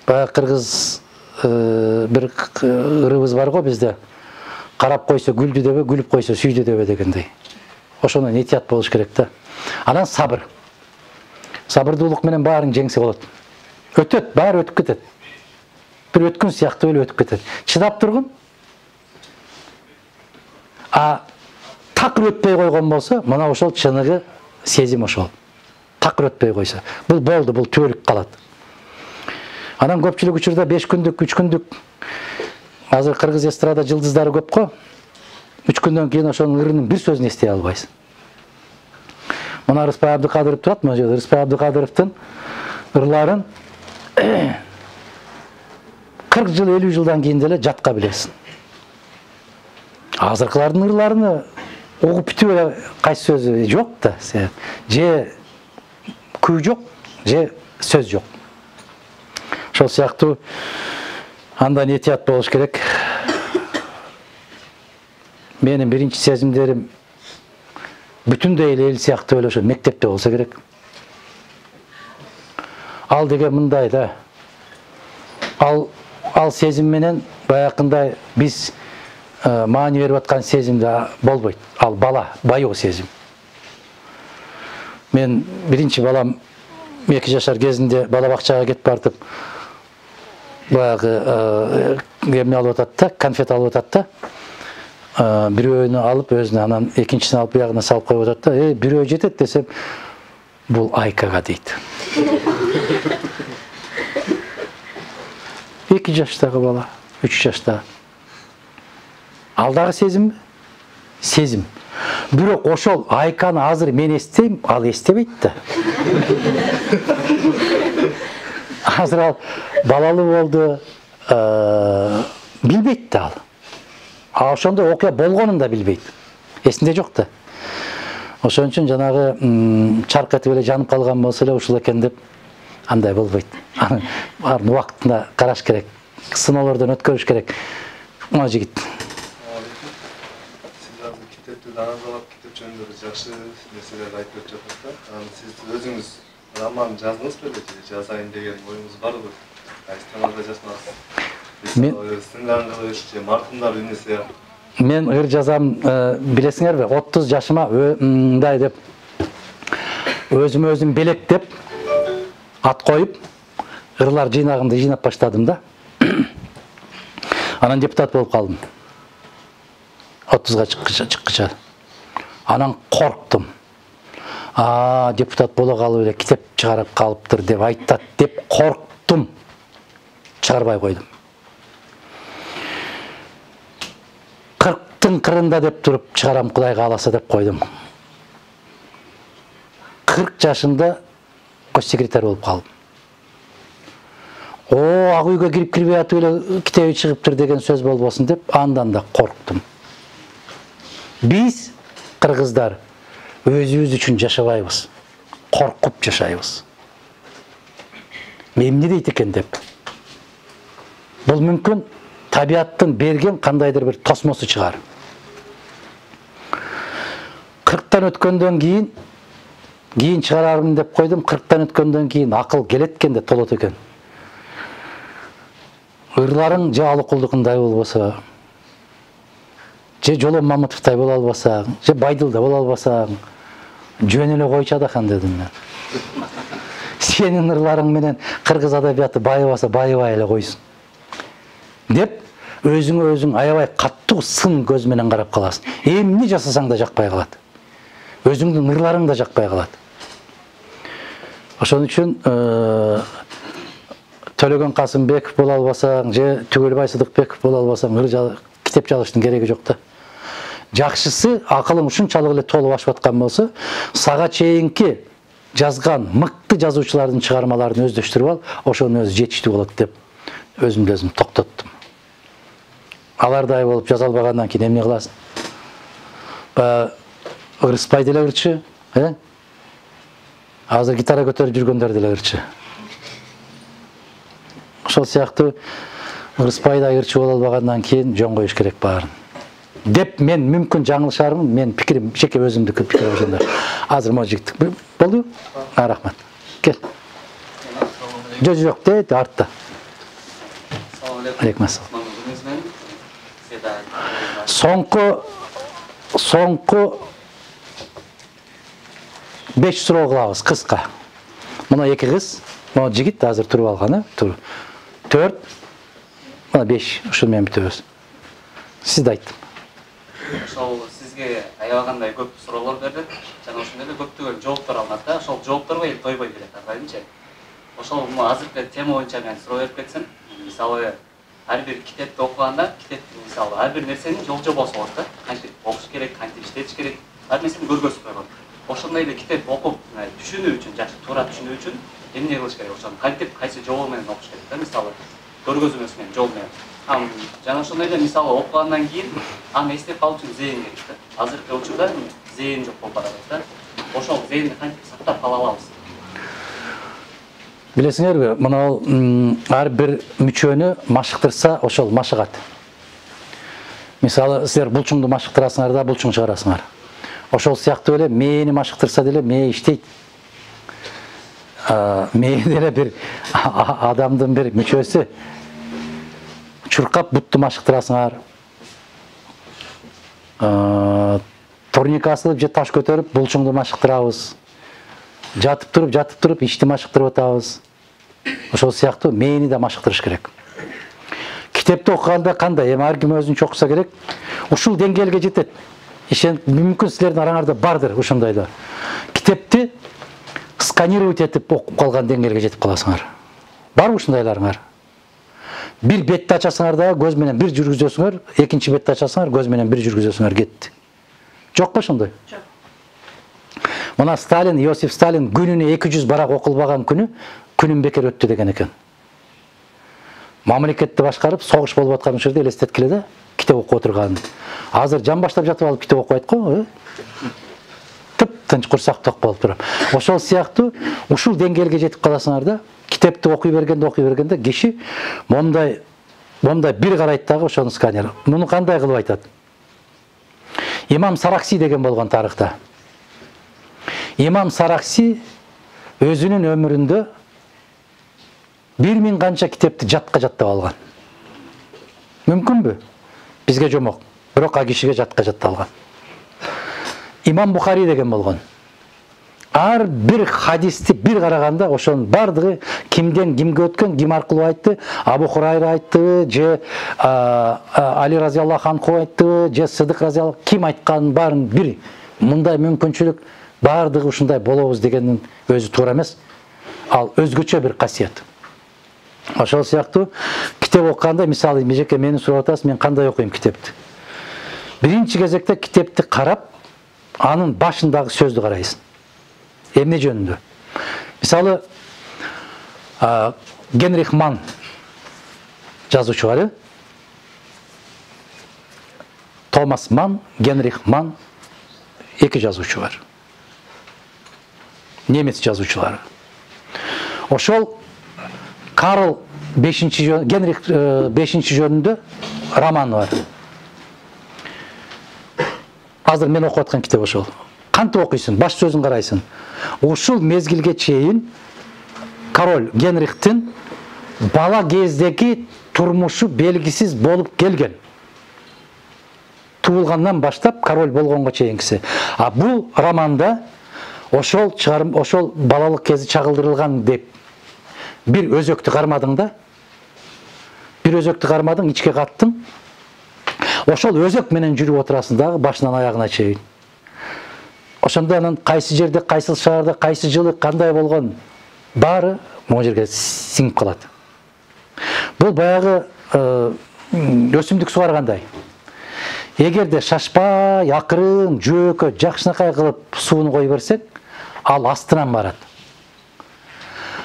Баягы кыргыз бир ырыбыз бар го бизде. Карап койсо гүлдү дебе, гүлүп койсо сүйдү дебе дегендей. Ошондон этият болуш керек да. Анан сабыр. Сабырдуулук менен баарын жеңсе болот. Өтөт, баары өтүп кетет. Бир өткөн сыяктуу эле өтүп кетет. Чыдап тургун. А такыр өтпөй койгон болсо, мына ошол чыныгы сезим ошол. Такыр өтпөй койсо. Бул болду, бул түбөлүк калат. Анан көпчүлүк учурда беш күндүк, үч күндүк азыр кыргыз эстрада жылдыздары көп го. үч күндөн кийин ошонун ырынын бир сөзүн эстей албайсың. Мына Рыспай Абдыкадыров турат, мына жерде Рыспай Абдыкадыровдун ырларын кырк жыл, элүү жылдан кийин деле жатка билесиң. Азыркылардын ырларыны угуп бүтүп эле кайсы сөзү жок да. Же күй жок, же сөз жок. Ошол сыяктуу андан этият болуш керек. Менин биринчи сезимдерим бүтүндөй эле эл сыяктуу эле ошо мектепте болсо керек. Ал деген мындай да. Ал ал сезим менен баякындай биз маани берип аткан сезимде болбойт. Ал бала, байоо сезим. Мен биринчи балам эки жашар кезинде бала бакчага кетип бартып баягы эмне алып атат да, конфет алып атат да. Бирөөнү алып өзүнө, анан экинчисин алып биягына салып коюп атат да. Э, бирөө жетет десем, бул Айкага дейт. эки жаштагы бала, үч жаштагы. Ал дагы сезимби? Сезим. Бирок ошол Айканы азыр мен эстейм, ал эстебейт да. Азыр ал балалуу болду, билбейт да ал. А ошондой окуя болгонун да билбейт. Эсинде жок да. Ошон үчүн жанагы чарк этип эле жанып калган болсо эле ушул экен деп андай болбойт. Баарын убактында караш керек. Сыноолордон өткөрүш керек. Мына жигит. Сиз азыр китепти анализалап, китеп жөнүндө жакшы нерселерди айтып жатасыз да. Сиз өзүңүз роман жаздыңызбы беле? Жазайын деген оюңуз барбы? Кайсы темада жазасыз? Мен сындан кылыш же маркумдар үнүсү. Мен ыр жазам, билесиңерби, отуз жашыма мындай деп өзүм өзүм белектеп ат коюп ырлар жыйнагымды жыйнап баштадым да. Анан депутат болуп калдым. отузга чыккыча. Анан корктум. А, депутат боло калып эле китеп чыгарып калыптыр деп айтат деп корктум. Чыгарбай койдум. кырктын кырында деп туруп чыгарам Кудай кааласа деп койдум. кырк жашымда кош секретарь болуп калдым. О, ак үйгө кирип кирбей атып эле китеби чыгыптыр деген сөз болбосун деп андан да корктум. Биз кыргыздар өзүбүз үчүн жашабайбыз. Коркуп жашайбыз. Эмне дейт экен деп. Бул мүмкүн табиаттын берген кандайдыр бир тосмосу чыгар. кырктан өткөндөн кийин кийин чыгарармын деп койдум. кырктан өткөндөн кийин акыл келет экен да толот экен. Ырларың же Алыкулдукундай болбосо, же Жолон Мамытовдай боло албасаң, же Байдылда боло албасаң, жөн эле койчу Адахан дедим мен. Сенин ырларың менен кыргыз адабияты байыбаса байыбай эле койсун. Деп өзүңө өзүң аябай каттуу сын көз менен карап каласың. Эмне жасасаң да жакпай калат. Өзүңдүн ырларың да жакпай калат. Ошон үчүн Төлөгөн Касымбеков боло албасаң, же Түгөлбай Сыдыкбеков боло албасаң, ыр китеп жазыштын кереги жок да. Жакшысы акылың ушунчалык эле толуп ашып аткан болсо, сага чейинки жазган мыкты жазуучулардын чыгармаларын өздөштүрүп ал, ошонун өзү жетиштүү болот деп өзүмдү өзүм токтоттум. Алардай болуп жаза албагандан кийин эмне кыласың? Ба Рыспай деле ырчы, э? азыр гитара көтөрүп жүргөндөр делерчи. Ошол сыяктуу ырыспайда ырчы боло албагандан кийин жөн коюш керек баарын. Деп мен мүмкүн жаңылышармын, мен пикирим жеке өзүмдүкү пикир ошондо. Азыр мо жигит болду? А, рахмат. Кел. Жок, жок, дейт артта. Алейкум ассалам. Соңку соңку беш суроо кылабыз кыска. Мына эки кыз, мына жигит азыр туруп алганы, тур. төрт, мына беш, ушул менен бүтөбүз. Сизди айттым. Ошол сизге аябагандай көп суроолор бердик. Жана ошондой эле көптөгөн жооптор алынат да. Ошол жоопторго эл тойбой келет, атайынчы. Ошол азыркы тема боюнча мен суроо берип кетсем, мисалы ар бир китепти окуганда, китептин мисалы ар бир нерсенин жол жобосу болот да. Кантип окуш керек, кантип иштетиш керек, ар нерсени көргөзүп койгон. Ошондой эле китеп окуп, түшүнүү үчүн, жакшы туура түшүнүү үчүн эмне кылыш керек? Ошону кантип, кайсы жол менен окуш керек да, мисалы көргөзмөсү менен, жол менен. Ам жана ошондой эле мисалы окугандан кийин аны эстеп калуу үчүн зээн керек да. Азыркы учурда зээн жок болуп баратат да. Ошол зээнди кантип сактап кала алабыз? Билесиңерби, мына ар бир мүчөнү машыктырса, ошол машыгат. Мисалы, силер булчуңду машыктырасыңар да, булчуң чыгарасыңар. Ошол сыяктуу эле мээни машыктырса деле мээ иштейт. Мээ деле бир адамдын бир мүчөсү. Чуркап бутту машыктырасыңар. Турник асылып же таш көтөрүп булчуңду машыктырабыз. Жатып туруп, жатып туруп ишти машыктырып атабыз. Ошол сыяктуу мээни да машыктырыш керек. Китепти окуганда кандай? Эми ар ким өзүнчө окуса керек. Ушул деңгээлге жетет. Ишен мүмкүн силердин араңарда бардыр ошондойлор. Китепти сканировать этип окуп калган деңгээлге жетип каласыңар. Барбы ушундайларыңар? Бир бетти ачасыңар да көз менен бир жүргүзөсүңөр, экинчи бетти ачасыңар, көз менен бир жүргүзөсүңөр, кетти. Жокпу ошондой? Жок. Мына Сталин, Иосиф Сталин күнүнө эки жүз барак окулбаган күнү күнүм бекер өттү деген экен. Мамлекетти башкарып, согуш болуп аткан учурда элестеткиле да, китеп окуп отурганын. Азыр жан баштап жатып алып китеп окубайт го, э? Тып-тынч курсак ток болуп туруп. Ошол сыяктуу ушул деңгээлге жетип каласыңар да, китепти окуй бергенде окуй бергенде киши момдай момдай бир карайт дагы ошону сканер. Муну кандай кылып айтат? Имам Саракси деген болгон тарыхта. Имам Саракси өзүнүн өмүрүндө бир миң канча китепти жатка жаттап алган. Мүмкүнбү? Бизге жомок, бирок а кишиге жатка жатталган. Имам Бухари деген болгон. Ар бир хадисти бир караганда ошонун бардыгы кимден кимге өткөн, ким аркылуу айтты, Абу Хурайра айтты, же Али разияллаху анху айтты, же Сыдык разияллаху, ким айтканын баарын бир. Мындай мүмкүнчүлүк бардыгы ушундай болобуз дегендин өзү туура эмес. Ал өзгөчө бир касиет. Ошол сыяктуу китеп окуганда, мисалы, мижеке мени сурап атасыз, мен кандай окуйм китепти? Биринчи кезекте китепти карап, анын башындагы сөздү карайсың. Эмне жөнүндө? Мисалы, Генрих Манн жазуучу бар, Томас Манн, Генрих Манн, эки жазуучу бар. Немец жазуучулары. Ошол Карл бешинчи Генрих бешинчи жөнүндө романы бар. Азыр мен окуп аткан китеп ошол. Кантип окуйсуң? Баш сөзүн карайсың. Ушул мезгилге чейин король Генрихтин бала кездеги турмушу белгисиз болуп келген. Туулгандан баштап король болгонго чейинкиси. А бул романда ошол чыгарым, ошол балалык кези чагылдырылган деп бир өзөктү кармадың да. Бир өзөктү кармадың, ичке каттың. Ошол өзөк менен жүрүп отурасың дагы башынан аягына чейин. Ошондо анан кайсы жерде, кайсы шаарда, кайсы жылы кандай болгон баары могу жерге сиңип калат. Бул баягы өсүмдүк сугаргандай. Эгерде шашпай, акырын, жөөкө, жакшынакай кылып сууну кой берсек, ал астынан барат.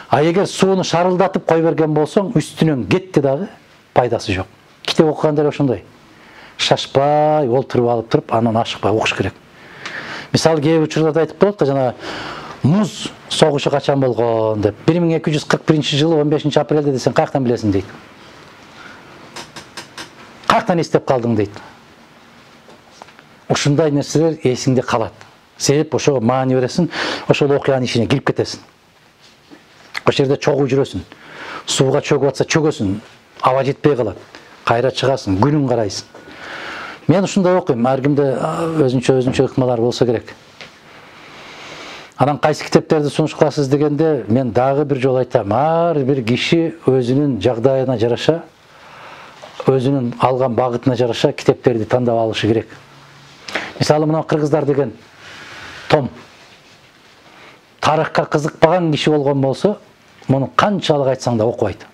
А эгер сууну шарылдатып кой берген болсоң, үстүнөн кетти дагы пайдасы жок. Китеп окуганда ошондой. Шашпай, олтуруп алып туруп, анан ашыкпай окуш керек. Мисалы, кээ учурларда айтып коет да, жана муз согушу качан болгон деп бир миң эки жүз кырк биринчи жылы он бешинчи апрелде десең каяктан билесиң дейт. Каяктан эстеп калдың дейт. Ушундай нерселер эсиңде калат. Себеп ошого маани бересиң, ошол окуянын ичине кирип кетесиң. Ошол жерде чогуу жүрөсүң. Сууга чөгүп атса чөгөсүң, аба жетпей калат. Кайра чыгасың, күнүн карайсың. Мен ушундай окуйм, ар кимде өзүнчө өзүнчө ыкмалар болсо керек. Анан кайсы китептерди сунуш кыласыз дегенде, мен дагы бир жолу айтам, ар бир киши өзүнүн жагдайына жараша, өзүнүн алган багытына жараша китептерди тандап алышы керек. Мисалы, мына кыргыздар деген том. Тарыхка кызыкпаган киши болгон болсо, муну канчалык айтсаң да окубайт.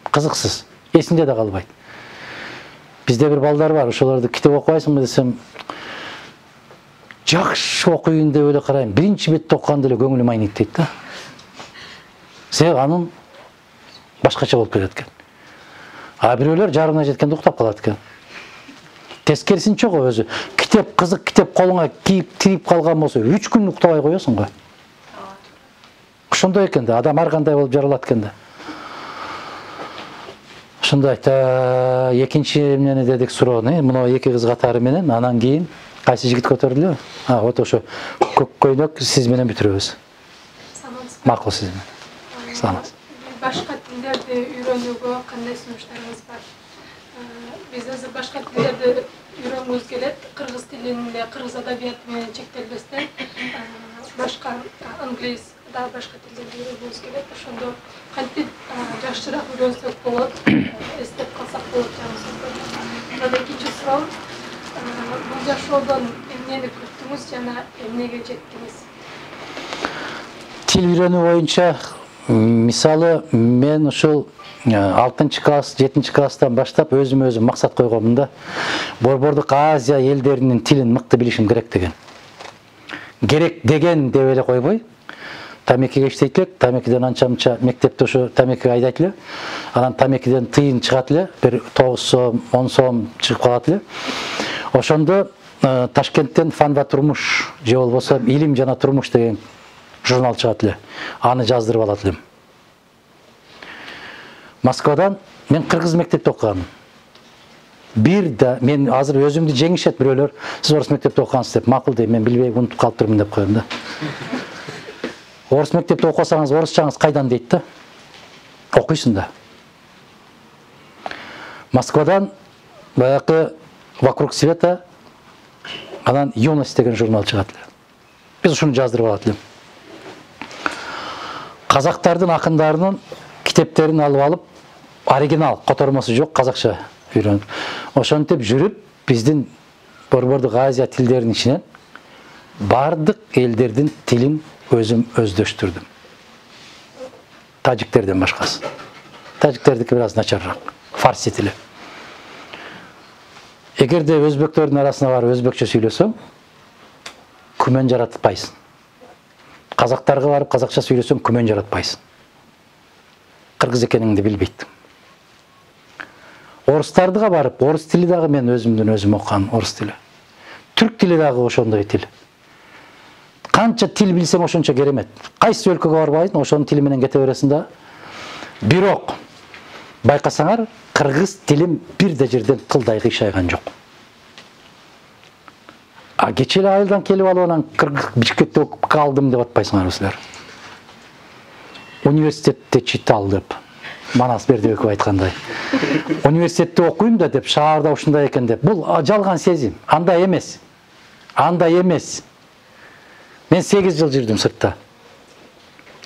Кызыксыз, эсинде да калбайт. Бизде бир балдар бар, ошолорду китеп окубайсыңбы десем, жакшы окуйын деп эле карайм. Биринчи бетти окуганда эле көңүлүм айныйт дейт да. Себеби анын башкача болуп кетет экен. А бирөөлөр жарымына жеткенде уктап калат экен. Тескерисинче го өзү. Китеп кызык китеп колуңа кийип тирип калган болсо, үч күн уктабай коесуң го. Ошондой экен да, адам ар кандай болуп жаралат экен да. Ошондой айта, экинчи эмнени дедик суроону, мына эки кыз катары менен, анан кийин кайсы жигит көтөрүлдү? А, вот ошо көк көйнөк сиз менен бүтүрөбүз. Макул сиз менен. Саламатсыз. Башка тилдерди үйрөнүүгө кандай сунуштарыңыз бар? Биз азыр башка тилдерди үйрөнгүбүз келет. Кыргыз тилинде, кыргыз адабияты менен чектелбестен, башка англис, дагы башка тилдерди үйрөнгүбүз келет. Ошондо кантип жакшыраак үйрөнсөк болот, эстеп калсак болот жаңы. Анан экинчи суроо, бул жашоодон эмнени күттүңүз жана эмнеге жеттиңиз? Тил үйрөнүү боюнча, мисалы, мен ушул алтынчы класс, жетинчи класстан баштап өзүм өзүм максат койгонмун да. Борбордук Азия элдеринин тилин мыкты билишим керек деген. Керек деген деп эле койбой, тамекиге иштейт элек, тамекиден анча-мынча мектепте ошо тамекиге айдайт эле. Анан тамекиден тыйын чыгат эле, бир тогуз сом, он сом чыгып калат эле. Ошондо Ташкенттен Фан ва турмуш же болбосо Илим жана турмуш деген журнал чыгат эле. Аны жаздырып алат элем. Москвадан мен кыргыз мектепте окугам. Бир да мен азыр өзүмдү жеңишет бирөөлөр, сиз орус мектепте окугансыз деп, макул дейм, мен билбей унутуп калыптырмын деп коем да. Орус мектепте окусаңыз, орусчаңыз кайдан дейт да. Окуйсуң да. Москвадан баягы Вокруг света, анан Юность деген журнал чыгат эле. Биз ушуну жаздырып алат элем. Казактардын акындарынын китептерин алып алып, оригинал, котормосу жок казакча үйрөнүп. Ошентип жүрүп, биздин Борбордук Азия тилдеринин ичинен бардык элдердин тилин өзүм өздөштүрдүм. Тажиктерден башкасы. Тажиктердики бир аз начарыраак. Фарси тили. Эгерде өзбектөрдүн арасына барып өзбекче сүйлөсөң, күмөн жаратпайсың. Казактарга барып казакча сүйлөсөң, күмөн жаратпайсың. Кыргыз экениңди билбейт. Орустардыга барып, орус тили дагы мен өзүмдүн өзүм окуган орус тили. Түрк тили дагы ошондой тил. Канча тил билсең ошончо керемет. Кайсы өлкөгө барбайсың, ошонун тили менен кете бересиң да. Бирок байкасаңар, кыргыз тилим бир да жерден тылдай кыйшайган жок. А кече эле айылдан келип алып анан кыргыз Бишкекте окуп калдым деп атпайсыңар силер. Университетте читал деп. Манас Бердибеков айткандай. Университетте окуйм да деп, шаарда ушундай экен деп. Бул жалган сезим. Андай эмес. Андай эмес. Мен сегиз жыл жүрдүм сыртта.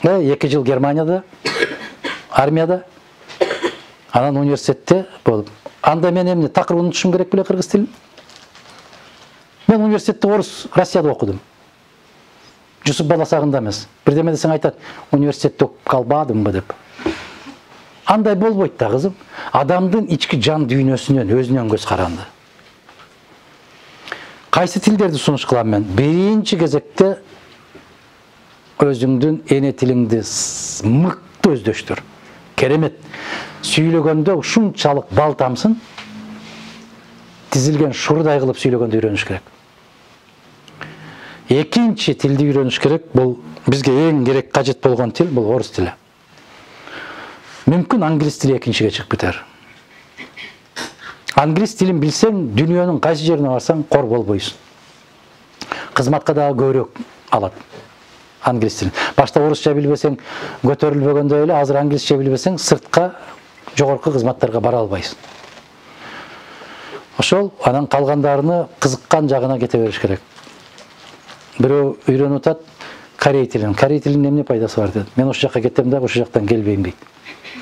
эки жыл Германияда, армияда. Анан университетте болуп. Анда мен эмне такыр унутушум керек беле кыргыз тилин? Мен университетте орус Россияда окудум. Жусуп Баласагында эмес. Бирдеме десең айтат, университетте окуп калбадымбы деп. Андай болбойт да, кызым. Адамдын ички жан дүйнөсүнөн, өзүнөн көз каранды. Кайсы тилдерди сунуш кылам мен? Биринчи кезекте өзүңдүн эне тилиңди мыкты өздөштүр. Керемет. Сүйлөгөндө ушунчалык бал тамсын, тизилген шурдай кылып сүйлөгөндү үйрөнүш керек. Экинчи тилди үйрөнүш керек. Бул бизге эң керек, кажет болгон тил бул орус тили. Мүмкүн англис тили экинчиге чыгып кетер. Англис тилин билсең, дүйнөнүн кайсы жерине барсаң кор болбойсуң. Кызматка дагы көбүрөөк алат англис тилин. Башта орусча билбесең көтөрүлбөгөндөй эле, азыр англисче билбесең сыртка жогорку кызматтарга бара албайсың. Ошол анан калгандарыны кызыккан жагына кете бериш керек. Бирөө үйрөнүп атат корей тилин. Корей тилинин эмне пайдасы бар дедим. Мен ошол жакка кетем да, ошол жактан келбейм дейт.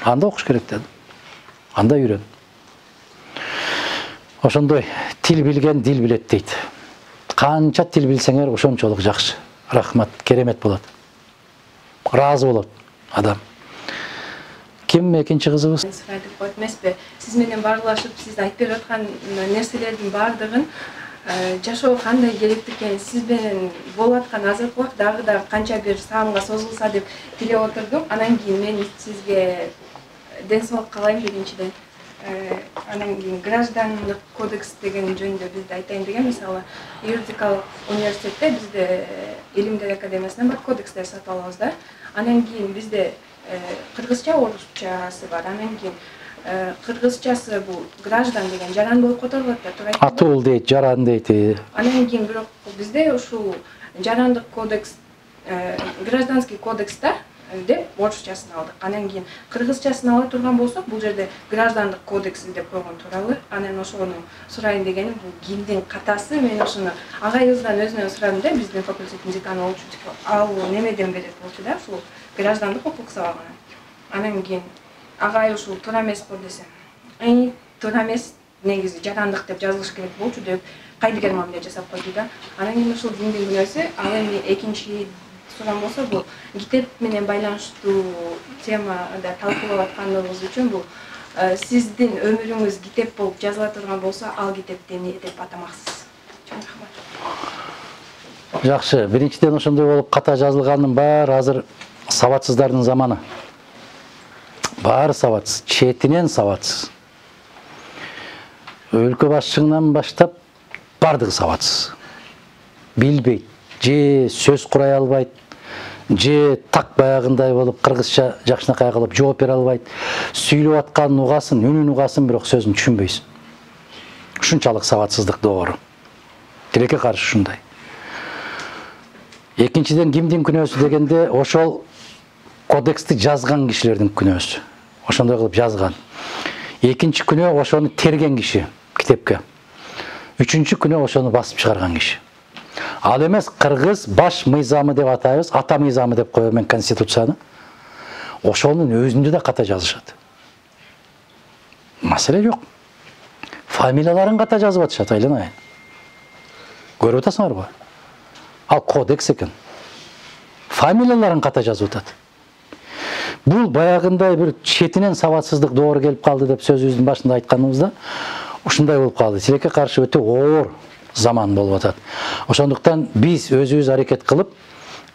Анда окуш керек дедим. Анда үйрөн. Ошондой тил билген дил билет дейт. Канча тил билсеңер ошончолук жакшы. Рахмат, керемет болот. Разы болот адам. Ким экинчи кызыбыз? Сурайдык болот эмеспи? Сиз менен баарлашып, сиз айтып берип аткан нерселердин баардыгын жашоо кандай керектик экенин сиз менен болуп аткан азыркы убакыт дагы да канча бир саамга созулса деп тилеп отурдум. Анан кийин мен сизге ден соолук каалайм биринчиден. Анан кийин граждандык кодекс деген жөнүндө бизде айтайын деген, мисалы юридикалык университетте бизде Илимдер академиясынан бар кодекстер сатып алабыз да. Анан кийин бизде кыргызча, орусчасы бар. Анан кийин кыргызчасы бул граждан деген жаран болуп которулат да, туура айтты. Атул дейт, жаран дейт. Анан кийин бирок бизде ушул жарандык кодекс, гражданский кодекста деп орусчасын алдык. Анан кийин кыргызчасын ала турган болсок, бул жерде граждандык кодекс деп койгон туурабы? Анан ошону сурайын дегеним, бул кимдин катасы? Мен ошону агайыбыздан өзүнөн сурадым да, биздин факультеттин деканы болчу. Ал немеден берет болчу да, ушул граждандык укук сабагынан. Анан кийин агай ушул туура эмес го десе, эй, туура эмес, негизи жарандык деп жазылыш керек болчу деп кайдыгер мамиле жасап койду да. Анан кийин ушул диндин күнөөсү, ал эми экинчи сурам болсо, бул китеп менен байланыштуу темада талкуулап атканыбыз үчүн бул сиздин өмүрүңүз китеп болуп жазыла турган болсо, ал китепти эмне деп атамаксыз? Чоң рахмат. Жакшы, биринчиден ошондой болуп ката жазылганын баары азыр сабатсыздардын заманы. Баары сабатсыз, четинен сабатсыз. Өлкө башчыңынан баштап бардыгы сабатсыз. Билбейт, же сөз курай албайт, же так баягындай болуп кыргызча жакшынакай кылып жооп бере албайт. Сүйлөп атканын угасын, үнүн угасын, бирок сөзүн түшүнбөйсүң. Ушунчалык сабатсыздык доору. Тилекке каршы ушундай. Экинчиден кимдин күнөөсү дегенде, ошол кодексти жазган кишилердин күнөөсү. Ошондой кылып жазган. Экинчи күнөө ошону терген киши китепке. Үчүнчү күнөө ошону басып чыгарган киши. Ал эмес кыргыз баш мыйзамы деп атайбыз, ата мыйзамы деп коем мен конституцияны. Ошонун өзүндө да ката жазышат. Маселе жок. Фамилияларын ката жазып атышат, айланайын. Көрүп атасыңарбы? Ал кодекс экен. Фамилияларын ката жазып атат. Бул баягындай бир четинен сабатсыздык доору келип калды деп сөзүбүздүн башында айтканыбызда ушундай болуп калды. Тилекке каршы өтө оор заман болуп атат. Ошондуктан биз өзүбүз аракет кылып,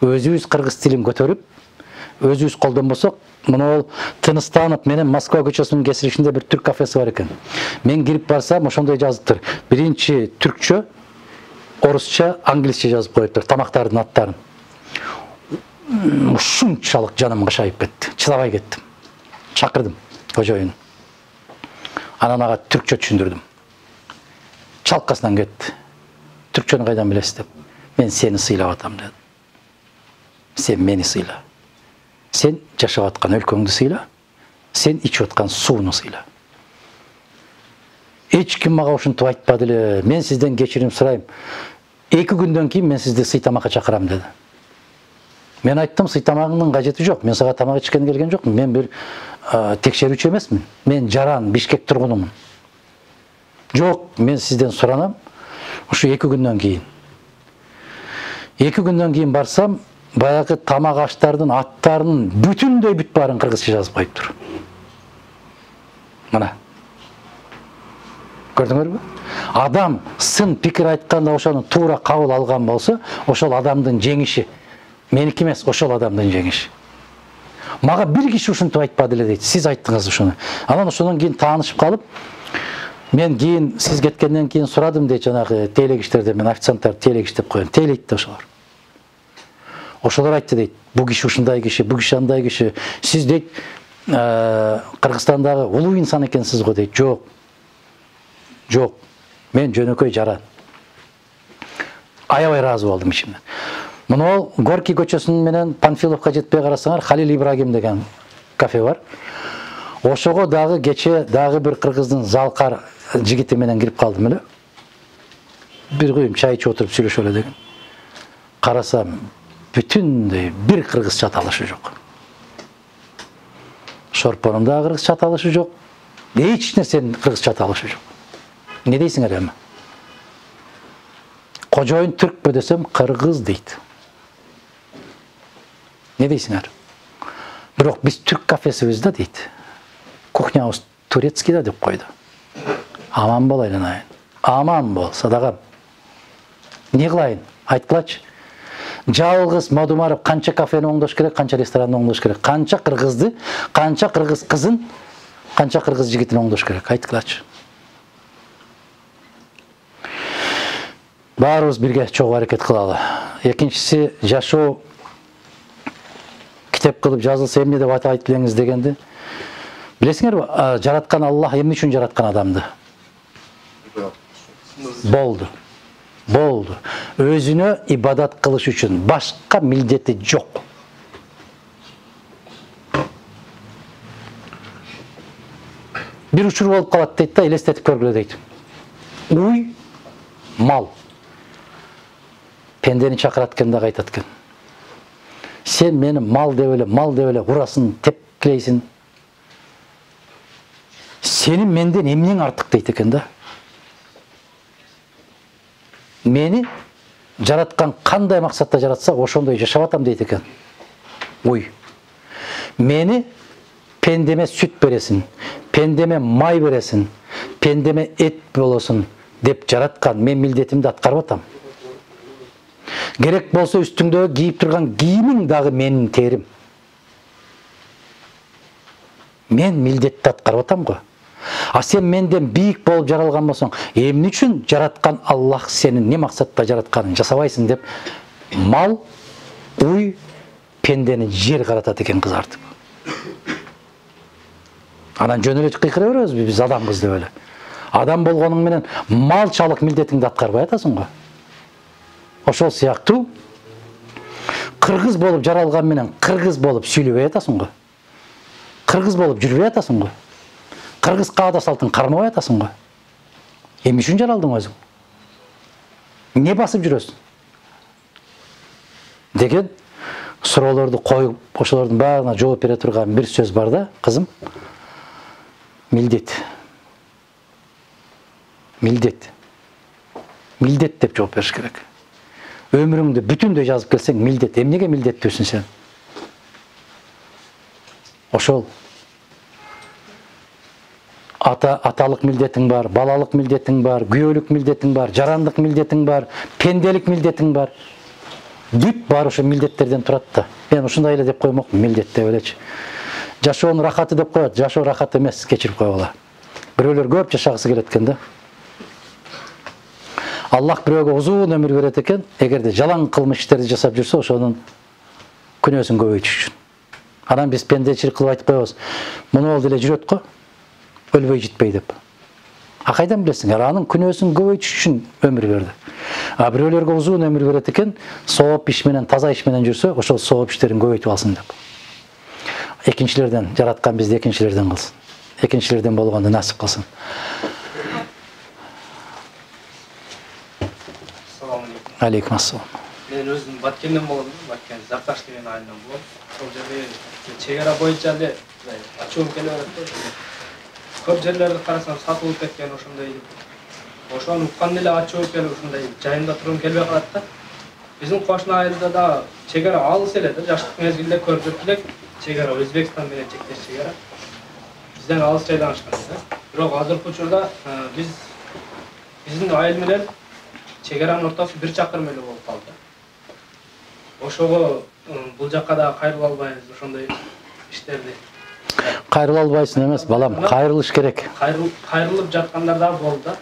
өзүбүз кыргыз тилин көтөрүп, өзүбүз колдонбосок, мына Тыныстанов менен Москва көчөсүнүн кесиришинде бир түрк кафеси бар экен. Мен кирип барсам, ошондой жазыптыр. Биринчи түркчө, орусча, англисче жазып коюптур тамактардын аттарын. Ушунчалык жаным кышайып кетти. Чыдабай кеттим. Чакырдым кожоюн. Анан ага түркчө түшүндүрдүм. Чалкасынан кетти. Түркчөнү кайдан билесиз деп. Мен сени сыйлап атам дедим. Сен мени сыйла. Сен жашап аткан өлкөңдү сыйла. Сен ичип аткан сууну сыйла. Эч ким мага ушинтип айтпады эле. Мен сизден кечирим сурайм. Эки күндөн кийин мен сизди сый тамакка чакырам деди. Мен айттым, сый тамагыңдын кажети жок. Мен сага тамак ичкени келген жокмун. Мен бир текшерүүчү эмесмин. Мен жаран, Бишкек тургунумун. Жок, мен сизден суранам. Ушу эки күндөн кийин. Эки күндөн кийин барсам, баягы тамак аштардын аттарынын бүтүндөй бүт баарын кыргызча жазып коюптур. Мына. Көрдүңөрбү? Адам сын пикир айтканда ошону туура кабыл алган болсо, ошол адамдын жеңиши. Меники эмес, ошол адамдын жеңиши. Мага бир киши ушинтип айтпады эле дейт. Сиз айттыңыз ушуну. Анан ошондон кийин таанышып калып, мен кийин сиз кеткенден кийин сурадым дейт жанагы тейлегичтерден, мен официанттарды тейлегич деп коем. Тейлейт да ошолор. Ошолор айтты дейт, бу киши ушундай киши, бу киши андай киши. Сиз дейт Кыргызстандагы улуу инсан экенсиз го дейт. Жок. Жок. Мен жөнөкөй жара. Аябай ыраазы болдум ичимден. Мына Горький көчөсүнүн менен Панфиловко жетпей карасаңар, Халил Ибрагим деген кафе бар. Ошого дагы кече дагы бир кыргыздын залкар жигити менен кирип калдым эле. Бир күйүм чай ичип отуруп сүйлөшө эле деген. Карасам, бүтүндөй бир кыргызча аталышы жок. Шорпонун да кыргызча аталышы жок. Эч нерсенин кыргызча аталышы жок. Не дейсиңер эми? Кожоюн түркпү десем, кыргыз дейт. Не дейсиңер? Бирок биз түрк кафесибиз да дейт. Кухнябыз турецкий да деп койду. Аман бол айланайын. Аман бол, садагам. Не кылайын? Айткылачы. Жалгыз Мадумаров канча кафени оңдош керек, канча ресторанды оңдош керек, канча кыргызды, канча кыргыз кызын, канча кыргыз жигитин оңдош керек, айткылачы. Баарыбыз бирге чогуу аракет кылалы. Экинчиси, жашоо китеп кылып жазылса эмне деп айтып билеңиз дегенди. Билесиңерби, жараткан Аллах эмне үчүн жараткан адамды? Болду. Болду. Өзүнө ибадат кылыш үчүн, башка милдети жок. Бир учур болуп калат дейт да, элестетип көргүлө дейт. Уй, мал. Пендени чакырат экен да айтат экен. Сен мени мал деп эле, мал деп эле урасын, тепкилейсиң. Сенин менден эмнең артык дейт экен да. Мени жараткан кандай максатта жаратса, ошондой жашап атам дейт экен. Ой. Мени пендеме сүт бересиң, пендеме май бересиң, пендеме эт болосуң деп жараткан, мен милдетимди аткарып атам. Керек болсо үстүңдөгү кийип турган кийимиң дагы менин терим. Мен милдетти аткарып атам го. А сен менден бийик болуп жаралган болсоң, эмне үчүн жараткан Аллах сени не максатта жаратканын жасабайсың деп мал, уй, пендени жер каратат экен кызартып. Анан жөн эле кыйкыра беребизби биз адамбыз деп эле. Адам болгонуң менен малчалык милдетиңди аткарбай атасың го. Ошол сыяктуу кыргыз болуп жаралган менен кыргыз болуп сүйлөбөй атасың го. Кыргыз болуп жүрбөй атасың го. Кыргыз каада салтын кармабай атасың го. Эмне үчүн жаралдың өзүң? Не басып жүрөсүң? Деген суроолорду коюп, ошолордун баарына жооп бере турган бир сөз бар да, кызым. Милдет. Милдет. Милдет деп жооп бериш керек. Өмүрүңдү бүтүндөй жазып келсең, милдет. Эмнеге милдеттүүсүң сен? Ошол ата аталык милдетиң бар, балалык милдетиң бар, күйөөлүк милдетиң бар, жарандык милдетиң бар, пенделик милдетиң бар. Бүт бар ошо милдеттерден турат да. Мен ушундай эле деп коймокмун, милдет деп элечи. Жашоонун рахаты деп коет, жашоо рахат эмес, кечирип койгула. Бирөөлөр көп жашагысы келет экен да. Аллах бирөөгө узун өмүр берет экен, эгерде жалаң кылмыш иштерди жасап жүрсө, ошонун күнөөсүн көбөйтүш үчүн. Анан биз пендечилик кылып айтып коебуз. Муну ол деле жүрөт го, өлбөй житпей деп. А кайдан билесиңер, анын күнөөсүн көбөйтүш үчүн өмүр берди. А бирөөлөргө узун өмүр берет экен, сооп иш менен, таза иш менен жүрсө, ошол сооп иштерин көбөйтүп алсын деп. Экинчилерден жараткан бизди экинчилерден кылсын. Экинчилерден болгонду насип кылсын. Алейкум ассалам. Мен өзүм Баткенден болдум, Баткен Зарташ деген айылдан болом. Ошол жерде чек ара боюнча эле ачуум келип атат. Көп жерлерди карасам сатылып кеткен ошондой. Ошону уккан эле ачуу келип ушундай жайында тургум келбей калат да. Биздин кошуна айылда да чек ара алыс эле да, жаштык мезгилде көрүп элек чек ара Өзбекстан менен чектеш чек ара. Бизден алыс жайдан ашкан да. Бирок азыркы учурда биз биздин айыл менен чек аранын ортосу бир чакырым эле болуп калды. Ошого бул жакка да кайрыла албайбыз ошондой иштерди. Кайрыла албайсың эмес, балам, кайрылыш керек. Кайрылып жаткандар да болду да.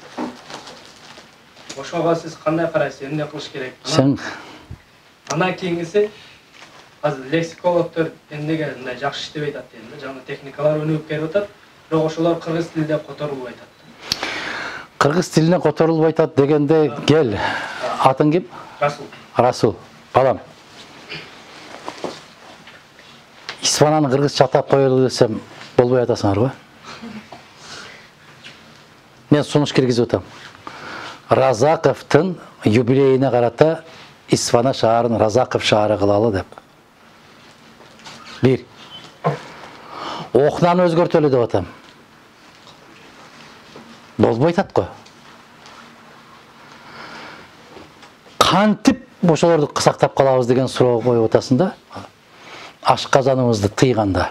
Ошого сиз кандай карайсыз, эмне кылыш керек? Сен Андан кийинкиси азыр лексикологдор эмнеге мындай жакшы иштебей атат дейм да. Жаңы техникалар өнүгүп келип атат, бирок ошолор кыргыз тилинде которулбай атат. Кыргыз тилине которулбай атат дегенде кел. Атың ким? Расул. Расул. Балам. Исфананы кыргызча атап коелу десем болбой атасыңар го. Мен сунуш киргизип атам. Разаковдун юбилейине карата Исфана шаарын Разаков шаары кылалы деп. Бир. Окнаны өзгөртөлү деп атам. Болбой атат го. Кантип ошолорду сактап калабыз деген суроо коюп атасың да. Ашказаныбызды тыйганда.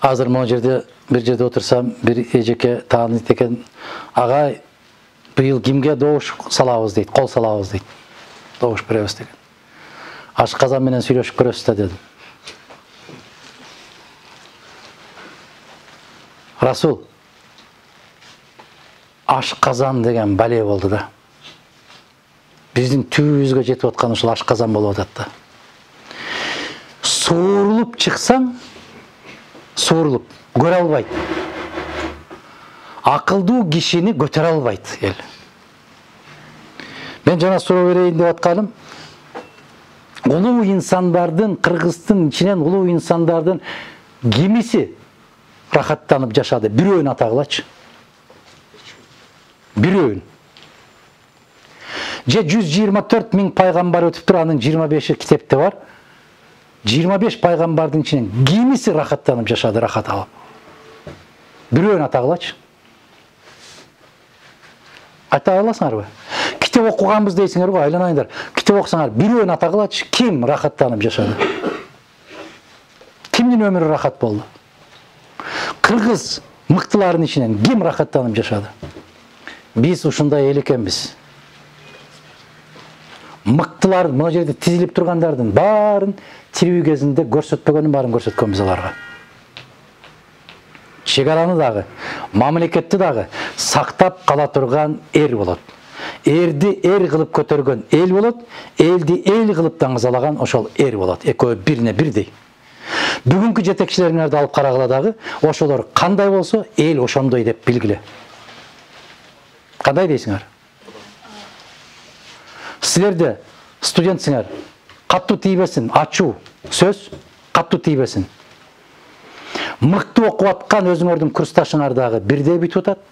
Азыр могу жерде бир жерде отурсам, бир эжеке таанıyт экен, агай быйыл кимге добуш салабыз дейт, кол салабыз дейт. Добуш беребиз деген. Ашказан менен сүйлөшүп көрөсүз да дедим. Расул, ашказан деген бале болду да. Биздин түбүбүзгө жетип аткан ушул ашказан болуп атат да. Суурулуп чыксаң, суурулуп көрө албайт. Акылдуу кишини көтөрө албайт эл. Мен жана суроо берейин деп атканым, улуу инсандардын, кыргыздын ичинен улуу инсандардын кимиси рахаттанып жашады? Бирөөнү атагылачы. Бирөөнү. Же жүз жыйырма төрт миң пайгамбар өтүптүр, анын жыйырма беши китепте бар. жыйырма беш пайгамбардын ичинен кимиси рахаттанып жашады, рахат алып? Бирөөнү атагылачы. Айта аласыңарбы? Китеп окуганбыз дейсиңер го, айланайындар. Китеп окусаңар, бирөөнү атагылачы, ким рахаттанып жашады? Кимдин өмүрү рахат болду? Кыргыз мыктылардын ичинен ким рахаттанып жашады? Биз ушундай эл экенбиз. Мыктылар, могу жерде тизилип тургандардын баарын тирүү кезинде көрсөтпөгөнүн баарын көрсөткөнбүз аларга. Чек араны дагы, мамлекетти дагы сактап кала турган эр болот. Эрди эр кылып көтөргөн эл болот, элди эл кылып даңгызалаган ошол эр болот. Экөө бирине бирдей. Бүгүнкү жетекчилериңерди алып карагыла дагы, ошолор кандай болсо, эл ошондой деп билгиле. Кандай дейсиңер? Силерде студентсиңер, каттуу тийбесин, ачуу сөз каттуу тийбесин. Мыкты окуп аткан өзүңөрдүн курсташыңар дагы бирдей бүтүп атат.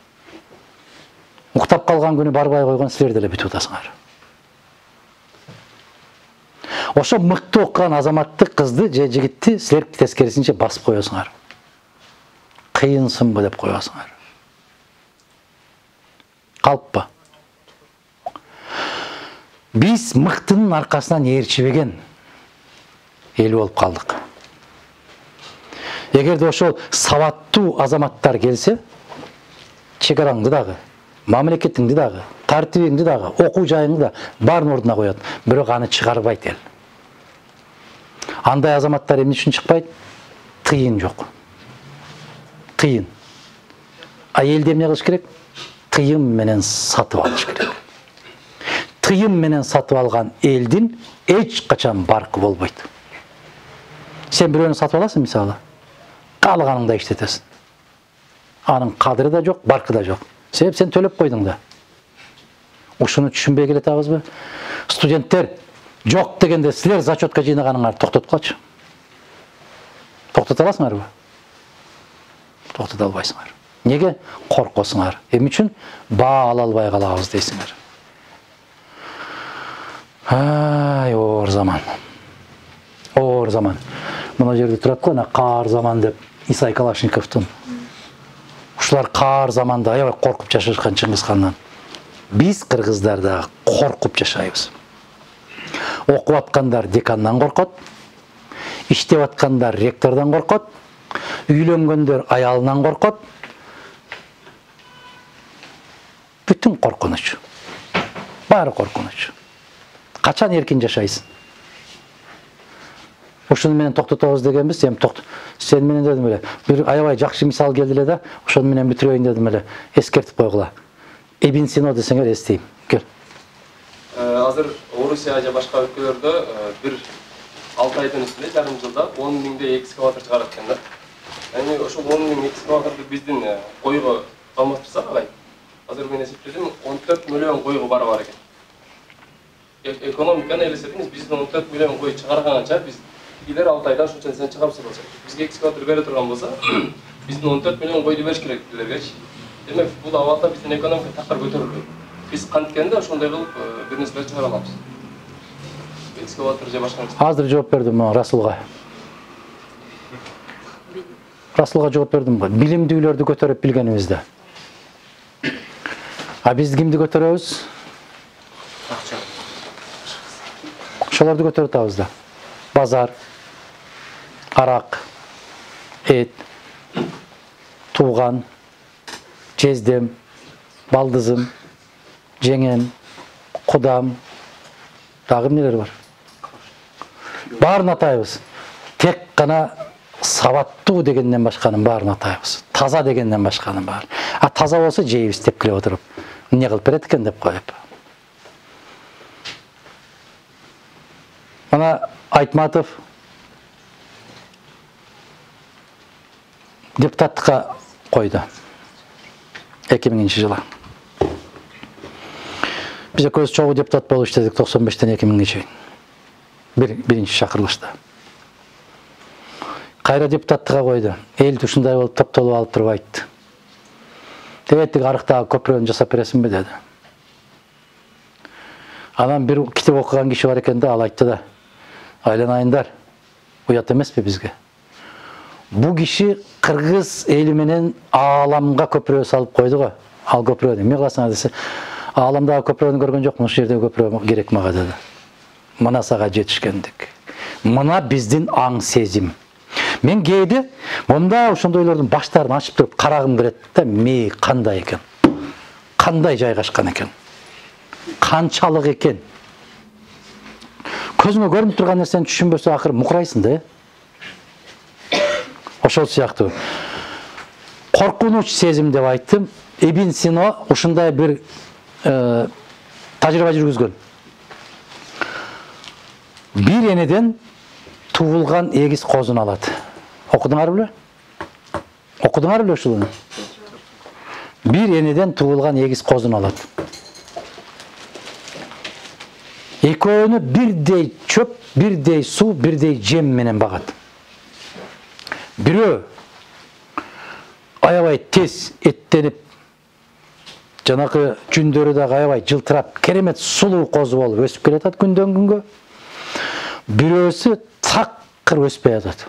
Уктап калган күнү барбай койгон силер деле бүтүп атасыңар. Ошо мыкты окуган азаматты, кызды же жигитти силер тескерисинче басып коесуңар. Кыйынсынбы деп коесуңар. Калппы? Биз мыктынын аркасынан ээрчибеген эл болуп калдык. Эгерде ошол сабаттуу азаматтар келсе, чек араңды дагы, мамлекетиңди дагы, тартибиңди дагы, окуу жайыңды да баарын ордуна коет, бирок аны чыгарбайт эл. Андай азаматтар эмне үчүн чыкпайт? Тыйын жок. Тыйын. А элде эмне кылыш керек? Тыйын менен сатып алыш керек. Тыйын менен сатып алган элдин эч качан баркы болбойт. Сен бирөөнү сатып аласың мисалы, каалаганыңда иштетесиң. Анын кадыры да жок, баркы да жок. Себеп сен төлөп койдуң да. Ушуну түшүнбөй келатабызбы? Студенттер жок дегенде силер зачетка жыйнаганыңарды токтоткулачы. Токтото аласыңарбы? Токтото албайсыңар. Неге? Коркосуңар. Эмне үчүн? Баа ала албай калабыз дейсиңер. Ай, оор заман. Оор заман. Мына жерде турат го, ана каар заман деп Исай Калашниковдун. Ушулар каар заманда аябай коркуп жашашкан Чыңгызхандан. Биз кыргыздар да коркуп жашайбыз. Окуп аткандар декандан коркот, иштеп аткандар ректордон коркот, үйлөнгөндөр аялынан коркот. Бүтүн коркунуч. Баары коркунуч. Качан эркин жашайсың? Ошону менен токтотобуз дегенбиз, эми токто. Сен менен дедим эле, бир аябай жакшы мисал келди эле да, ошону менен бүтүрөйүн дедим эле. Эскертип койгула. Ибн Сино десеңер эстейм. Кел. азыр Орусия же башка өлкөлөрдө бир алты айдын үстүндө жарым жылда он миңдей экскаватор чыгарат экен да. Эми ошол он миң экскаваторду биздин койго алмаштырсак агай, азыр мен эсептедим он төрт миллион койго бара бар экен. Экономиканы элестетиңиз, биздин он төрт миллион кой чыгарганча биз илер алты айда ушунча нерсени чыгарып болсо, бизге экскаватор бере турган болсо, биздин он төрт миллион койду бериш керек билергечи. Демек, бул абалда биздин экономика такыр көтөрүлбөйт. Биз канткенде ошондой кылып бир нерселерди чыгара алабыз. Экскаватор же башка нерсе. Азыр жооп бердим Расулга. Расулга жооп бердим го. Билимдүүлөрдү көтөрүп билгенибизде. А биз кимди көтөрөбүз? Акча. Ошолорду көтөрүп атабыз да. Базар, арак, эт, тууган, жездем, балдызым, жеңем, кудам, дагы эмнелер бар? Баарын атайбыз. Тек гана сабаттуу дегенден башканын баарын атайбыз. Таза дегенден башканын баары. А таза болсо жейбиз тепкилеп отуруп. Эмне кылып берет экен деп коюп. Мана Айтматов депутаттыкка койду. эки миңинчи жылы. Биз экөөбүз чогуу депутат болуп иштедик токсон бештен эки миңге чейин. Бир биринчи чакырылышта. Кайра депутаттыкка койду. Эл ушундай болуп топтолуп алып туруп айтты. Дебеттик арыктагы көпүрөнү жасап бересиңби деди. Анан бир китеп окуган киши бар экен да, ал айтты да. Айланайындар, уят эмеспи бизге? Бу киши кыргыз эли менен ааламга көпүрө салып койду го. Ал көпүрөнү эмне кыласың десе, ааламдагы көпүрөнү көргөн жокмун, ушул жердеги көпүрө керек мага деди. Мына сага жетишкендик. Мына биздин аң сезим. Мен кээде монда ошондойлордун баштарын ачып туруп карагым келет да, мээ кандай экен? Кандай жайгашкан экен? Канчалык экен? Көзүңө көрүнүп турган нерсени түшүнбөсө акыры мукурайсың да. Ошол сыяктуу. Коркунуч сезим деп айттым. Ибн Сина ушундай бир тажрыйба жүргүзгөн. Бир энеден туулган эгиз козун алат. Окудуңар беле? Окудуңар беле ушуну? Бир энеден туулган эгиз козун алат. Экөөнү бирдей чөп, бирдей суу, бирдей жем менен багат. Бирөө аябай тез эттенип, жанакы жүндөрү да аябай жылтырап, керемет сулуу козу болуп өсүп келатат күндөн күнгө. Бирөөсү такыр өспөй атат.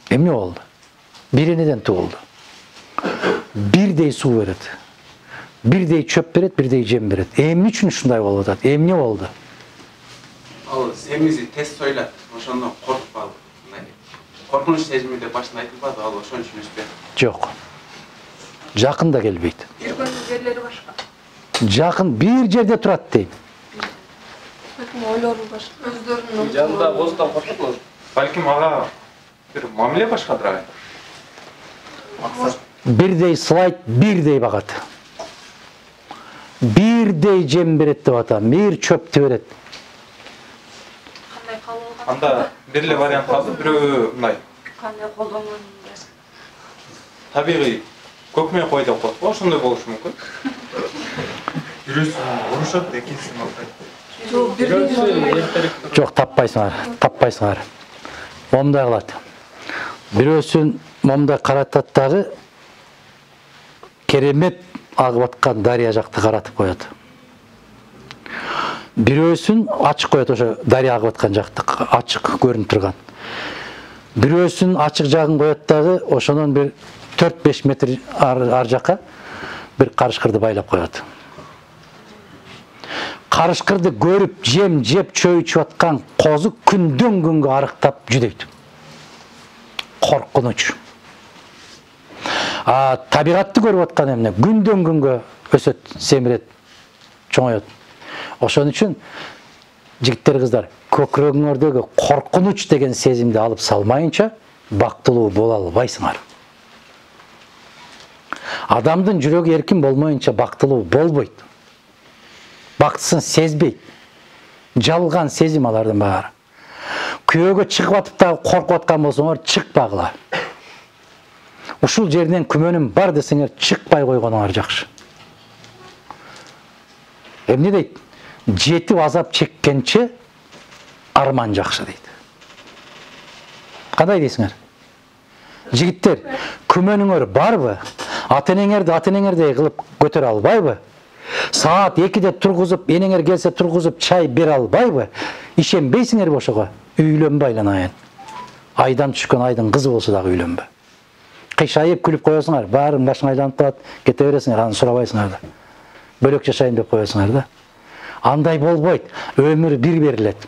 Эмне болду? Бир энеден туулду. Бирдей суу берет. Бирдей чөп берет, бирдей жем берет. Эмне үчүн ушундай болуп атат? Эмне болду? Ал семизи тез сойлат, ошондон коркуп калды. Коркунуч сезими деп башында айтылбады, ал ошон үчүн өспөйт. Жок. Жакын да келбейт. Жүргөн жерлери башка. Жакын бир жерде турат дейм. Ойлору башка. Өздөрүнүн жанында боздан коркутмуш. Балким ага бир мамиле башкадыр ага. Максат Бирдей слайд, бирдей багат. Бирдей жем берет деп атам, бир чөптү берет. Кандай калуу? Анда бир эле вариант калды, бирөө мындай. Кандай колдонгон? Табигый көкмөй кой деп коет го, ошондой болушу мүмкүн. Бирөөсү урушат, экинчиси мактайт. Жок, таппайсыңар, таппайсыңар. Момундай кылат. Бирөөсүн момундай каратат дагы керемет агып аткан дарыя жакты каратып коет. Бирөөсүн ачык коет, ошо дарыя агып аткан жакты ачык көрүнүп турган. Бирөөсүн ачык жагын коет дагы ошонун бир төрт беш метр ар жака бир карышкырды байлап коет. Карышкырды көрүп, жем жеп чөй ичип аткан козу күндөн күнгө арыктап жүдөйт. Коркунуч. А табигатты көрүп аткан эмне? Күндөн күнгө өсөт, семирет, чоңоет. Ошон үчүн жигиттер, кыздар, көкүрөгүңөрдөгү коркунуч деген сезимди алып салмайынча бактылуу боло албайсыңар. Адамдын жүрөгү эркин болмоюнча бактылуу болбойт. бактысын сезбейт. Жалган сезим алардын баары. Күйөөгө чыгып атып дагы коркуп аткан болсоңор, чыкпагыла. Ушул жерден күмөнүм бар десеңер, чыкпай койгонуңар жакшы. Эмне дейт? Жетип азап чеккенче арман жакшы дейт. Кандай дейсиңер? Жигиттер, күмөнүңөр барбы? Ата-энеңерди ата-энеңердей кылып көтөрө албайбы? Саат экиде тургузуп, энеңер келсе тургузуп чай бере албайбы? Ишенбейсиңерби ошого? Үйлөнбө айланайын. Айдан түшкөн айдын кызы болсо дагы үйлөнбө. Кыйшайып күлүп коесуңар, баарын башың айланып калат, кете бересиңер, аны сурабайсыңар да. Бөлөк жашайын деп коесуңар да. Андай болбойт. Өмүр бир берилет.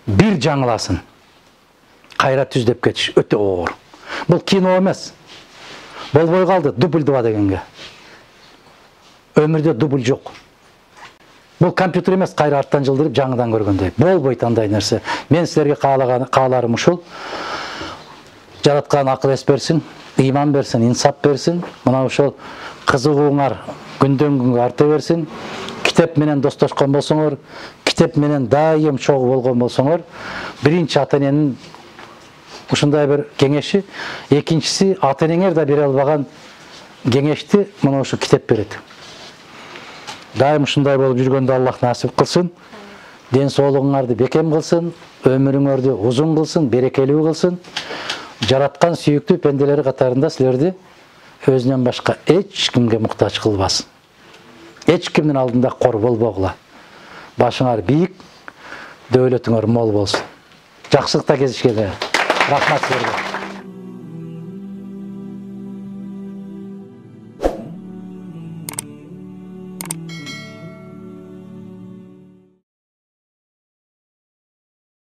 Бир жаңыласын. Кайра түздөп кетиш өтө оор. Бул кино эмес. Болбой калды дубль два дегенге. Өмүрдө дубль жок. Бул компьютер эмес, кайра арттан жылдырып жаңыдан көргөндөй. Болбойт андай нерсе. Мен силерге каалаган кааларым ушул. Жараткан акыл эс берсин, ыйман берсин, инсап берсин. Мына ошол кызыгууңар күндөн күнгө арта берсин. Китеп менен достошкон болсоңор, китеп менен дайым чогуу болгон болсоңор, биринчи ата-эненин ушундай бир кеңеши, экинчиси ата-энеңер да бере албаган кеңешти мына ушу китеп берет. Дайым ушундай болуп жүргөндө Аллах насип кылсын. Ден соолугуңарды бекем кылсын, өмүрүңөрдү узун кылсын, берекелүү кылсын. Жараткан сүйүктүү пенделери катарында силерди өзүнөн башка эч кимге муктаж кылбасын. Эч кимдин алдында кор болбогула. Башыңар бийик, дөөлөтүңөр мол болсун. Жакшылыкта кезишкенде. Рахмат силерге.